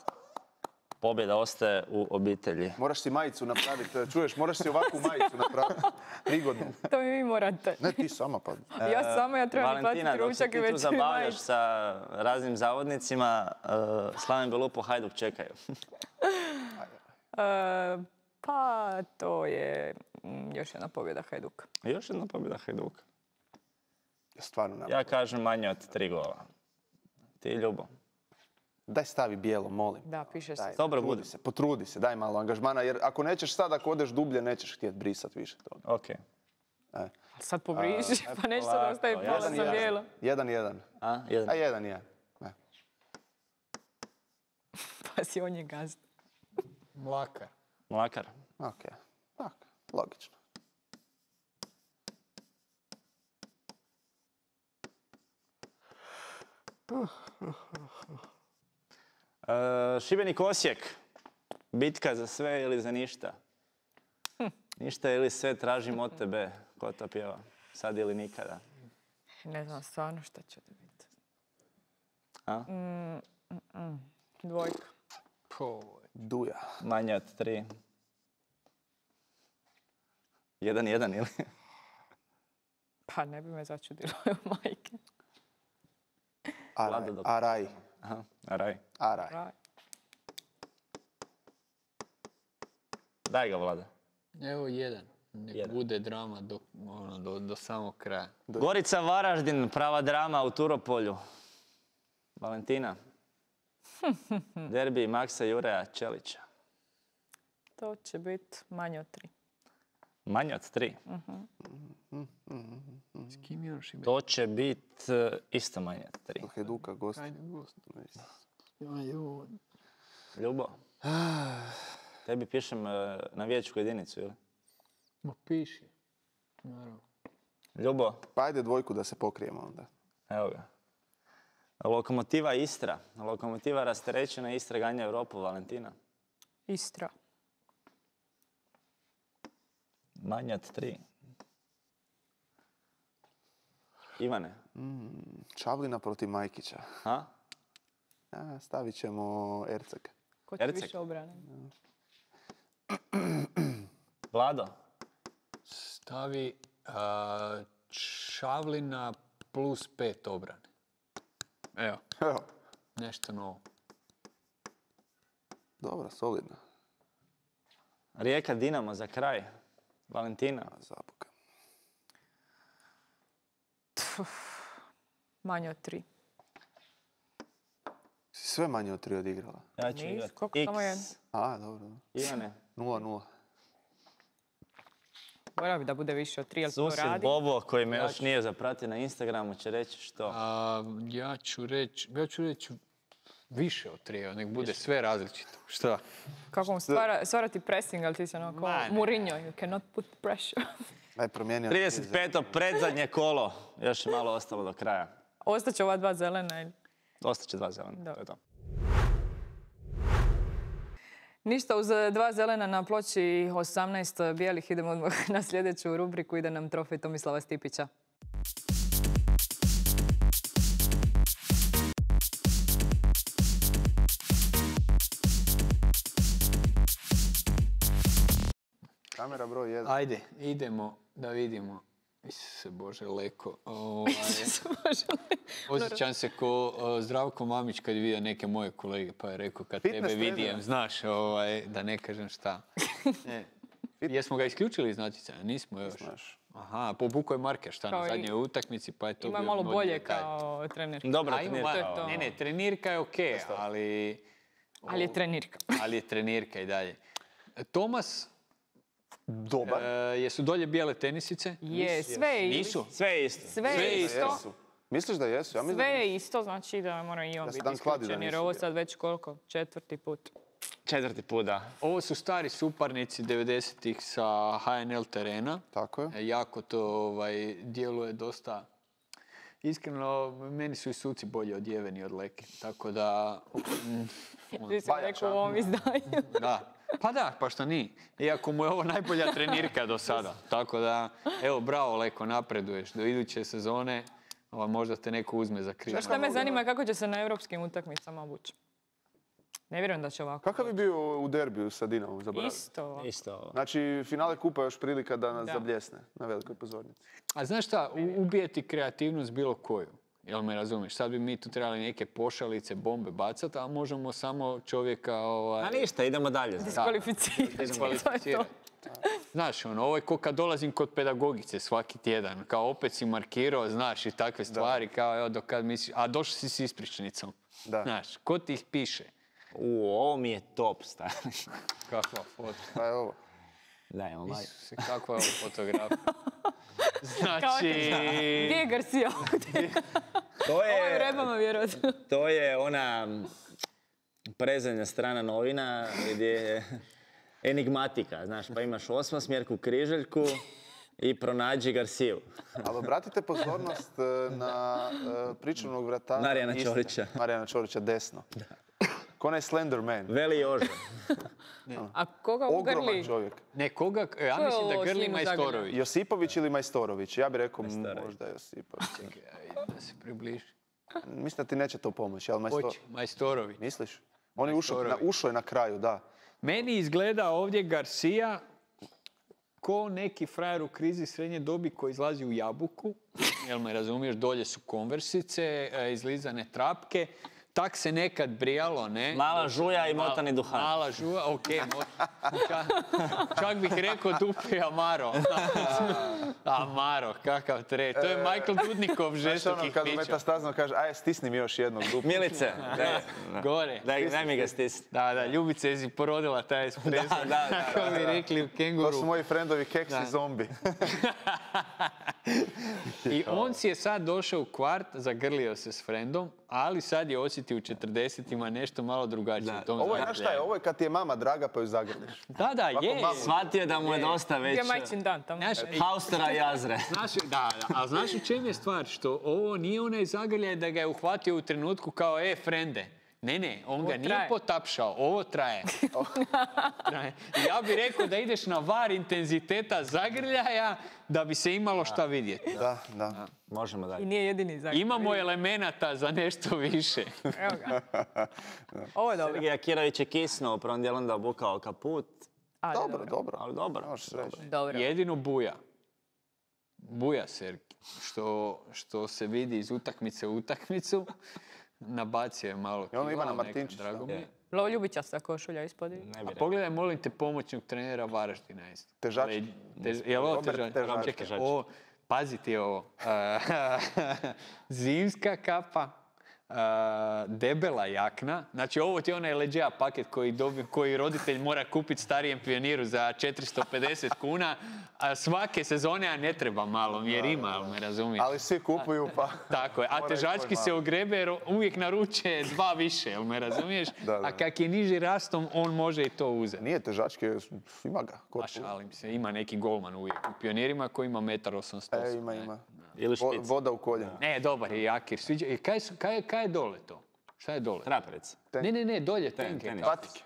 Pobjeda ostaje u obitelji. Moraš si majicu napraviti, čuješ, moraš si ovakvu majicu napraviti. Prigodnu. To mi vi morate. Ne ti sama pa. Ja samo, ja trebam Valentina, platiti dok se ručak i ti tu već mi zabavljaš majicu. sa raznim zavodnicima, eh, Slaven Belupo, Hajduk čekaju. E, pa to je mm, još jedna pobjeda Hajduka. Još jedna pobjeda Hajduka. Stvarno nam. Ja kažem manje od tri gola. Ti, Ljubo. Daj stavi bijelo, molim. Da, piše se. Daj, Dobro, potrudi budi. se, potrudi se, daj malo angažmana, jer ako nećeš sad, ako odeš dublje, nećeš htjeti brisat više toga. Ok. E. Sad pobriši, pa nešto da polako, ostaje ja pola sam za jasan. bijelo. Jedan, jedan. A, jedan. A jedan, jedan. E. Pa si on je gazda. Mlakar. Mlakar. Ok, ok, logično. E, Šibenik Osijek. Bitka za sve ili za ništa? Ništa ili sve tražim od tebe. Ko to pjeva? Sad ili nikada? Ne znam stvarno šta će da biti. A? Dvojka. Po, Duja. Manje od tri. Jedan, jedan ili? Pa ne bi me začudilo, majke. Araj, Vlado dok- araj, Aha, raj. araj. Raj. Daj ga, Vlada. evo jedan. Nek Jedan. bude drama do, ono, do, do samog kraja. Gorica Varaždin, prava drama u Turopolju. Valentina. Derbi Maksa Jureja Čelića. To će biti manje od tri. Manje od tri. S kim još ima? To će biti e, isto manje od tri. Hajduka, gost. Ajde, gost. Ajoj. Ljubo. Tebi pišem e, na vijećku jedinicu, ili? Ma piši. Naravno. Ljubo, Pa ajde dvojku da se pokrijemo onda. evo ga. Lokomotiva Istra. Lokomotiva rasterećena Istra ganja Europu, Valentina. Istra. Manje od tri. Ivane. Mm, Čavlina protiv Majkića. Ha? A, stavit ćemo Erceg. Ko će Erceg. više obrane? Vlado. Stavi a, Čavlina plus pet obrane. Evo, Evo, nešto novo. dobro, solidno. Rijeka Dinamo za kraj. Valentina. A, zabuka. Manje od tri. Si sve manje od tri odigrala. Ja ću Nis, igrat koliko samo jedan? X. A, dobro. dobro. Ivane. nula nula. Mora bi da bude više od tri, ali to Susjed radi. Bobo, koji me još nije zapratio na Instagramu, će reći što. A, ja ću reći, ja ću reći više od tri, nek bude sve različito. Šta? Kako mu stvara, stvara ti pressing, ali ti se ono kao Ma ne. Mourinho, you cannot put pressure. Aj, promijenio. trideset peto predzadnje kolo. Još je malo ostalo do kraja. Ostaće ova dva zelena ili... Ostaće dva zelena. Da. To je to. Ništa, uz dva zelena na ploči osamnaest bijelih idemo odmah na sljedeću rubriku. Ide nam trofej Tomislava Stipića. Kamera broj jedan. Ajde, idemo da vidimo. Isuse Bože, leko. Ovaj, osjećam se ko o, Zdravko Mamić kad je vidio neke moje kolege, pa je rekao kad Fitness tebe trener. vidim, znaš, ovaj, da ne kažem šta. Ne. Jesmo ga isključili iz natjecanja? Nismo još. Znaš. Aha, pobukao je Marke šta Kao na i- zadnjoj utakmici, pa je to Ima bio malo modni bolje detalj. kao trener. Dobra A, ima trenirka. malo- To je to. Ne, ne, trenirka je okej, ali... Ali je trenirka. Ali je trenirka i dalje. Tomas, Dobar. e, jesu dolje bijele tenisice? Je, sve je Nisu? Sve je isto. Sve je Sve isto. Jesu. Misliš da jesu? Ja mislim Sve da je isto, znači da mora i on Da se biti dan kladi da isključen, jer nisu ovo bili. sad već koliko? Četvrti put. Četvrti put, da. Ovo su stari suparnici devedesetih sa H N L terena. Tako je. E, Jako to ovaj, djeluje dosta... Iskreno, meni su i suci bolji od Jeveni od Leke. Tako da... mm, Ti si rekao u ovom izdanju. Da. Pa da, pa šta nije. Iako mu je ovo najbolja trenirka do sada. Tako da, evo, bravo Leko, napreduješ. Do iduće sezone ovaj, možda te neko uzme za krivo. Šta me zanima kako će se na europskim utakmicama obući. Ne vjerujem da će ovako. Kakav bi bio u derbiju sa Dinamom? Zaboravim. Isto ovako. Isto ovo. Znači, finale kupa je još prilika da nas Da. zabljesne na velikoj pozornici. A znaš šta, u- ubije ti kreativnost bilo koju. Jel me razumiješ? Sad bi mi tu trebali neke pošalice, bombe bacati, a možemo samo čovjeka... Ovaj, A ništa, idemo dalje. Diskvalificirati. To je to. diskvalificirati. Znaš, ono, ovo je ko kad dolazim kod pedagogice svaki tjedan. Kao opet si markirao, znaš, i takve stvari, kao evo do kad misliš... A došli si s ispričnicom. Da. Znaš, ko ti ih piše? U, ovo mi je top, stari. Kakva foto. Pa je ovo. Daj, imamo maj. Isuse, kakva je ovo fotografija? Kao Znači... Gdje je Garcia ovdje? To Ovo je u je, rebama, vjerojatno. to je ona prezadnja strana novina gdje je enigmatika, znaš, pa imaš osmosmjerku, križaljku i pronađi Garciju. Ali obratite pozornost e, na e, pričuvnog vratara. Marijana Istre. Ćorića. Marijana Ćorića, desno. Ko onaj Slender Man. Veli Joža. A koga Ogroman ugrli? čovjek. Ne, koga... Ja Ko je mislim da ovo grli Slinu Zagrlja? Majstorović. Josipović ili Majstorović? Ja bih rekao m, Majstorović. možda Josipović. Da se približi. Mislim da ti neće to pomoći, ali Majsto... Hoće, Majstorović. Misliš? On je ušao na, Majstorović. ušao je na kraju, da. Meni izgleda ovdje Garcia ko neki frajer u krizi srednje dobi koji izlazi u jabuku. Jel me razumiješ? Dolje su konversice, e, izlizane trapke. Tak se nekad brijalo, ne? Mala žuja i motani duhan. Mala žuja, okej. mo- čak, čak bih rekao dupi Amaro. Amaro, kakav tre. To je Michael Dudnikov Znaš ono, žestokih kad u pića. metastazno kaže, aj stisni mi još jednog dupa. Milice, daj, Gore. daj, daj mi ga stisni. Da, da, Ljubica je si porodila taj espresso. Da, da, da, Kako bi rekli u To kenguru. su moji frendovi keksi zombi. I on si je sad došao u kvart, zagrlio se s frendom, ali sad je osjetio u četrdesetima nešto malo drugačije. Ovo je, znaš šta je, ovo je kad ti je mama draga pa ju zagrliš. Da, da, je. Shvatio da mu je dosta već... Je majčin dan tamo. Haustera i Jazre. Znaš, da, da, a znaš u čem je stvar? Što ovo nije onaj zagrljaj da ga je uhvatio u trenutku kao, e, frende. Ne, ne, on ga nije traje. potapšao, ovo traje. traje. Ja bih rekao da ideš na var intenziteta zagrljaja da bi se imalo šta vidjeti. Da, da. Možemo dalje. I nije jedini zagrljaj. Imamo elemenata za nešto više. Evo ga. Ovo je dobro. Sergej Akirović je kisnuo, u prvom dijelu onda obukao kaput. Ali Dobro, dobro. Ali dobro. Možeš reći. Dobro. Jedino buja. Buja, Sergej. Što, što se vidi iz utakmice u utakmicu. Nabacio je malo I ono kila, Ivana neka, Martinčića. drago mi je. Lovo Ljubičasta košulja ispod. Ne bi A rekao. pogledaj, molim te, pomoćnog trenera Varaždina isto. Težački. Ale, Tež, je li ovo Robert težački? Težački. Čekaj, Težački. ovo, pazi ti ovo. Zimska kapa, a, debela jakna. Znači, ovo ti je onaj leđeja paket koji, dobi, koji roditelj mora kupiti starijem pioniru za četiristo pedeset kuna, a svake sezone, a ne treba malo, jer ima, ali me razumiješ. Ali svi kupuju pa... Tako je, a Mora težački ići se malo. ugrebe jer uvijek naruče dva više, jel me razumiješ? Da, da. A kak je niži rastom, on može i to uzeti. Nije težački, ima ga. Ko- Pa šalim se, ima neki golman uvijek u pionirima koji ima metar osamsto osam. E, ima, ima. Ili Vo- špic. Voda u koljenu. Ne, dobar je Jakir. Sviđa. I kaj, su- kaj, kaj je dole to? Šta je dole? Traperica. Ne, ne, ne, dolje tenke. tenis. Patike.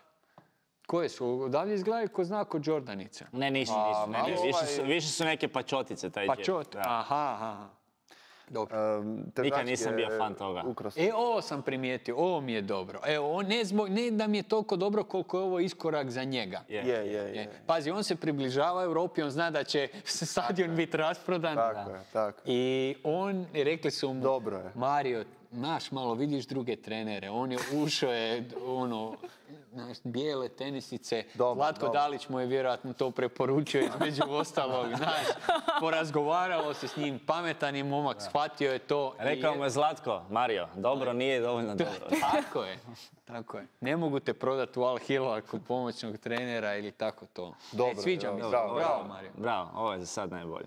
Koje su? Odavlje izgledaju ko zna ko Jordanica. Ne, nisu, A, nisu. Ne, malo nisu. Više, su, ovaj- više su neke pačotice taj Pa džep. čot. Da. Aha, aha. Dobro. Um, težački nisam bio je fan toga. ukras. E, ovo sam primijetio, ovo mi je dobro. Evo, on ne, zbog, ne da mi je toliko dobro koliko je ovo iskorak za njega. Je. Je, je, Je. je. Pazi, on se približava Europi, on zna da će stadion biti rasprodan. Tako je, tako. I on, rekli su mu, Dobro je. Mario, znaš, malo vidiš druge trenere, on je ušao je, ono, znaš, bijele tenisice, Dobro, Zlatko dobro. Dalić mu je vjerojatno to preporučio između ostalog, znaš, porazgovaralo se s njim, pametan je momak, shvatio je to. i Rekao je- mu je Zlatko, Mario, dobro nije dovoljno dobro. Tako je, tako je. Ne mogu te prodati u Al Hilal ako pomoćnog trenera ili tako to. Dobro, e, sviđa dobro, mi se. bravo, Bravo, bravo. Mario. Bravo, ovo je za sad najbolje.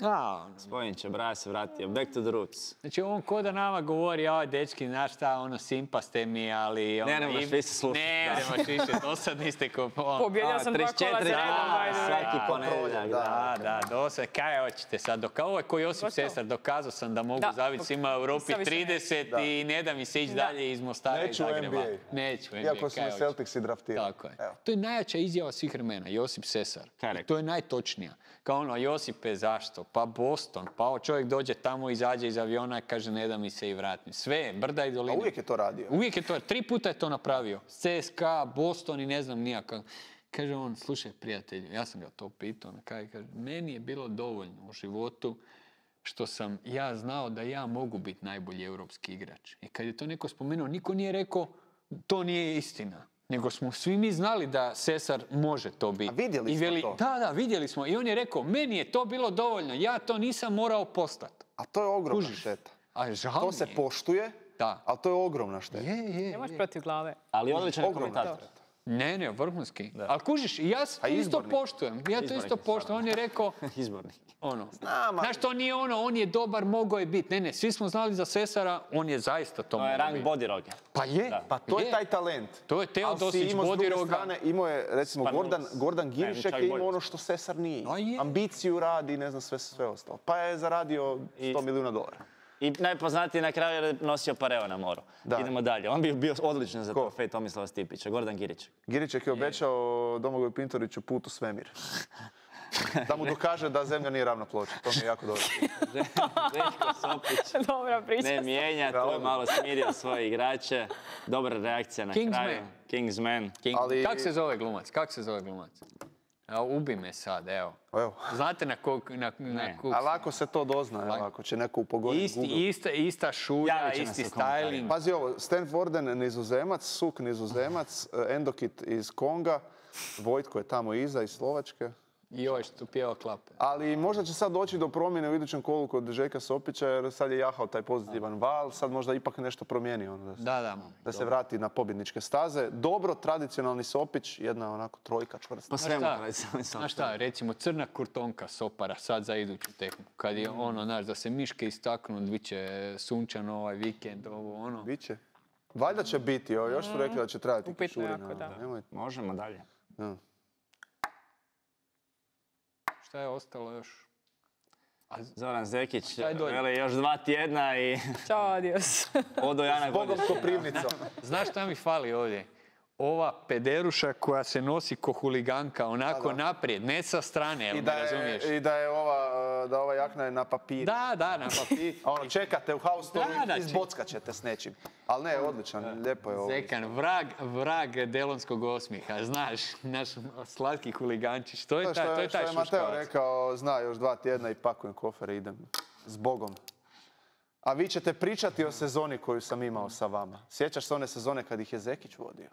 A, ono, Spojniće, Braja se vratio, back to the roots. znači on ko da nama govori, aj dečki, znaš šta, ono, simpa ste mi, ali... Ono, Ne, ne moraš im- više slušati, Ne, da. ne moraš više, dosadni ste ko... ono, Pobjedio sam dva kola za redom. Da, by the way. svaki da, ponedjeljak, da. Da, da, dosad, kaj hoćete sad? Doka, ovo je ko Josip Gotovo. Sesar, dokazao sam da mogu Da. zaviti svima u Europi Sad više ne. trideset i ne da mi se ići Da. dalje iz Mostara i Neću u Zagreba. N B A. Neću u N B A, Iako su kaj me hoćeš? Celticsi draftirali. Tako je. Evo. To je najjača izjava svih vremena, Josip Sesar. Kaj je I rekao? to je najtočnija. Kao ono, Josipe, zašto? Pa Boston, pa čovjek dođe tamo, izađe iz aviona, kaže ne da mi se i vratim. Sve, brda i A doline. uvijek je to radio. Uvijek je to, tri puta je to napravio. C S K A, Boston i ne znam nijaka. Kaže on, slušaj prijatelju, ja sam ga to pitao, na kraju kaže, meni je bilo dovoljno u životu što sam ja znao da ja mogu biti najbolji europski igrač. I kad je to neko spomenuo, niko nije rekao, to nije istina. Nego smo svi mi znali da Sesar može to biti. A vidjeli I smo veli, to. Da, da, vidjeli smo. I on je rekao, meni je to bilo dovoljno, ja to nisam morao postati. A to je ogromna Kužiš? šteta. A žao To mi se je. poštuje, Da. ali to je ogromna šteta. Je, je, Nemaš je. protiv glave. Ali odličan je Ogromna komentator. šteta. Ne, ne, vrhunski. Ali kužiš, ja to isto izbornik? poštujem. Ja to Izbornik isto je poštujem. On je rekao, Izbornik. ono, Znam, ali- znaš, to nije ono, on je dobar, mogao je biti. Ne, ne, svi smo znali za Sesara, on je zaista to To je mogao rang biti. bodiroge. Pa je, Pa to je taj talent. To je Ali Teodosić, si imao s druge Bodiroga. strane, imao je, recimo, Pa Gordan, Nunes. Gordan Ne, Girišek čak je bolje. imao ono što Sesar nije. A je. Ambiciju radi i ne znam sve, sve ostalo. Pa je zaradio sto milijuna dolara. I najpoznatiji na kraju je nosio pareo na moru. Da. Idemo dalje. On bi bio odličan za Ko? trofej Tomislava Stipića, Gordan Girić. Giriček je obećao Domagoju Pintoriću put u svemir. Da mu dokaže da zemlja nije ravna ploča. To mi je jako dobro. Željko Sopić Dobra priča. ne mijenja, tu je malo smirio svoje igrače. Dobra reakcija na Kingsman. kraju. Kingsman. King. Ali- Kak se zove glumac? Kak se zove glumac? A, ubi me sad, evo. Evo. Znate na kog... Na, na Ne. kog- A lako se to dozna, evo, ako će neko upogoditi Isti, Google. ista, ista šulja, Javit će nam isti se u komentarima. styling. Pazi ovo, Stan Warden nizozemac, Suk nizozemac, eh, Endokit iz Konga, Vojtko je tamo iza iz Slovačke. I ovaj što pjeva klape. Ali možda će sad doći do promjene u idućem kolu kod Željka Sopića, jer sad je jahao taj pozitivan val, sad možda ipak nešto promijeni on, da, se, Da, da. da se vrati na pobjedničke staze. Dobro, tradicionalni Sopić, jedna onako trojka čvrsta. Pa svemu šta? tradicionalni Sopić. Znaš šta, recimo crna kurtonka Sopara sad za iduću tehniku. Kad je ono, znaš, da se miške istaknu, bit će sunčan ovaj vikend, ovo, ono. Biće. Valjda će biti, o, još su rekli da će trajati Upitno kišurina. jako, da. Nemoj- Možemo dalje. da. Šta je ostalo još? Zoran Zekić, Šta je dolje? veli još dva tjedna i Ćao, adios. odo Jana Bogom Godić. Koprivnica. Znaš šta mi fali ovdje? Ova pederuša koja se nosi ko huliganka, onako Da, da. naprijed, ne sa strane, jel I me da, razumiješ? je, I da je ova, da ova jakna je na papiru. Da, da, na papir. A ono, čekate u haustoru Da, da, i izbockat ćete s nečim. Ali ne, odličan, lijepo je ovo. Zekan, vrag, vrag delonskog osmiha, znaš, naš slatki huligančić, to je To taj, što to je je, taj što je Mateo šuškavac. rekao, zna još dva tjedna i pakujem kofere, idem s Bogom. A vi ćete pričati o sezoni koju sam imao sa vama. Sjećaš se one sezone kad ih je Zekić vodio?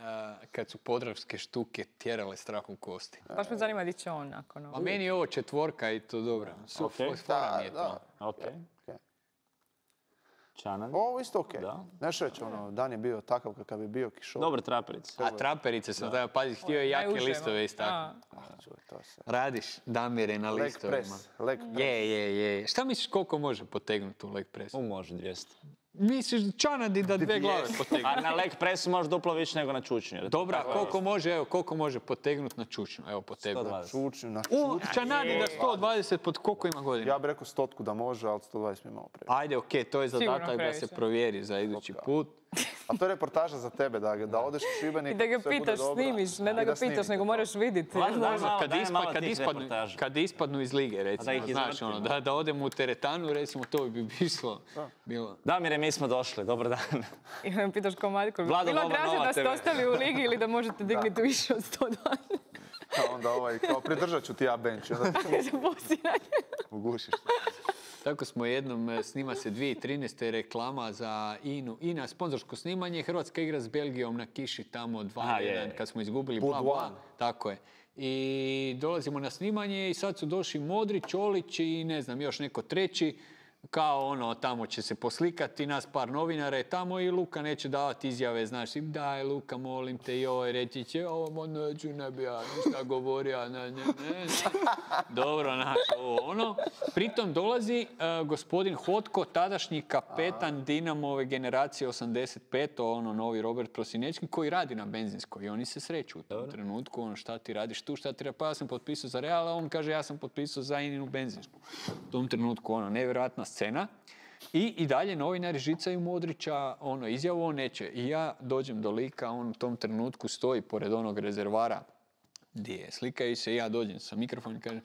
A, kad su podravske štuke tjerale strah u kosti. Baš me zanima di će on nakon A ovo. meni je ovo četvorka i to dobro. Su Ok. fora mi je Da, to. Ok. Ok. Čanan. Ovo isto okej. Da. Znaš reći, ono, dan je bio takav kakav je bio, kišov. Dobar traperic. A traperice sam da pazi, htio je jake Najuže, listove a. istaknuti. Ah, čuj, to se. Radiš damire na Leg listovima. press, leg press. Je, je, je. Šta misliš koliko može potegnuti u leg presu? U, može dvjesto. Misliš Čanadi da dve glave potegne? A na leg presu može duplo više nego na čučnju. jer je to Dobra, tako- koliko može, evo, koliko može potegnuti na čučnju? Evo, potegnuti. sto dvadeset. Čučnju, na U, čučnju. Čanadi da sto dvadeset pod koliko ima godina? Ja bih rekao stotku da može, ali sto dvadeset mi je malo previše. Ajde, okej, to je Sigurno zadatak da se previše. provjeri za idući put. A to je reportaža za tebe, da, da odeš u Šibenik. I da ga sve bude pitaš, dobro. snimiš, ne I da ga snimite pitaš, nego to. moraš vidjeti. Vlado, daj malo, Kad, daj ispa- malo kad, tih ispadnu, reportaža. kad ispadnu iz lige, recimo, ih znaš, izvrtimo, ono, da. da, da odemo u teretanu, recimo, to bi bilo. bilo. Damire, mi smo došli, dobar dan. I me pitaš ko Matko, Vlado, bilo Boba draže Nova da ste te ve. ostali u ligi ili da možete dignuti više od sto dvadeset. A onda ovaj, kao pridržat ću ti ja bench. Onda Za posiranje. ugušiš. Tako smo jednom, e, snima se dvije tisuće trinaeste reklama za Inu. Ina, sponzorsko snimanje, Hrvatska igra s Belgijom na kiši tamo dva Aha, je, jedan je. kad smo izgubili, Bud bla, bla. one. Tako je. I dolazimo na snimanje i sad su došli Modrić, Čolić i ne znam, još neko treći. Kao ono, tamo će se poslikati, nas par novinara je tamo i Luka neće davati izjave, znaš, i daj Luka, molim te, joj, reći će, ovo neću, ne bi ja ništa govorio, ne, ne, ne. Dobro, znaš, ovo, ono. Pritom dolazi uh, gospodin Hotko, tadašnji kapetan Dinamove generacije osamdeset pet, ono, novi Robert Prosinečki, koji radi na benzinskoj i oni se sreću u tom trenutku, ono, šta ti radiš tu, šta ti radiš, pa ja sam potpisao za Real, a on kaže, ja sam potpisao za Ininu benzinsku. U tom trenutku, ono, nevjerojatna scena. I, i dalje novinari žicaju Modrića, ono, izjavu on neće. I ja dođem do lika, on u tom trenutku stoji pored onog rezervara gdje je, slikaju se i ja dođem sa mikrofonom i kažem,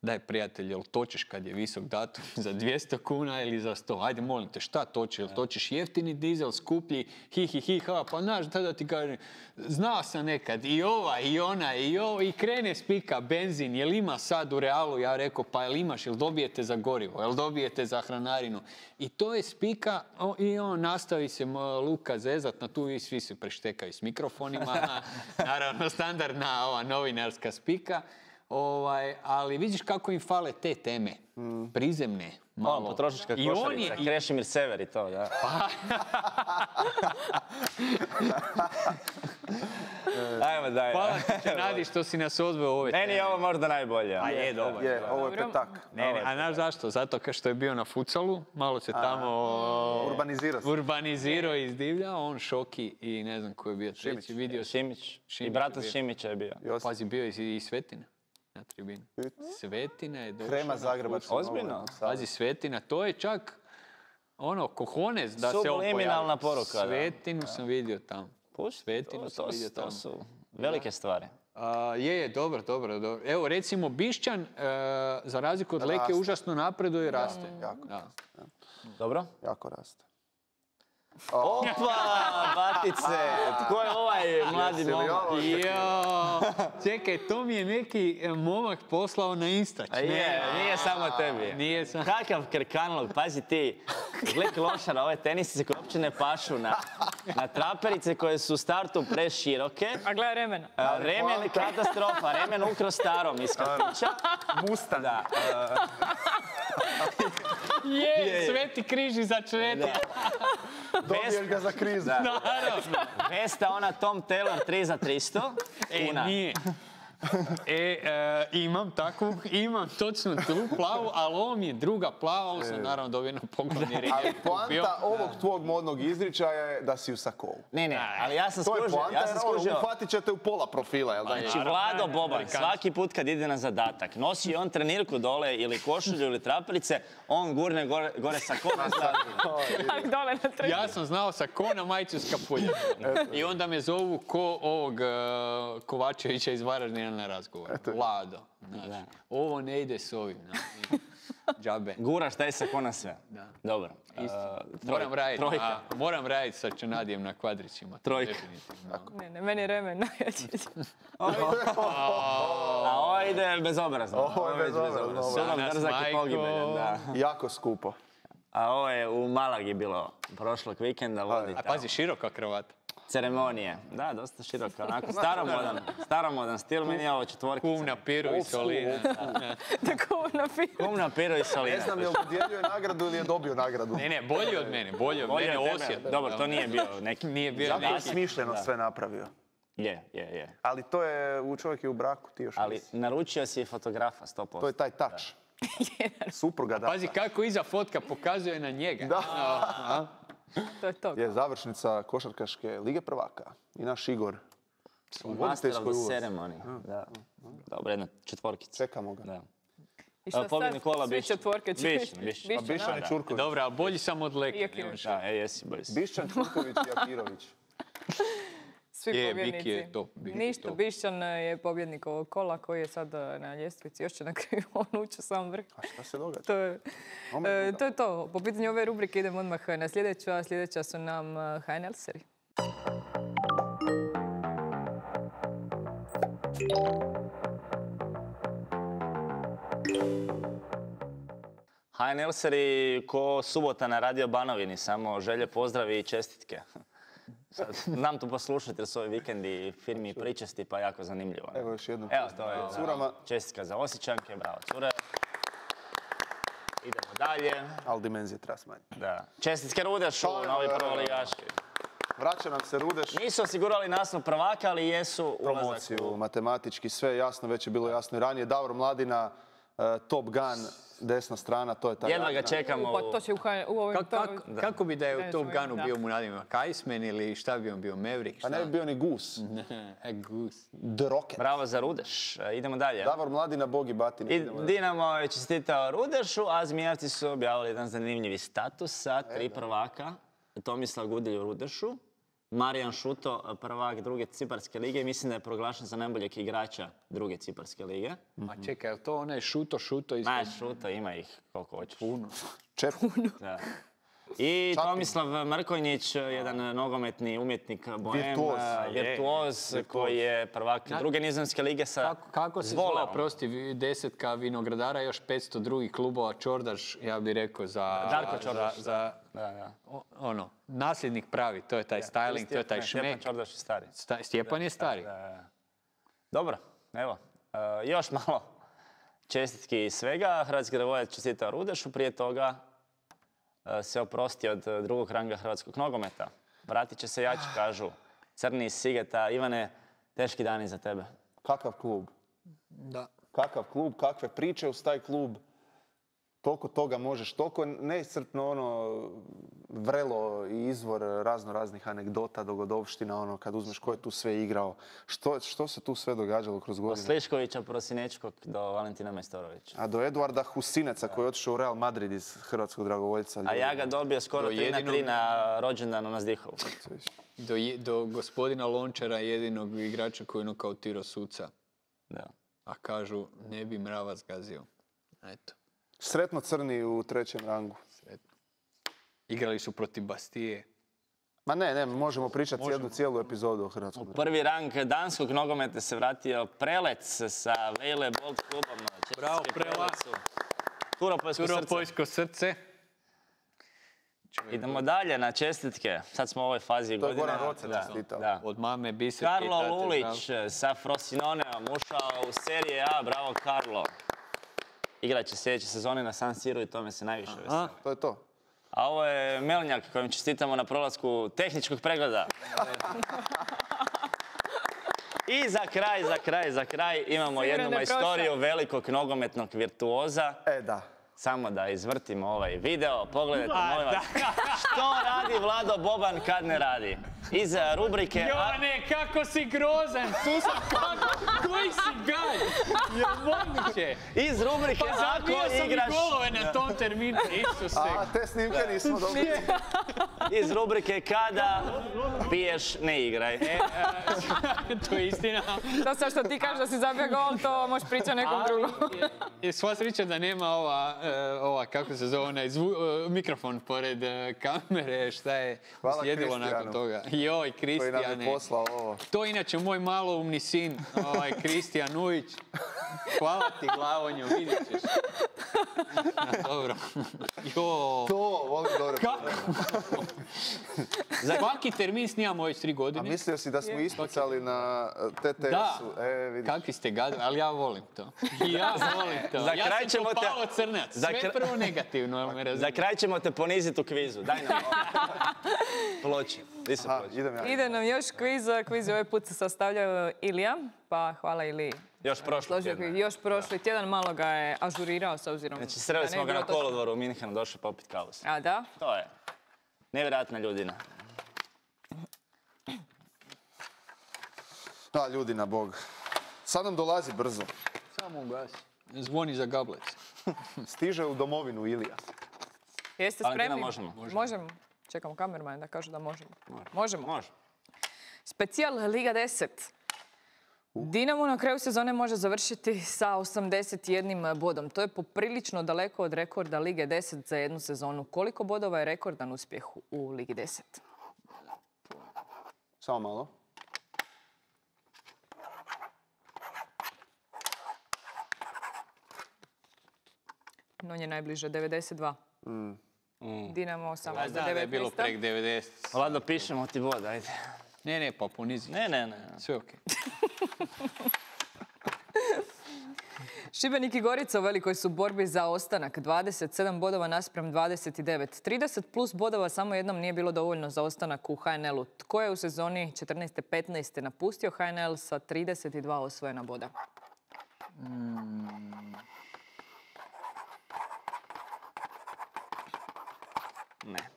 daj prijatelj, jel točiš kad je visok datum za dvjesto kuna ili za sto? Ajde, molim te, šta toči? Jel točiš jeftini dizel, skuplji, hi, hi, hi, ha, pa znaš, tada ti kažem, znao sam nekad i ova, i ona, i ovo, i krene spika, benzin, jel ima sad u Realu? Ja rekao, pa jel imaš, jel dobijete za gorivo, jel dobijete za hranarinu? I to je spika, o, i on nastavi se m, Luka zezat na tu i svi se preštekaju s mikrofonima, naravno standardna ova novinarska spika. Ovaj, ali vidiš kako im fale te teme, prizemne, malo. Malo potrošačka I on košarica, je, i- Krešimir Sever i to, da. Ajmo dalje. Hvala ti, Nadi, što si nas odveo u ove Meni teme. je ovo možda najbolje. A je, dobro. Je, ovo je Dobro. petak. Ne, ne, a znaš zašto? Zato ka što je bio na futsalu, malo se tamo Urbanizira se. urbanizirao i izdivljao, on Šoki i ne znam ko je bio treći, vidio sam. Šimić. I Šimić brata je bio. Šimića je bio. Josip. Pazi, bio je i, i Svetina na tribini. Svetina je došao Krema na Zagrebačkog. Ozbiljno? nogometnog saveza. Pazi, Svetina, to je čak ono, kohones da se on Subliminalna pojavi. poruka, da. Svetinu sam vidio tamo. Pusti, Svetinu to, sam to, vidio to tamo. su velike stvari. A, je, je, dobro, dobro, dobro. Evo, recimo, Bišćan, e, za razliku od Leke, Raste. užasno napreduje i raste. Jako Da. Dobro? Jako raste. Opa, batice! Tko je ovaj mladi momak? Jo, čekaj, to mi je neki momak poslao na Insta. A je, nije samo tebi. Nije samo. Kakav krkanlog, pazi ti. Gle klošara, ove tenisice koje uopće ne pašu na, na traperice koje su u startu preširoke. A gledaj remena. A, remen katastrofa, remen ukro starom iz kafića. Musta. Da. Je, sveti križ iza čreta. Dobiješ ga za krizu. Naravno. Vesta ona Tom Taylor tri za tristo E, kuna. nije. E, e, imam takvu, imam točno tu plavu, ali ovo mi je druga plava, ovo sam naravno dobio na poklon jer je Ali bio. poanta ovog tvog modnog izričaja je da si u sakovu. Ne, ne, ali ja sam To je skužio, poanta, ja sam jer ono, skužio. uhvatit ćete u pola profila, jel da? Znači, Vlado Boban, svaki put kad ide na zadatak, nosi on trenirku dole ili košulju ili traperice, on gurne gore, gore sa kona. Tak dole na treći. Ja sam znao sa ko na majicu s kapuljem. I onda me zovu ko ovog uh, Kovačevića iz Varaždina na razgovor. Vlado. Znači, ovo ne ide s ovim. Znači, džabe. Guraš taj sa kona sve. Da. Dobro. Isto. Uh, troj- Moram raditi, Trojka. a, moram raditi sa Čanadijem na kvadrićima. Trojka. Definitivno. Ne, ne, meni je remen najjači. A ovo ide bezobrazno. Ovo je već bezobrazno, ovo je. Sudom Danas, drzak i majko. pogibeljan, da. Jako skupo. A ovo je u Malagi bilo prošlog vikenda, vodi A tamo. pazi, široka kravata. Ceremonije. Da, dosta široko, onako staromodan, staromodan stil, meni je ovo četvorkica. Kum na piru i solina. Tako na film. Kum na piru i solina. Ne znam je li dodjeljuje nagradu ili je dobio nagradu. Ne, ne, bolji od mene, bolji od Bolje mene, od tebe. Osijek. Dobro, to nije bio neki... Nije bio Zato je neki. smišljeno sve napravio. Je, je, je. Ali to je, u čovjek je u braku, ti još Ali nisi. naručio si fotografa, sto posto. To je taj touch. Supruga da. Pazi kako iza fotka pokazuje na njega. Da. A? To je to. Je završnica košarkaške Lige prvaka. I naš Igor. U Master of voditeljskoj the ulozi. ceremony. Da. Dobro, jedna četvorkica. Čekamo ga. Da. I šta A, pobjednik sad? kola Svi Bišćan. četvorke će Bišćan, biti. Bišćan. A Bišćan i Čurković. Dobro, a bolji sam od Leke. Iaki ne možeš. Da, e, jesi, bolji si. Bišćan, Čurković i Akirović. Svi Je, pobjednici. Biki je top, Biki je Ništa, top. Bišćan je pobjednik ovog kola koji je sad eh, na ljestvici. Još će na kraju on ući u sam vrh. A šta se događa? To je, Ome eh, druga. to je to. Po pitanju ove rubrike idemo odmah na sljedeću, a sljedeća su nam eh, H N L seri. H N L seri ko subota na Radio Banovini, samo želje, pozdravi i čestitke. Sad, znam to poslušati jer su ovi vikendi firmi i pričesti, pa jako zanimljivo. Evo još jednom. Evo, to je Curama. da, čestitka za Osjećanke, bravo cure. Idemo dalje. Ali dimenzije treba smanjiti. Da. Čestitke Rudešu, To je, novi da, da, da. prvoligaši. Vraća nam se Rudeš. Nisu osigurali naslov prvaka, ali jesu ulazak Promociju, u... matematički, sve je jasno, već je bilo jasno i ranije. Davor Mladina, eh, Top Gun, desna strana, to je ta Jedva ga jakna. čekamo. Pa to će u, H- u ovim... Kako, kako, kako bi da je u Da. Top Gunu Da. bio mu nadima? Kajsmen ili šta bi on bio? Maverick? Pa ne bi bio ni Gus. E, Gus. The Rocket. Bravo za Rudeš. E, Idemo dalje. Davor Mladina, Bogi Batin. I Idemo dalje. Dinamo je čestitao Rudešu, a Zmijavci su objavili jedan zanimljivi status sa tri prvaka. Tomislav Gudelj u Rudešu, Marijan Šuto, prvak druge Ciparske lige. Mislim da je proglašen za najboljeg igrača druge Ciparske lige. Ma čekaj, je li to onaj šuto, šuto iz... Znaš, Šuto, ima ih koliko hoćeš. Puno. Čep. Da. I Tomislav Mrkonjić, jedan nogometni umjetnik, bohem, Virtuoz. a, virtuoz koji je prvak druge nizozemske lige sa Kako, kako se Zvoleom. zvao, prosti, vi- desetka vinogradara, još petsto drugih klubova, Čordaš, ja bih rekao, za... Darko za- Čordaš, Za, Da, da. o- ono, nasljednik pravi, to je taj styling, to je taj Ne, Stjepan šmek. Čordaš je stari. Sta- Stjepan je stari. Da, da. Dobro, evo, e, još malo čestitki i svega. Hrvatski dragovoljac čestitao Rudešu, prije toga e, se oprostio od e, drugog ranga hrvatskog nogometa. Vratit će se jači, kažu. Crni iz Sigeta. Ivane, teški dani za tebe. Kakav klub? Da. Kakav klub, kakve priče uz taj klub. Toliko toga možeš, toliko neiscrpno ono vrelo i izvor razno raznih anegdota, dogodovština, ono kad uzmeš ko je tu sve igrao, što, što se tu sve događalo kroz Od godine. Sliškovića, Prosinečkog do Valentina Majstorovića. A do Eduarda Husineca koji je otišao u Real Madrid iz hrvatskog dragovoljca. A ja ga dobio skoro Do tri na tri jedinog- na rođendanu na Zdihovu. Do, je- do gospodina Lončara, jedinog igrača koji je nokautirao suca. Da. A kažu, ne bi mrava zgazio. Eto, Sretno crni u trećem rangu. sretno. Igrali su protiv Bastije. Ma ne, ne, možemo pričati jednu cijelu epizodu o Hrvatskom. U prvi rang danskog nogometa se vratio Prelec sa Vejle Bolt klubom. Bravo, Prela. Turopojsko srce. Turopojsko srce. Idemo dalje na čestitke. Sad smo u ovoj fazi To je godine. Goran Roce čestitao. Da. Od mame Biser. Karlo Lulić sa Frosinoneom ušao u Serije A. Bravo, Karlo. Igrat će sljedeće sezone na San Siru i tome se najviše veseli. To je to. A ovo je Melnjak kojim čestitamo na prolasku tehničkog pregleda. I za kraj, za kraj, za kraj imamo Sigurno jednu da je majstoriju velikog nogometnog virtuoza. E, da. Samo da izvrtimo ovaj video, pogledajte molim vas. Što radi Vlado Boban kad ne radi? Iz rubrike... Jovane, kako si grozan! Tu sam kako... Koji si gaj? Je moguće? Iz rubrike Pa zabio Ako sam i igraš... golove na tom terminu, Isuse. A, te snimke nismo dobili. Iz rubrike Kada piješ, ne igraj. E, to je istina. To sad što ti kažeš da si zabio gol, to možeš pričati nekom drugom. Je sva sreća da nema ova, e, ova kako se zove, onaj zvu, e, mikrofon pored e, kamere, šta je Hvala slijedilo Kristijanu. nakon toga. Joj, Koji nam je Kristijane. poslao ovo. To je inače moj maloumni sin, ovaj, Kristijan Ujić. Hvala ti, Glavonju, vidjet ćeš. Ja, dobro. Jo. To, volim dobro. Kako? Za svaki termin snimamo već tri A godine. mislio si da smo ispucali na T T Da, S-u. E, vidiš. kakvi ste gadi, ali ja volim to. Ja volim to. Za ja kraj sam ćemo te- Topalo Crnac. za Sve kra- prvo negativno, jel me Za razumiješ? kraj ćemo te poniziti u kvizu. Daj nam ploče. Di su Aha, ploče? idem ja. Ide nam još kviz, kviz ovaj put se sastavljaju Ilija, pa hvala Iliji. Još prošlo Složio tjedna. kviz. Još prošli tjedan malo ga je ažurirao s obzirom. Znači, sreli da ne smo ga bi na bilo točno. kolodvoru u Minhenu, došli popit kavu. A da? To je nevjerojatna ljudina. Da, ljudi na Bog. Sad nam dolazi brzo. Samo ugasi. Zvoni za gablec. Stiže u domovinu Ilija. Jeste Valentina, spremni? možemo. Možemo. Čekamo kamermana da kažu da možemo. Možemo. Može. Specijal Liga deset. Dinamo na kraju sezone može završiti sa osamdeset jednim bodom. To je poprilično daleko od rekorda Lige deset za jednu sezonu. Koliko bodova je rekordan uspjeh u Ligi deset? Samo malo. Non je najbliže, devedeset dva. Dinamo Ja osamnaest znam da je bilo prek devedeset. Vlado, pišemo ti bod, ajde. Ne, ne, pa ponizi. Ne, ne, ne. Sve okej. Šibenik i Gorica u velikoj su borbi za ostanak. dvadeset sedam bodova naspram dvadeset devet. trideset plus bodova samo jednom nije bilo dovoljno za ostanak u ha en el-u. Tko je u sezoni četrnaeste petnaeste napustio ha en el sa trideset dva osvojena boda? Ne.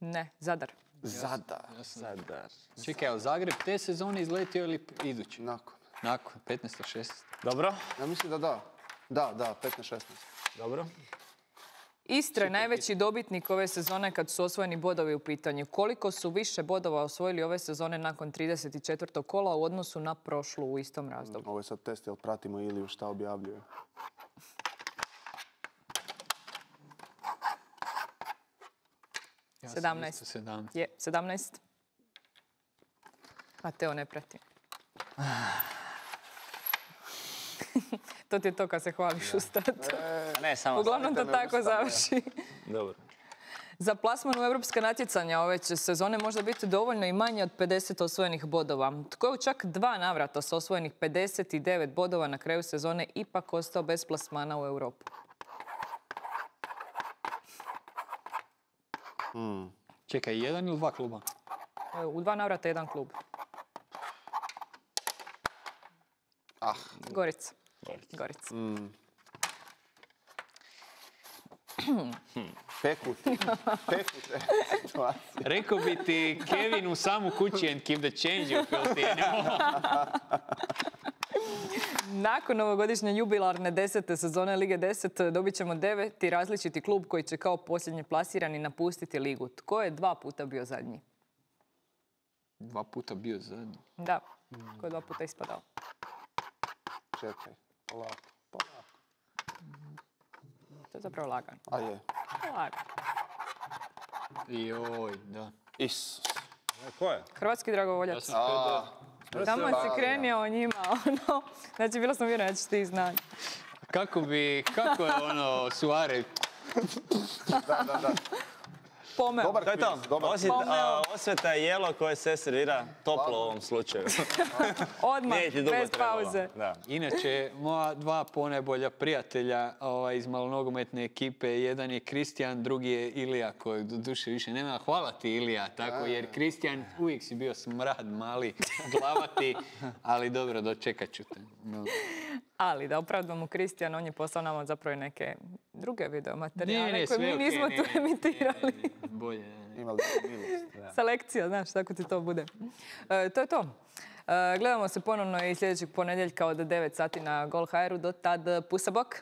Ne, Zadar. Zadar. Zadar. Čekaj, ali Zagreb te sezone izletio ili idući? Nakon. Nakon, petnaest šesnaest. Dobro? Ja mislim da da. Da, da, petnaest šesnaest. Dobro. Istra je najveći dobitnik ove sezone kad su osvojeni bodovi u pitanju. Koliko su više bodova osvojili ove sezone nakon trideset četvrtog kola u odnosu na prošlu u istom razdoblju? Ovo je sad test, jel pratimo Iliju šta objavljuje. Ja sam sedamnaest. isto sedamnaest. Je, sedamnaest. A Teo ne prati. To ti je to kad se hvališ u startu. A ne, samo... Uglavnom to stavite me tako u stavu, ja. završi. Dobro. Za plasman u europska natjecanja ove će sezone možda biti dovoljno i manje od pedeset osvojenih bodova. Tko je u čak dva navrata s osvojenih pedeset devet bodova na kraju sezone ipak ostao bez plasmana u Europu? Čekaj, jedan ili dva kluba? E, U dva navrata jedan klub. Ah, Gorica. Gorica. pekut. Pekut. e, situacija. Rekao bi ti Kevin u samu kući and keep the change you filthy animal. Nakon ovogodišnje jubilarne desete sezone Lige deset dobit ćemo deveti različiti klub koji će kao posljednji plasirani napustiti ligu. Tko je dva puta bio zadnji? Dva puta bio zadnji. Da, tko je dva puta ispadao? Čekaj, polako, polako. To je zapravo lagano. A je. Lagano. Joj, da. Isus. Ko je? Hrvatski dragovoljac. sam htio da- Tamo si krenio o njima, ono. Znači, bila sam uvjerena da ćeš ti znati. Kako bi, kako je ono, Suarez? Da, da, da. Pomeo. Dobar To je to. kviz, dobar Osvjet- Pomeo. a, osveta je jelo koje se servira toplo u ovom slučaju. Odmah, Nije ti dugo bez trebalo. pauze. Da. Inače, moja dva ponajbolja prijatelja ovaj, iz malonogometne ekipe, jedan je Kristijan, drugi je Ilija, kojeg do duše više nema. Hvala ti, Ilija, tako, jer Kristijan uvijek si bio smrad mali, glavati, ali dobro, dočekat ću te. No. Ali da opravdamo Kristijan, on je poslao nama zapravo i neke druge video materijale Ne, ne, koje sve mi okej, nismo ne, tu ne, emitirali. ne, ne, ne, bolje, ne, ne. Imali smo milost. Selekcija, znaš, tako ti to bude. E, to je to. E, gledamo se ponovno i sljedećeg ponedjeljka od devet sati na Gol dot h r u. Do tad, pusa bok!